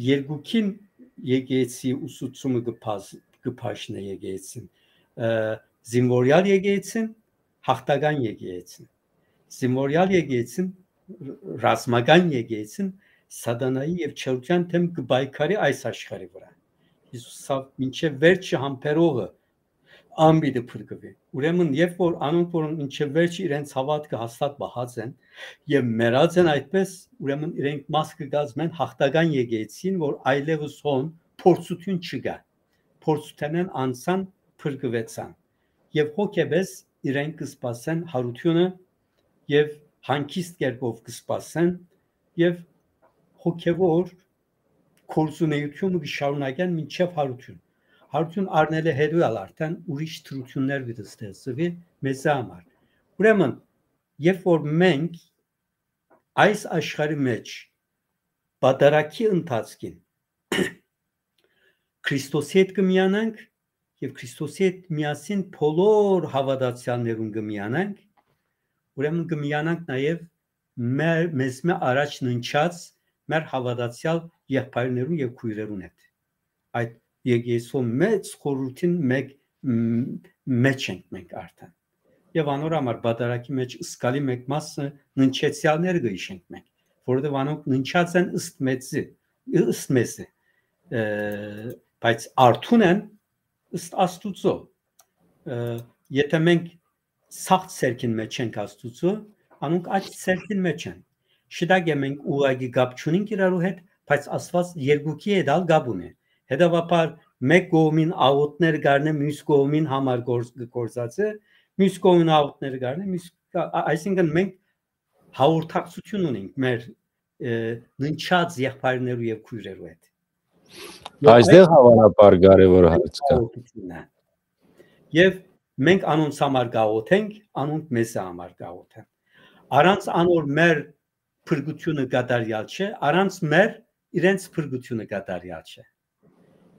երկուքին եկեղեցի ուսուցումը կը բազ-, կը բաժնէ եկեղեցին, ը, զինվորեալ եկեղեցին, յաղթական եկեղեցին։ Զինվորեալ եկեղեցին, ռ-, ռազմական եկեղեցին սատանայի եւ չարութեան դէմ կը պայքարի այս աշխարհի վրայ։ Յիսուս ասաւ, մինչեւ վերջը համբերողը ան պիտի փրկուի։ Ուրեմն, երբ որ անոնք, որոնք մինչեւ վերջը իրենց հաւատքը հաստատ պահած են եւ մեռած են այդպես, ուրեմն իրենք մաս կը կազմեն յաղթական եկեղեցին, որ այլեւս հոն փորձութիւն չկայ։ Փորձութենէն անցան, փրկուեցան։ Եւ հոգեպես իրենք կը սպասեն յարութիւնը եւ հանգիստ կերպով կը սպասեն եւ հոգեւոր գործունեութիւնը կը շարունակեն մինչեւ յարութիւն։ Յարութիւն առնելէ հետո ալ արդեն ուրիշ դրութիւններ պիտի ստեղծուի մեզի համար։ Ուրեմն, երբ որ մենք այս աշխարհի մէջ պատարագի ընթացքին Քրիստոսի հետ կը միանանք եւ Քրիստոսի հետ միասին բոլոր հաւատացեալներուն կը միանանք, ուրեմն կը միանանք նաեւ մեր, մեզմէ առաջ ննջած մեր հաւատացեալ եղբայրներուն եւ քոյրերուն հետ։ Այդ եկեղեցու մեծ խորհրդին մէկ, մ-, մէջ ենք մենք արդեն։ Եւ անոր համար պատարագի մէջ զգալի մէկ մասը ննջեցեալները կը յիշենք մենք, որովհետեւ անոնք ննջած են ըստ մեզի, ըստ մեզի, ը, բայց արթուն են ըստ Աստուծոյ։ Ը, եթե մենք սաղ ցերկին մէջ ենք Աստուծոյ, անոնք այդ ցերկին մէջ են։ Շտակ է մենք ուղղակի կապ չունենք իրարու հետ, բայց Աստուած երկուքի հետ ալ կապ ունի։ Հետեւաբար, մէկ կողմին աղօթները կ'առնէ, միւս կողմին համար գործ-, գործածը, միւս կողմին աղօթները կ'առնէ, միւս, ա-, ա-, այսինքն մենք հաղորդակցութիւն ունենք մեր, ը, ննջած եղբայրներու եւ քոյրերու հետ։ Եւ Այստեղ այդ հավանաբար կարեւոր հարց կայ։ Հաղորդությունն է։ Եւ մենք անոնց համար կաղոթենք, անոնք մեզ համար կաղոթեն։ Առանց անոր մեր փրկությունը կատարյալ չէ, առանց մեր իրենց փրկությունը կատարյալ չէ։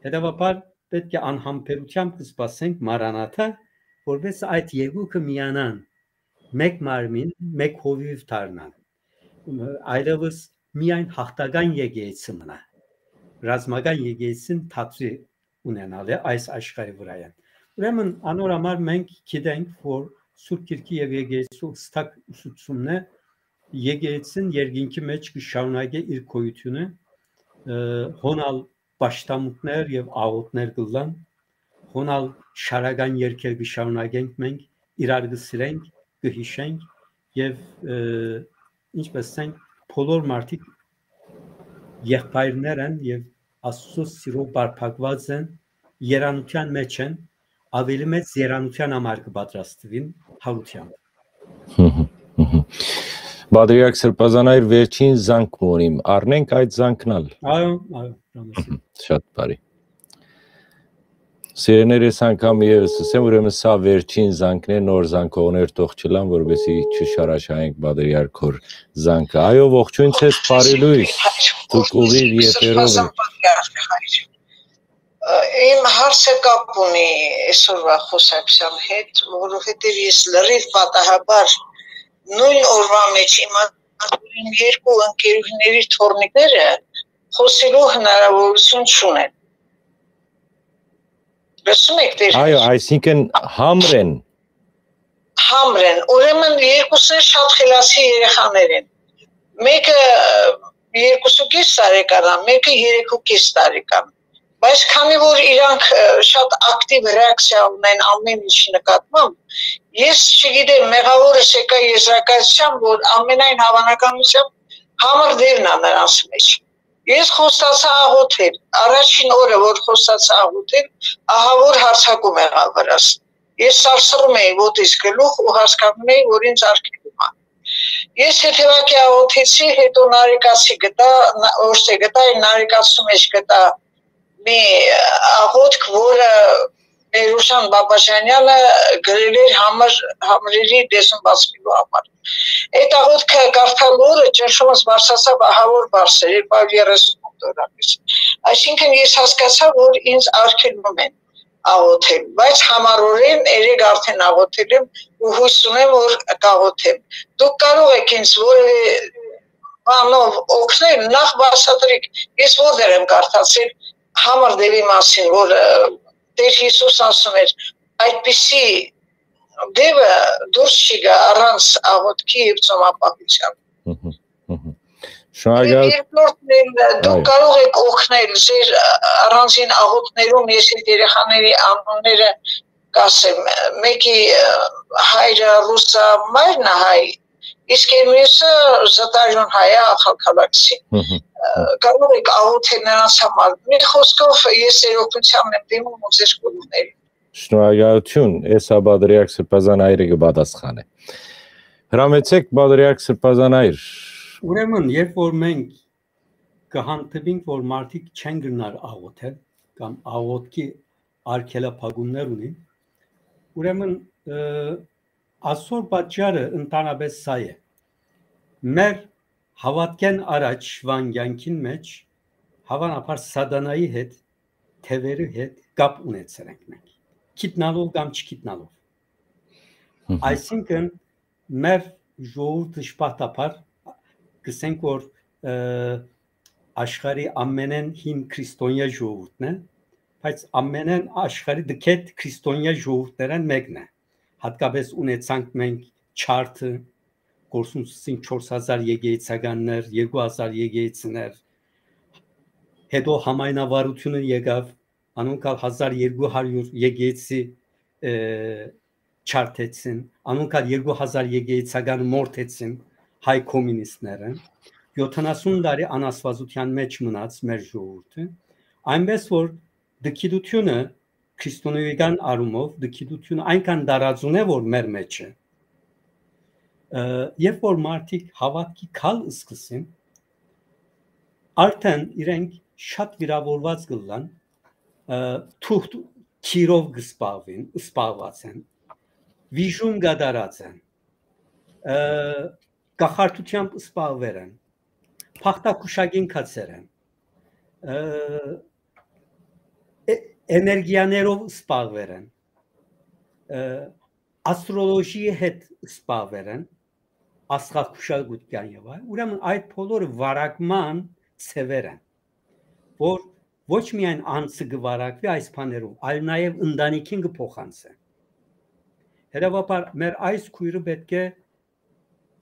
Հետեւաբար պէտք է անհամբերութեամբ կը սպասենք Մարանաթա, որպեսզի այդ երկուքը միանան, մէկ մարմին, մէկ հովիւ դառնան։ Այլեւս միայն յաղթական եկեղեցի մնայ։ Ռազմական եկեղեցին թատրի ունենալը այս աշխարհի վրայ են։ Ուրեմն անոր համար մենք գիտենք, որ Սուրբ Գիրքի եւ եկեղեցու հստակ ուսուցումն է, եկեղեցին երկինքի մեջ կը շարունակէ իր գոյութիւնը, ը, հոն ալ պաշտամունքներ եւ աղօթքներ կ'ըլլան, հոն ալ շարական երգեր կը շարունակենք մենք, իրար կը սիրենք, կը յիշենք եւ, ը, ինչպես ասենք, բոլոր մարդիկ եղբայրներ են եւ Աստուծոյ սիրով պարփակուած են, երանութեան մեջ են, աւելի մեծ երանութեան համար կը պատրաստուին յարութեամբ։ Հմ, հմ, հմ, հմ։ Պատրիարք Սրբազան այր, վերջին զանգ մը ունիմ, առնենք այդ զանգն ալ։ Այո, այո, Ռամեսի։ Շատ բարի։ Սիրեներ, ես անգամ եւս ասեմ, ուրեմն սա վերջին զանգն է, նոր զանգողներ թող չլան, որպեսզի չշարաշահենք պատրիարքոր զանգը։ Այո, ողջույն ձեզ, բարի լույս, դուք ուղիղ եթերով եք։ Ը, իմ հարցը կապ ունի այսօրվա խոսակցության հետ, որովհետև ես լրիվ պատահաբար նոյն օրվա մեջ իմացայ, որ իմ երկու ընկերուհիների թոռնիկները խօսելու հնարաւորութիւն չունեն։ Լսո՞ւմ եք, Տեր Այո, Հայր։ Այսինքն՝ համր են։ Համր են։ Ուրեմն երկուսը շատ խելացի երեխաներ են։ Մեկը երկուսուկես տարեկան է, մեկը երեքուկես տարեկան։ Բայց քանի որ իրանք, ը, շատ ակտիվ ռեակցիա ունեն ամեն ինչի նկատմամբ, ես չգիտեմ, մեղավորս եկայ եզրակացութեան, որ ամենայն հավանականությամբ համր դերն է նրանց մեջ։ Ես խոստացայ աղոթել, առաջին օրը, որ խոստացայ աղոթել, ահա որ յարձակում եղաւ վրաս։ Ես սարսռում էի ոտիս գլուխ ու հասկանում էի, որ ինձ արգելում է։ Ես հետևակի աղոթեցի, հետո նարեկացի գտա, ն-, որտե գտա, այն նարեկացու մեջ գտա մի աղոթք, որը Մերուշան Բաբաջանյանը գրել էր համր-, համրերի լեզուն բացվելու համար։ Այդ աղոթքը կարդալու օրը ճնշումս բարձրացաւ ահա որ բարձր, երկու հարյուր երեսուն դոլարից։ Այսինքն ես հասկացա, որ ինձ արգելում են աղոթել, բայց համառորեն երեկ արդեն աղոթել եմ ու հույս ունեմ, որ կաղոթեմ։ Դուք կարող եք ինձ որևէ բանով օգնել, նախ բացատրեք, ես որտեղ եմ կարդացել համր դերի մասին, որ, ը, Տեր Հիսուս ասում էր, այդպիսի դևը դուրս չի գա առանց աղոթքի եւ ծոմապահության։ Մհմ, մհմ։ Շնորհակալ Երկրորդն էլ, դուք Այո։ կարող եք օգնել ձեր առանձին աղոթներում, ես այդ երեխաների անունները կասեմ, մեկի, ը, հայրը ռուսա, մայրն է հայ, իսկ մյուսը զտարյուն հայ է, ախալքալաքսի։ Մհմ, Ը, մհմ։ կարող եք աղոթել նրանց համար։ Մի խոսքով, ես ձեր օգնությանն եմ դիմում ու ձեր կողմն եմ։ Շնորհակալություն, ես հա Պատրիարք Սրբազան այրը կպատասխանե։ Հրամեցեք, Պատրիարք Սրբազան այր։ Ուրեմն, երբ որ մենք կհանդիպինք, որ մարդիկ չեն գնար աղոթել կամ աղոթքի արգելափակումներ ունին, ուրեմն, ը, այսօր պատճառը ընդհանրապես սա է։ Մեր հավատքեն առաջ վան կյանքին մեջ հավանաբար սատանայի հետ, թևերի հետ կապ ունեցել ենք մենք, գիտնալով կամ չգիտնալով։ Մհմ։ Այսինքն, մեր ժողովուրդը շփատաբար, կսենք որ, ը, աշխարհի ամենեն հին քրիստոնեայ ժողովուրդն է, բայց ամենեն աշխարհի դքետ քրիստոնեայ ժողովուրդներէն մեկն է։ Հատկապես ունեցանք մենք չարթը, կորսունցուցին չորս հազար եկեղեցականներ, երկու հազար եկեղեցիներ, հետո համայնավարությունը եկավ, անոնք ալ հազար երկու հարյուր եկեղեցի, ը, չարթեցին, անոնք ալ երկու հազար եկեղեցական մորթեցին հայ կոմունիստները, յոթանասուն տարի անաստվածության մեջ մնաց մեր ժողովուրդը, այնպես որ դքիդությունը, քրիստոնեական առումով դքիդությունը այնքան տարածուն է, որ մեր մեջ է, ը, երբ որ մարդիկ հավատքի քալ սկսին, արդեն իրենք շատ վիրավորված կլան, ը, թուղթ թիրով կսպաղվին, սպաղված են, վիժում կատարած են, ը, կախարդությամբ սպաղվել են, փախտակուշակին գացեր են, ը, է-, էներգիաներով սպաղվել են, ը, աստրոլոգիի հետ սպաղվել են, աստղագուշակութեան եւ այլ։ Ուրեմն այդ բոլորը վարակման ձեւեր են, որ ոչ միայն անձը կը վարակուի այս բաներով, այլ նաեւ ընտանիքին կը փոխանցէ։ Հետեւաբար մեր այս քոյրը պէտք է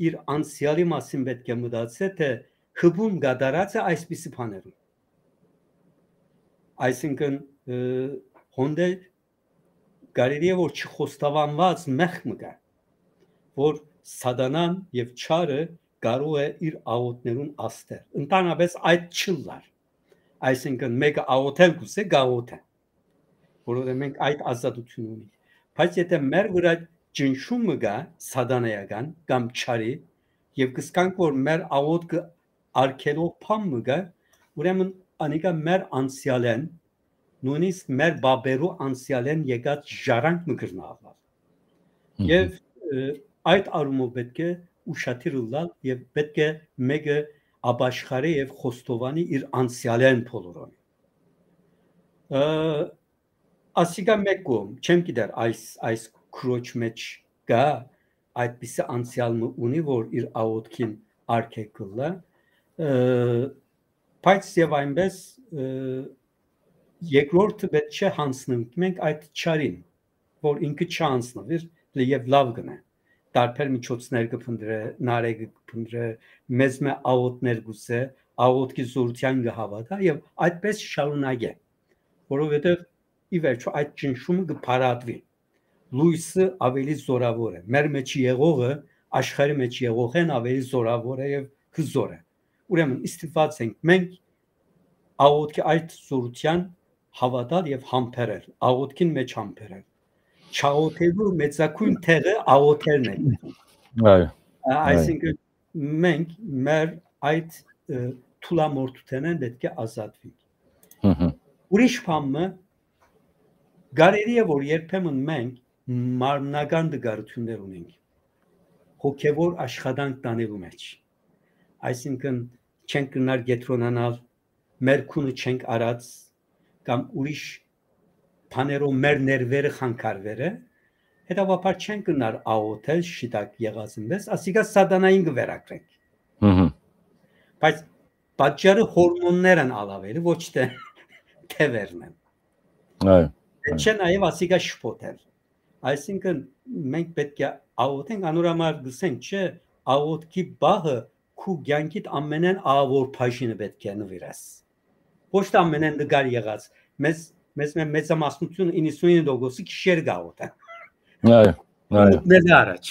իր անցեալի մասին պէտք է մտածէ, թէ հպում կատարած է այսպիսի բաներուն։ Այսինքն, ը, հոն դէ կարելի է որ չխոստովանուած մեղք մը կայ, որ սատանան եւ չարը կարող է իր աղօթներուն աստել։ Ընդհանրապես այդ չըլլար։ Այսինքն մէկը աղօթել կ'ուզէ, կաղօթէ, որովհետեւ մենք այդ ազատութիւնը ունենք։ Բայց եթէ մեր վրայ ճնշում մը կայ, սատանայական կամ չարի, եւ կ'ըսկանք որ մեր աղօթքը արգելող բան մը կայ, ուրեմն անիկա մեր անցեալէն, նոյնիսկ մեր պապերու անցեալէն եկած ժառանգ մը կրնայ ըլլալ։ Մհմ։ Եւ, ը, այդ առումով պէտք է ուշադիր ըլլալ եւ պէտք է մէկը ապաշխարի եւ խոստովանի իր անցեալէն բոլորովին։ Ը, ասիկա մէկ կողմ, չեմ գիտեր այս, այս քրոջ մէջ կայ այդպիսի անցեալ մը ունի, որ իր աղօթքին արգելք կ'ըլլայ, ը, բայց եւ այնպէս, ը, երկրորդը պէտք չէ յանձնենք մենք այդ չարին, որ ինքը չանձնուի եւ լաւ կ'ընէ։ Տարբեր միջոցներ կը փնտռէ, նարեկը կը փնտռէ, մեզմէ աղօթքներ կ'ուզէ, աղօթքի զօրութեան կը հաւատայ եւ այդպէս շարունակէ, որովհետեւ ի վերջոյ այդ ճնշումը կը փարատուի։ Լոյսը աւելի զօրաւոր է։ Մեր մէջ եղողը աշխարհի մէջ եղողէն աւելի զօրաւոր է եւ հզօր է։ Ուրեմն ստիպուած ենք մենք աղօթքի այդ զօրութեան հաւատալ եւ համբերել, աղօթքին մէջ համբերել։ Չաղօթելու մեծագոյն տեղը աղօթելն է։ Այո, Ա-, այո։ Այսինքն մենք մեր այդ, ը, թուլամորթութենէն պէտք է ազատվենք։ Մհմ։ Ուրիշ բան մը, կարելի է որ երբեմն մենք մարմնական տկարութիւններ ունենք հոգեւոր աշխատանք տանելու մէջ։ Այսինքն չենք կրնար կեդրոնանալ, մեր քունը չենք արած կամ ուրիշ բաներով մեր ներվերը խանգարուեր է, հետեւաբար չենք կրնար աղօթել շիտակ եղածին պես, ասիկա սատանային կը վերագրենք։ Մհմ։ Բայց պատճառը հորմոններ են ալ աւելի, ոչ թէ թեւերն են։ Այո, Դե այո։ Չէ նաև ասիկա շփոթել։ Այսինքն մենք պէտք է աղօթենք, անոր համար գսենք, չէ, աղօթքի բահը քու կյանքիդ ամենէն աղաւոր բաժինը պէտք է նվիրես։ Ոչ թե ամենէն նկար եղած, մեզ, մեզ մե-, մեծամասնությունը իննսունինը տոկոսը գիշեր կաղօթեն։ Այո, այո։ Մտնելը առաջ։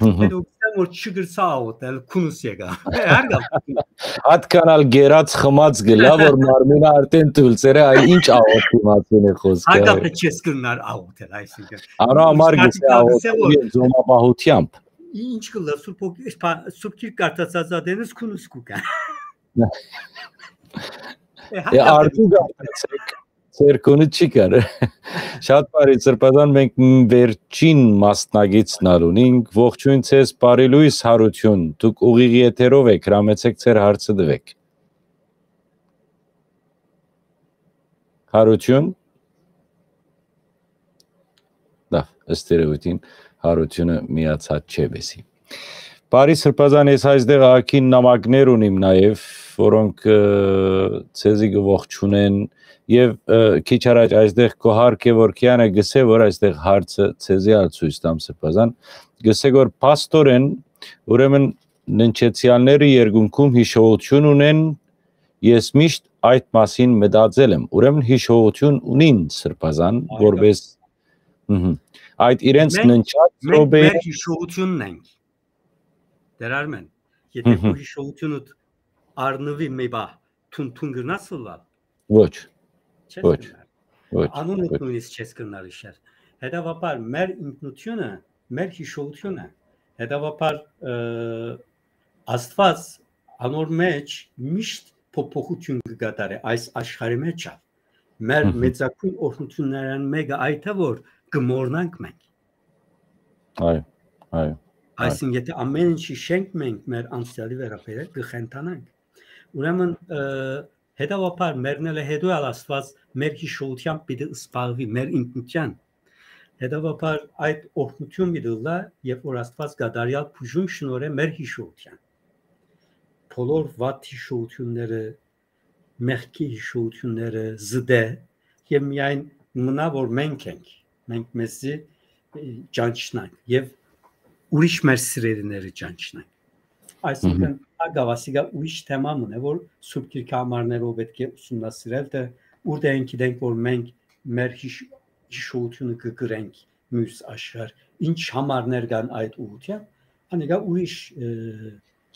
Մհմ։ Հետո գսեմ որ չգրցա աղօթել, քունս եկա։ Հարգա։ Ատքան ալ գերած խմած գլա, որ մարմինը արդեն թույլ ծեր է, այ ինչ աղոթքի մասին է խոսքը, հարգա, այո։ Դե չես կրնար աղոթել, այսինքն։ Անոր համար Իսկ գսե հատիկա գսե աղոթել որ և զոմապահությամբ։ Ինչ կլա, սուրբ հոգի-, սպա-, սուրբ գիրք կարդացած ա դենս քունս կուկա։ Է, Է, հատկապես արդու գարտացեք, ձեր քունը չի կար։ Շատ բարի, Սրբազան, մենք մ-, վերջին մասնագիծն ալ ունենք։ Ողջույն ձեզ, բարի լույս, Հարություն։ Դուք ուղիղ եթերով եք, հրամեցեք ձեր հարցը տվեք։ Հարություն։ Լավ, ըստ երևույթին Հարությունը միացած չէ, բեսի։ Բարի Սրբազան, ես այստեղ ակին նամակներ ունիմ նաև, որոնք, ը, ձեզի կողջունեն, և, ը, քիչ առաջ այստեղ քո հարկը որ Քիանը գսե, որ այստեղ հարցը ձեզի ալ ցույց տամ, Սրբազան, գսե որ փաստորեն, ուրեմն, ննջեցյալները երկնքում հիշողություն ունեն, ես միշտ այդ մասին մտածել եմ։ Ուրեմն հիշողություն ունին, Սրբազան, Այո։ որպես, մհմ, այդ իրենց Մենք, ննջած մենք րոպեը մեր հիշողությունն ենք։ Տեր Արմեն, եթե Մհմ։ քո հիշողությունդ առնվի մի բա, թուն-թուն կրնաս ըլլալ։ Ոչ։ Չես Ոչ։ կրնար։ Ոչ, Անունդ ոչ։ նույնիսկ չես կրնար իշել։ Հետևաբար մեր ինքնությունը, մեր հիշողությունը, հետևաբար, ը, Աստված անոր մեջ միշտ փոփոխություն կը կատարէ այս աշխարհի մեջ ալ։ Մեր Մհմ։ մեծագույն օրհնություններէն մեկը այդ է, որ կը մոռնանք մենք։ Այո, այո, այո։ Այսինքն, եթե ամեն ինչ հիշենք մենք մեր անցյալի վերաբերել, կը խենթանանք։ Ուրեմն, ը, հետևաբար մեռնելը հետո ալ Աստված մեր հիշողությամբ պիտի սպառվի, մեր ինքնության։ Հետեւաբար այդ օրհնութիւն պիտի ըլլայ, երբ որ Աստուած կատարեալ բուժում շնորհէ մեր յիշողութեան։ Բոլոր վատ յիշողութիւնները, մեղքի յիշողութիւնները զտէ եւ միայն մնայ որ մենք ենք, մենք մեզի, ը, ճանչնանք եւ ուրիշ մեր սիրելիները ճանչնանք։ Այսինքն, ակաւասիկա ուրիշ թեմա մնայ, որ Սուրբ Գիրքը համարներով պէտք է ուսումնասիրել, թէ ուրդէն գիտենք, որ մենք մեր յիշ-, յիշողութիւնը կը կրենք մյուս աշխարհ, ինչ համարներ կան այդ ուղղութեան, անիկա ուրիշ, ը,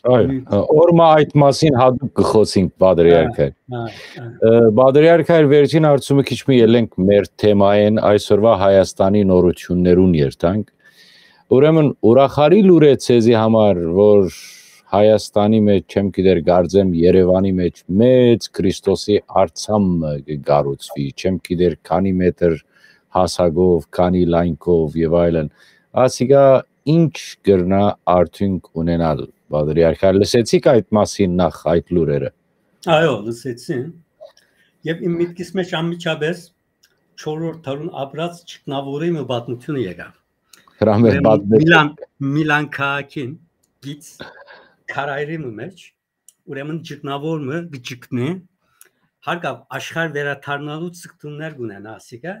Այո, ուրիշ ը, օրմա այդ մասին հատուկ կը խօսենք, Պատրիարքը։ Հա, հա, հա։ Ը, Պատրիարքը, այլ վերջին հարցումը քիչ մը ելենք մեր թեմային, այսօրվա Հայաստանի նորություններուն երթանք։ Ուրեմն, ուրախալի լուր է ձեզի համար, որ Հայաստանի մեջ, չեմ գիտեր, կարծեմ Երևանի մեջ մեծ Քրիստոսի արձան մը կը կառուցուի, չեմ գիտեր քանի մետր հասակով, քանի լայնքով եւ այլն։ Ասիկա ինչ կրնա արդյունք ունենալ, Պատրիարքը, լսեցիք այդ մասին նախ, այդ լուրերը։ Այո, լսեցի։ Եւ իմ միտքիս մեջ անմիջապէս չորրորդ դարուն ապրած ճգնաւորի մը պատմութիւնը եկաւ։ Հրամեր Ուրեմն պատմեց։ Միլան, Միլան քաղաքին գից քարայրի մը մեջ, ուրեմն ճգնաւոր մը կը ճգնի, հարկաւ աշխարհ վերադառնալու ցկտումներ կունենայ ասիկա,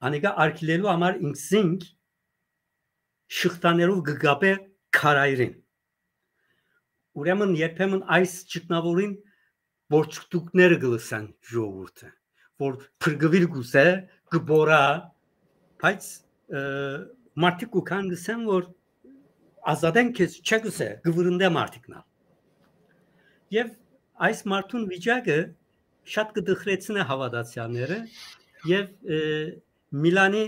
անիկա արգիլելու համար ինքզինք շղթաներով կը կապէ քարայրին։ Ուրեմն երբեմն այս ճգնաւորին որչկտուկները կը լսեն ժողովուրդը, որ փրկուիլ կ'ուզէ, կը բորա, բայց, ը, մարդիկ կու գան կ'ըսեն, որ ազատեն քեզ, չէ՞ կ'ըսէ, կը վրընդէ մարդիկն ալ։ Եւ այս մարդուն վիճակը շատ կը տխրեցնէ հաւատացեալները եւ, ը, Միլանի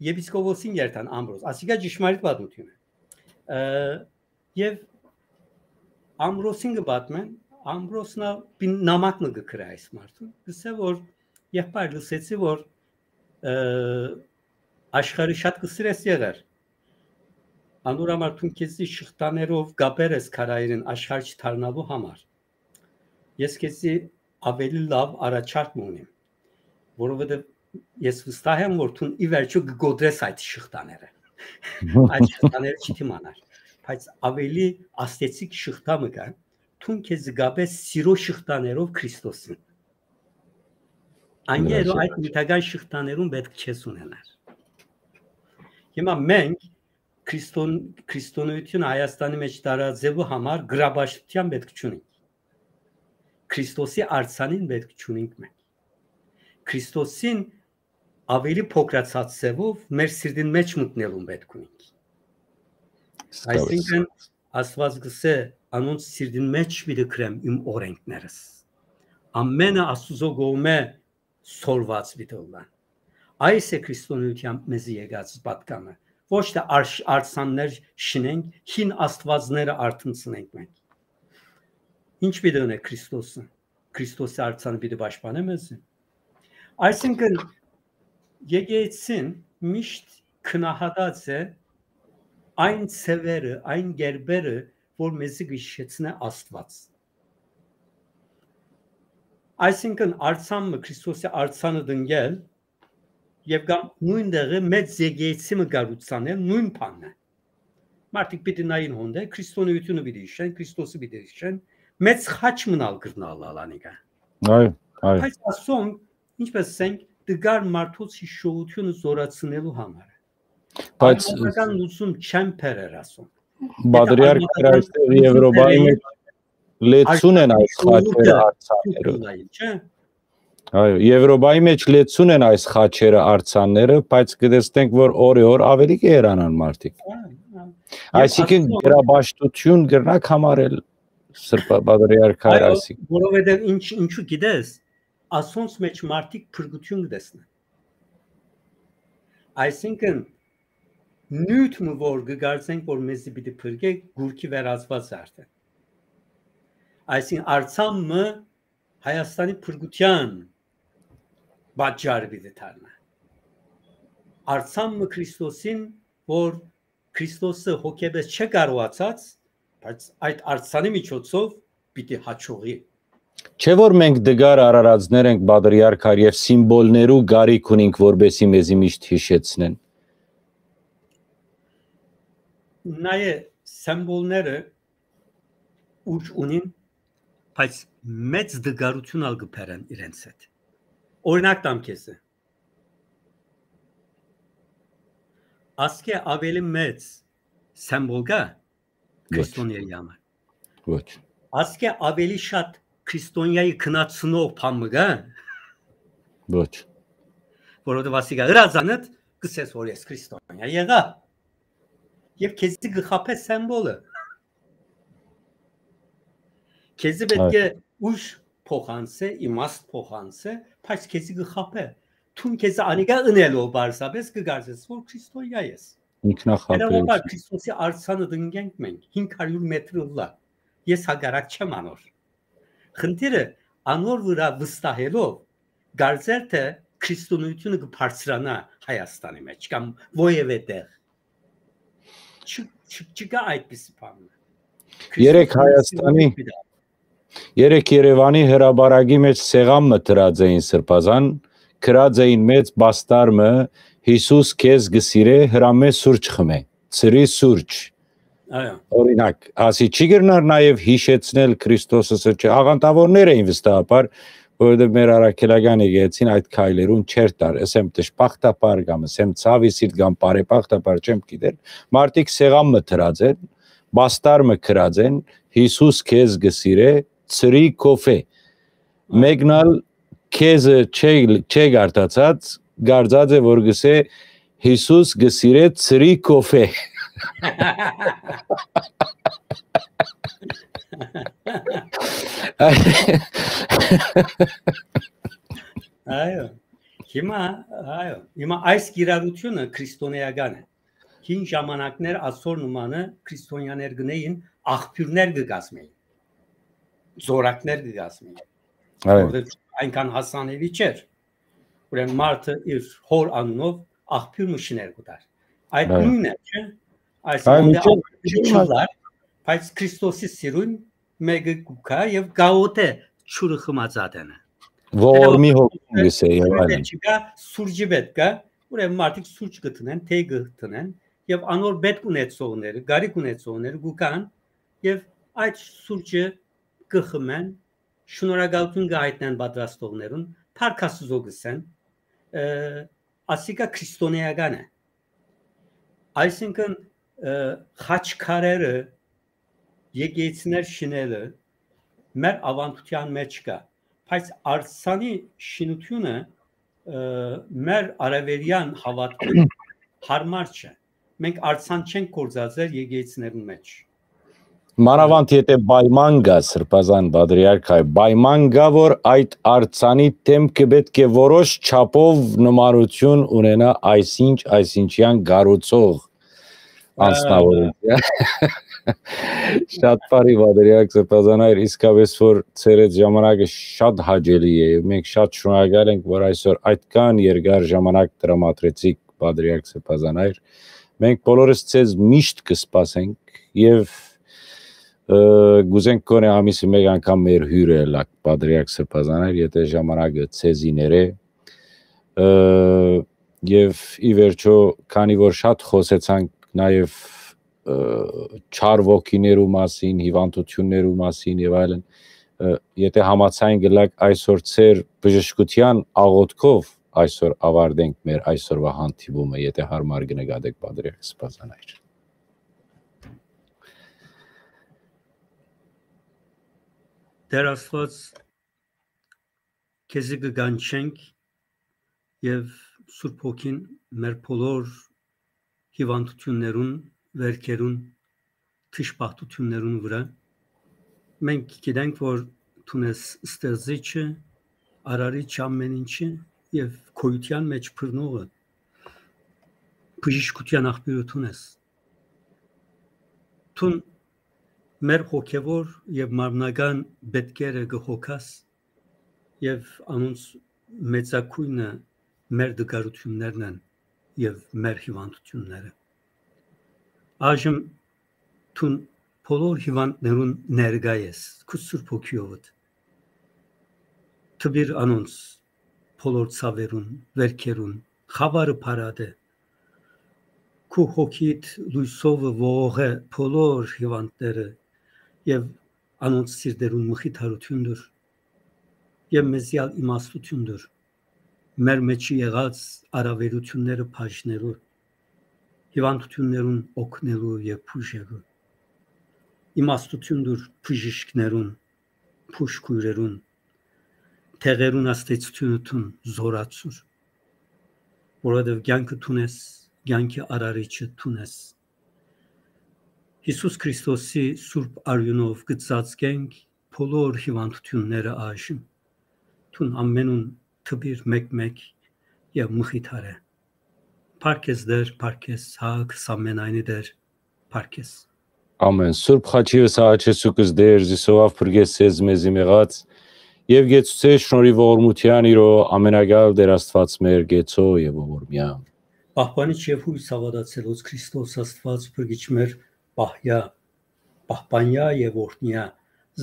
եպիսկոպոսին երթան Ամբրոս, ասիկա ճշմարիտ պատմութիւն է։ Ը, եւ Ամբրոսին կը պատմեն, Ամբրոսն ալ պին նամակ մը կը գրէ այս մարդուն, կ'ըսէ, որ եղբայր, լսեցի, որ, ը, աշխարհը շատ կը սիրես եղեր, անոր համար դուն քեզի շղթաներով կապեր ես քարայրին աշխարհ չդառնալու համար։ Ես քեզի աւելի լաւ առաջարկ մը ունիմ, որովհետեւ ես վստահ եմ, որ դուն ի վերջոյ կը կոտրես այդ շղթաները։ Այդ շղթաները չի դիմանար, բայց աւելի ազդեցիկ շղթա մը կայ, դուն քեզի կապես սիրո շղթաներով Քրիստոսին։ Անկերո այդ նյութական շղթաներուն պէտք չես ունենար։ Հիմա մենք Քրիստոն-, քրիստոնեությունը Հայաստանի մեջ տարածելու համար գրապաշտութեան պէտք չունենք։ Քրիստոսի արձանին պէտք չունենք մենք։ Քրիստոսին աւելի փոքրացած ձեւով մեր սիրտին մեջ մտնելուն պէտք ունենք։ Այսինքն, Աստուած կ'ըսէ, անոնց սիրտին մեջ պիտի գրեմ իմ օրենքներս։ Ամենը Աստուծոյ կողմէ սորված պիտի ըլլան։ Այս է քրիստոնեութեան մեզի եկած պատկանը։ Ոչ թէ արշ-, արձաններ շինենք, հին աստուածները արթնցնենք մենք։ Ինչ պիտի ընէ Քրիստոսը։ Քրիստոսի արձանը պիտի պաշտպանէ մեզի։ Այսինքն, եկեղեցին միշտ գնահատած է այն ձևերը, այն կերպերը, որ մեզի կը հիշեցնէ Աստուած։ Այսինքն, արձան մը, Քրիստոսի արձանը տնկել եւ կամ նոյն տեղը մեծ եկեղեցի մը կառուցանել, նոյն բանն է։ Մարդիկ պիտի նային հոն դէ, քրիստոնեությունը պիտի հիշեն, Քրիստոսը պիտի հիշեն, մեծ խաչ մնալ կրնալ ալ անիկա։ Այո, այո։ Բայց ասոնք, ինչպես ասենք, դգար մարդոց հիշողությունը զորացնելու համար է։ Բայց Արմատական լուծում չեն բերեր ասոնք։ Պատրիարք Արմատական Քրայստը լուծում Եվրոպայի բերեին, մեջ լեցուն են այս խաչերը, արտերկրը արձանները։ Սուտ լայ, չէ՞։ Այո, Եվրոպայի մեջ լեցուն են այս խաչերը, արձանները, բայց կտեսնենք, որ օրը օր ավելի կը հեռանան մարդիկ։ Այո, այո։ Այսինքն, Աստծո գերապաշտություն կրնակ համարել Սրբա-, Պատրիարքայ Այո, այսինքն։ Որովհետև ինչ, ինչու գիտես, ասոնց մեջ մարդիկ փրկություն կտեսնեն։ Այսինքն, նիւթ մը, որ կը կարծենք, որ մեզի պիտի փրկէ, գուրքի վերածված է արդեն։ Այսինքն, արձան մը Հայաստանի փրկության պատճառը պիտի դառնայ։ Արձան մը Քրիստոսին, որ Քրիստոսը հոգեպէս չէ կարողացած, բայց այդ արձանի միջոցով պիտի հաջողի։ Չէ՞ որ մենք դգար արարածներ ենք, Պատրիարք, եւ սիմվոլներու կարիք ունենք, որպեսզի մեզի միշտ հիշեցնեն։ նայէ սեմբոլները ուժ ունին, բայց մեծ դգարութիւն ալ կը բերեն իրենց հետ։ Օրինակ տամ քեզի։ Ասկէ աւելի մեծ սեմբոլ կա Ոչ, քրիստոնեայի համար։ Ոչ։ Ասկէ աւելի շատ քրիստոնեայի քնացնող բան մը կա։ Ոչ։ Որովհետեւ ասիկա ըրածանդ կսես, որ ես քրիստոնեա եղայ։ Եւ քեզի կը խաբէ սեմբոլը։ Քեզի պէտք է ուժ փոխանցէ, իմաստ փոխանցէ, բայց քեզի կը խաբէ։ Դուն քեզի անիկա ընելով պարզապէս կը կարծես, որ քրիստոնեա ես։ Ինքնախաբերություն։ Հերավաբար Քրիստոսի արձանը տնկենք մենք, հինգ հարիւր մետր ըլլայ։ Ես հակառակ չեմ անոր։ Խնդիրը անոր վրայ վստահելով, կարծել թէ քրիստոնեությունը կը բարձրանայ Հայաստանի մէջ կամ որեւէ տեղ։ Չի, չի, չկա այդպիսի բան։ Երեկ Հայաստանի, երեկ Երեւանի հրապարակի մէջ սեղան մը դրած էին սրբազան, գրած էին մեծ պաստար մը, «Յիսուս քեզ կը սիրէ, հրամէ սուրճ խմէ, ցրի սուրճ»։ Այո։ Օրինակ, ասի չի կրնար նաեւ յիշեցնել Քրիստոսը, սրճը, աղանդաւորներ էին վստահաբար, որովհետեւ մեր առաքելական եկեղեցին այդ քայլերուն չէր տար, ասեմ դժբախտաբար կամ ասեմ ցաւի սիրտ կամ բարեբախտաբար չեմ գիտեր, մարդիկ սեղան մը դրած են, պաստար մը գրած են, «Յիսուս քեզ կը սիրէ, ցրի կոֆէ»։ Մեկն ալ քեզը չէ, չէ գարտացած, գարձած է, որ գսե, «Յիսուս կը սիրէ, ցրի կոֆէ»։ Այո, հիմա, այո, հիմա այս կիրառությունը քրիստոնեական է։ Հին ժամանակներ ասոր նմանը քրիստոնեաներ գնային, աղբիւրներ կը կազմեին, զորակներ կը կազմեին, Այո։ որովհետեւ այնքան հասանելի չէր։ Ուրեմն մարդը իր հոր անունով աղբիւր մը շիներ կու տար։ Այդ Այո։ նոյնն է, չէ՞։ Այո, Այսինքն, մինչեւ աղբիւրը չլար, բայց Քրիստոսի սիրուն մէկը կու գայ եւ գաոտէ ջուրը խմած ատենը։ Ողորմի հոգին գսե եւ այլն։ Չկա, սուրճի պէտք կա, ուրեմն մարդիկ սուրճ կը տնեն, թեյ կը տնեն, եւ անոր պէտք ունեցողները, կարիք ունեցողները կու գան եւ այդ սուրճը կը խմեն, շնորհակալութիւն կը հայտնեն պատրաստողներուն, փառք Աստուծոյ կ'ըսեն, ը, ասիկա քրիստոնեական է։ Այսինքն, ը, խաչքարերը, եկեղեցիներ շինելը մեր աւանդութեան մէջ կայ, բայց արձանի շինութիւնը, ը, մեր արեւելեան հաւատքին յարմար չէ։ Մենք արձան չենք գործածեր եկեղեցիներուն մէջ։ Մանաւանդ եթէ պայման կայ, Սրբազան Պատրիարք, այ պայման կայ, որ այդ արձանի դէմքը պէտք է որոշ չափով նմանութիւն ունենայ այսինչ, այսինչեան կառուցող անձնաւորութեան։ Շատ բարի, Պատրիարք Սրբազան հայր, իսկապէս որ ձեր այդ ժամանակը շատ հաճելի է, եւ մենք շատ շնորհակալ ենք, որ այսօր այդքան երկար ժամանակ տրամադրեցիք, Պատրիարք Սրբազան հայր։ Մենք բոլորս ձեզ միշտ կսպասենք եւ, ը, կուզենք գոնե ամիսը մեկ անգամ մեր հյուրը ըլաք, Պատրիարք Սրբազան հայր, եթէ ժամանակը ձեզի ներէ։ Ը, եւ ի վերջո, քանի որ շատ խօսեցանք նաեւ, ը, չար ոգիներու մասին, հիվանդութիւններու մասին եւ այլն, ը, եթէ համաձայն կ'ըլաք, այսօր ձեր բժշկութեան աղօթքով այսօր աւարտենք մեր այսօրվա հանդիպումը, եթէ յարմար կը նկատեք, Պատրիարք Սրբազան հայր։ Տէր Աստուած, քեզի կը կանչենք եւ Սուրբ Հոգին մեր բոլոր հիվանդութիւններուն, վէրքերուն, դժբախտութիւններուն վրայ։ Մենք գիտենք, որ դուն ես ստեղծիչը, արարիչը ամեն ինչի եւ գոյութեան մէջ բռնողը, բժշկութեան աղբիւրը դուն ես։ Դուն մեր հոգեվոր եւ մարմնական պէտքերը կը հոգաս եւ անոնց մեծագոյնը մեր տկարութիւններն են եւ մեր հիվանդութիւնները։ Այժմ դուն բոլոր հիվանդներուն ներկայ ես, քու Սուրբ Հոգիովդ։ Տուիր անոնց բոլոր ցաւերուն, վէրքերուն, խաւարը փարատէ։ քու հոգիդ լոյսովը ողողէ բոլոր հիւանդները եւ անոնց սիրտերուն մխիթարութիւն տուր եւ մեզի ալ իմաստութիւն տուր մեր մէջի եղած առաւելութիւնները բաժնելու, հիւանդութիւններուն օգնելու եւ բուժելու։ Իմաստութիւն տուր բժիշկներուն, բուժքոյրերուն, դեղերուն ազդեցութիւնութիւն զորացուր, որովհետեւ կեանքը դուն ես, կեանքի արարիչը դուն ես։ Յիսուս Քրիստոսի սուրբ արիւնով կը ծածկենք բոլոր հիւանդութիւնները այժմ։ Դուն ամենուն թպիր մէկ-մէկ եւ մխիթարէ։ Փառք ես Տէր, փառք ես Հակ, ամենայնի Տէր, փառք ես։ Ամեն։ Սուրբ խաչիւս աղաչեցուկս Տէր, զիսովաւ փրկես ես մեզի մեղած եւ գեցուցե շնորհի ողորմութեան իրո ամենակալ Տէր Աստուած մեր գեցո եւ ողորմեան։ Պահպանիչ եւ յոյս հաւատացելոց Քրիստոս Աստուած փրկիչ մեր պահյա, պահպանյա եւ օրհնյա,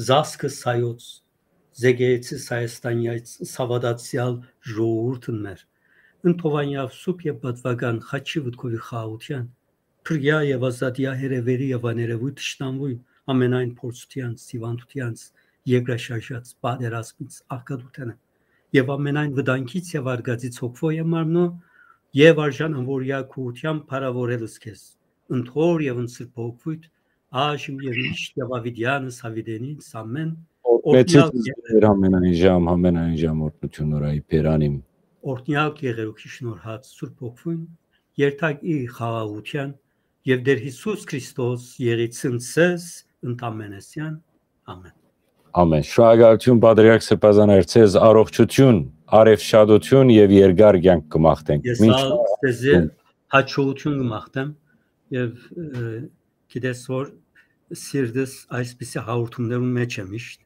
զազքը սայոց, զեկեեցի Հայաստանյայց սաւադացեալ ժողովուրդն մեր, ընթովանյաւ սուփ եւ պատվական խաչի վտքովի խաղաղութեան, փրկյա եւ ազատյա հերեւերի եւ աներևույթ թշնամուի ամենայն փորձութեանց, սիվանդութեանց, երկրաշարժած պատերազմից, աղքատութենը եւ ամենայն վտանգից եւ արգածից հոգվո եւ մարմնո եւ արժան անվորյա քուղութեան փառաւորելս քեզ, ընթոր եւ ընսրբօգվույթ, այժմ եւ միշտ եւ ավիտեանս ավիտենին ամեն Օրհնեցուց օրհնյալ Տեր ամենայն ժամ, ամենայն ժամ օրհնություն նորայի բերանիմ։ Օրհնյալ գեղերուքի շնորհած Սուրբ Հոգվուն, երթակ իր խաղաղութեան եւ Տեր Յիսուս Քրիստոս եղիցն սեզ ընդամենեսյան։ Ամեն։ Ամեն։ Շնորհակալություն, Պատրիարք Սրբազան Արցեզ, առողջություն, արևշատություն եւ երկար կյանք կմաղթենք։ Ես Մինչ ալ քեզի հաջողություն կմաղթեմ եւ, ը, գիտես որ սիրտս այսպիսի հաղորդումներուն մեջ է միշտ։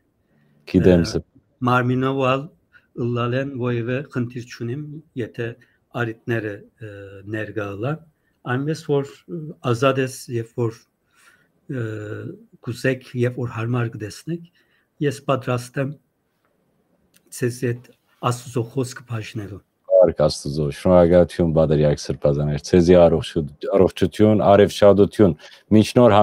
Գիտեմ, Ը, սա։ Մարմինով ալ ըլլալեն ոևէ խնդիր չունիմ, եթե արիտները, ը, ներկայ ըլլան, այնպես որ, ը, ազատ ես, երբ որ, ը, կուզեք, երբ որ հարմար կտեսնեք, ես պատրաստ եմ ձեզ հետ Աստուծո խոսքը բաժնելու։ Փառք Աստուծո, շնորհակալություն, Պատրիարք Սրբազան Արցեզի, առողջու-, առողջություն, արևշատություն, մինչ նոր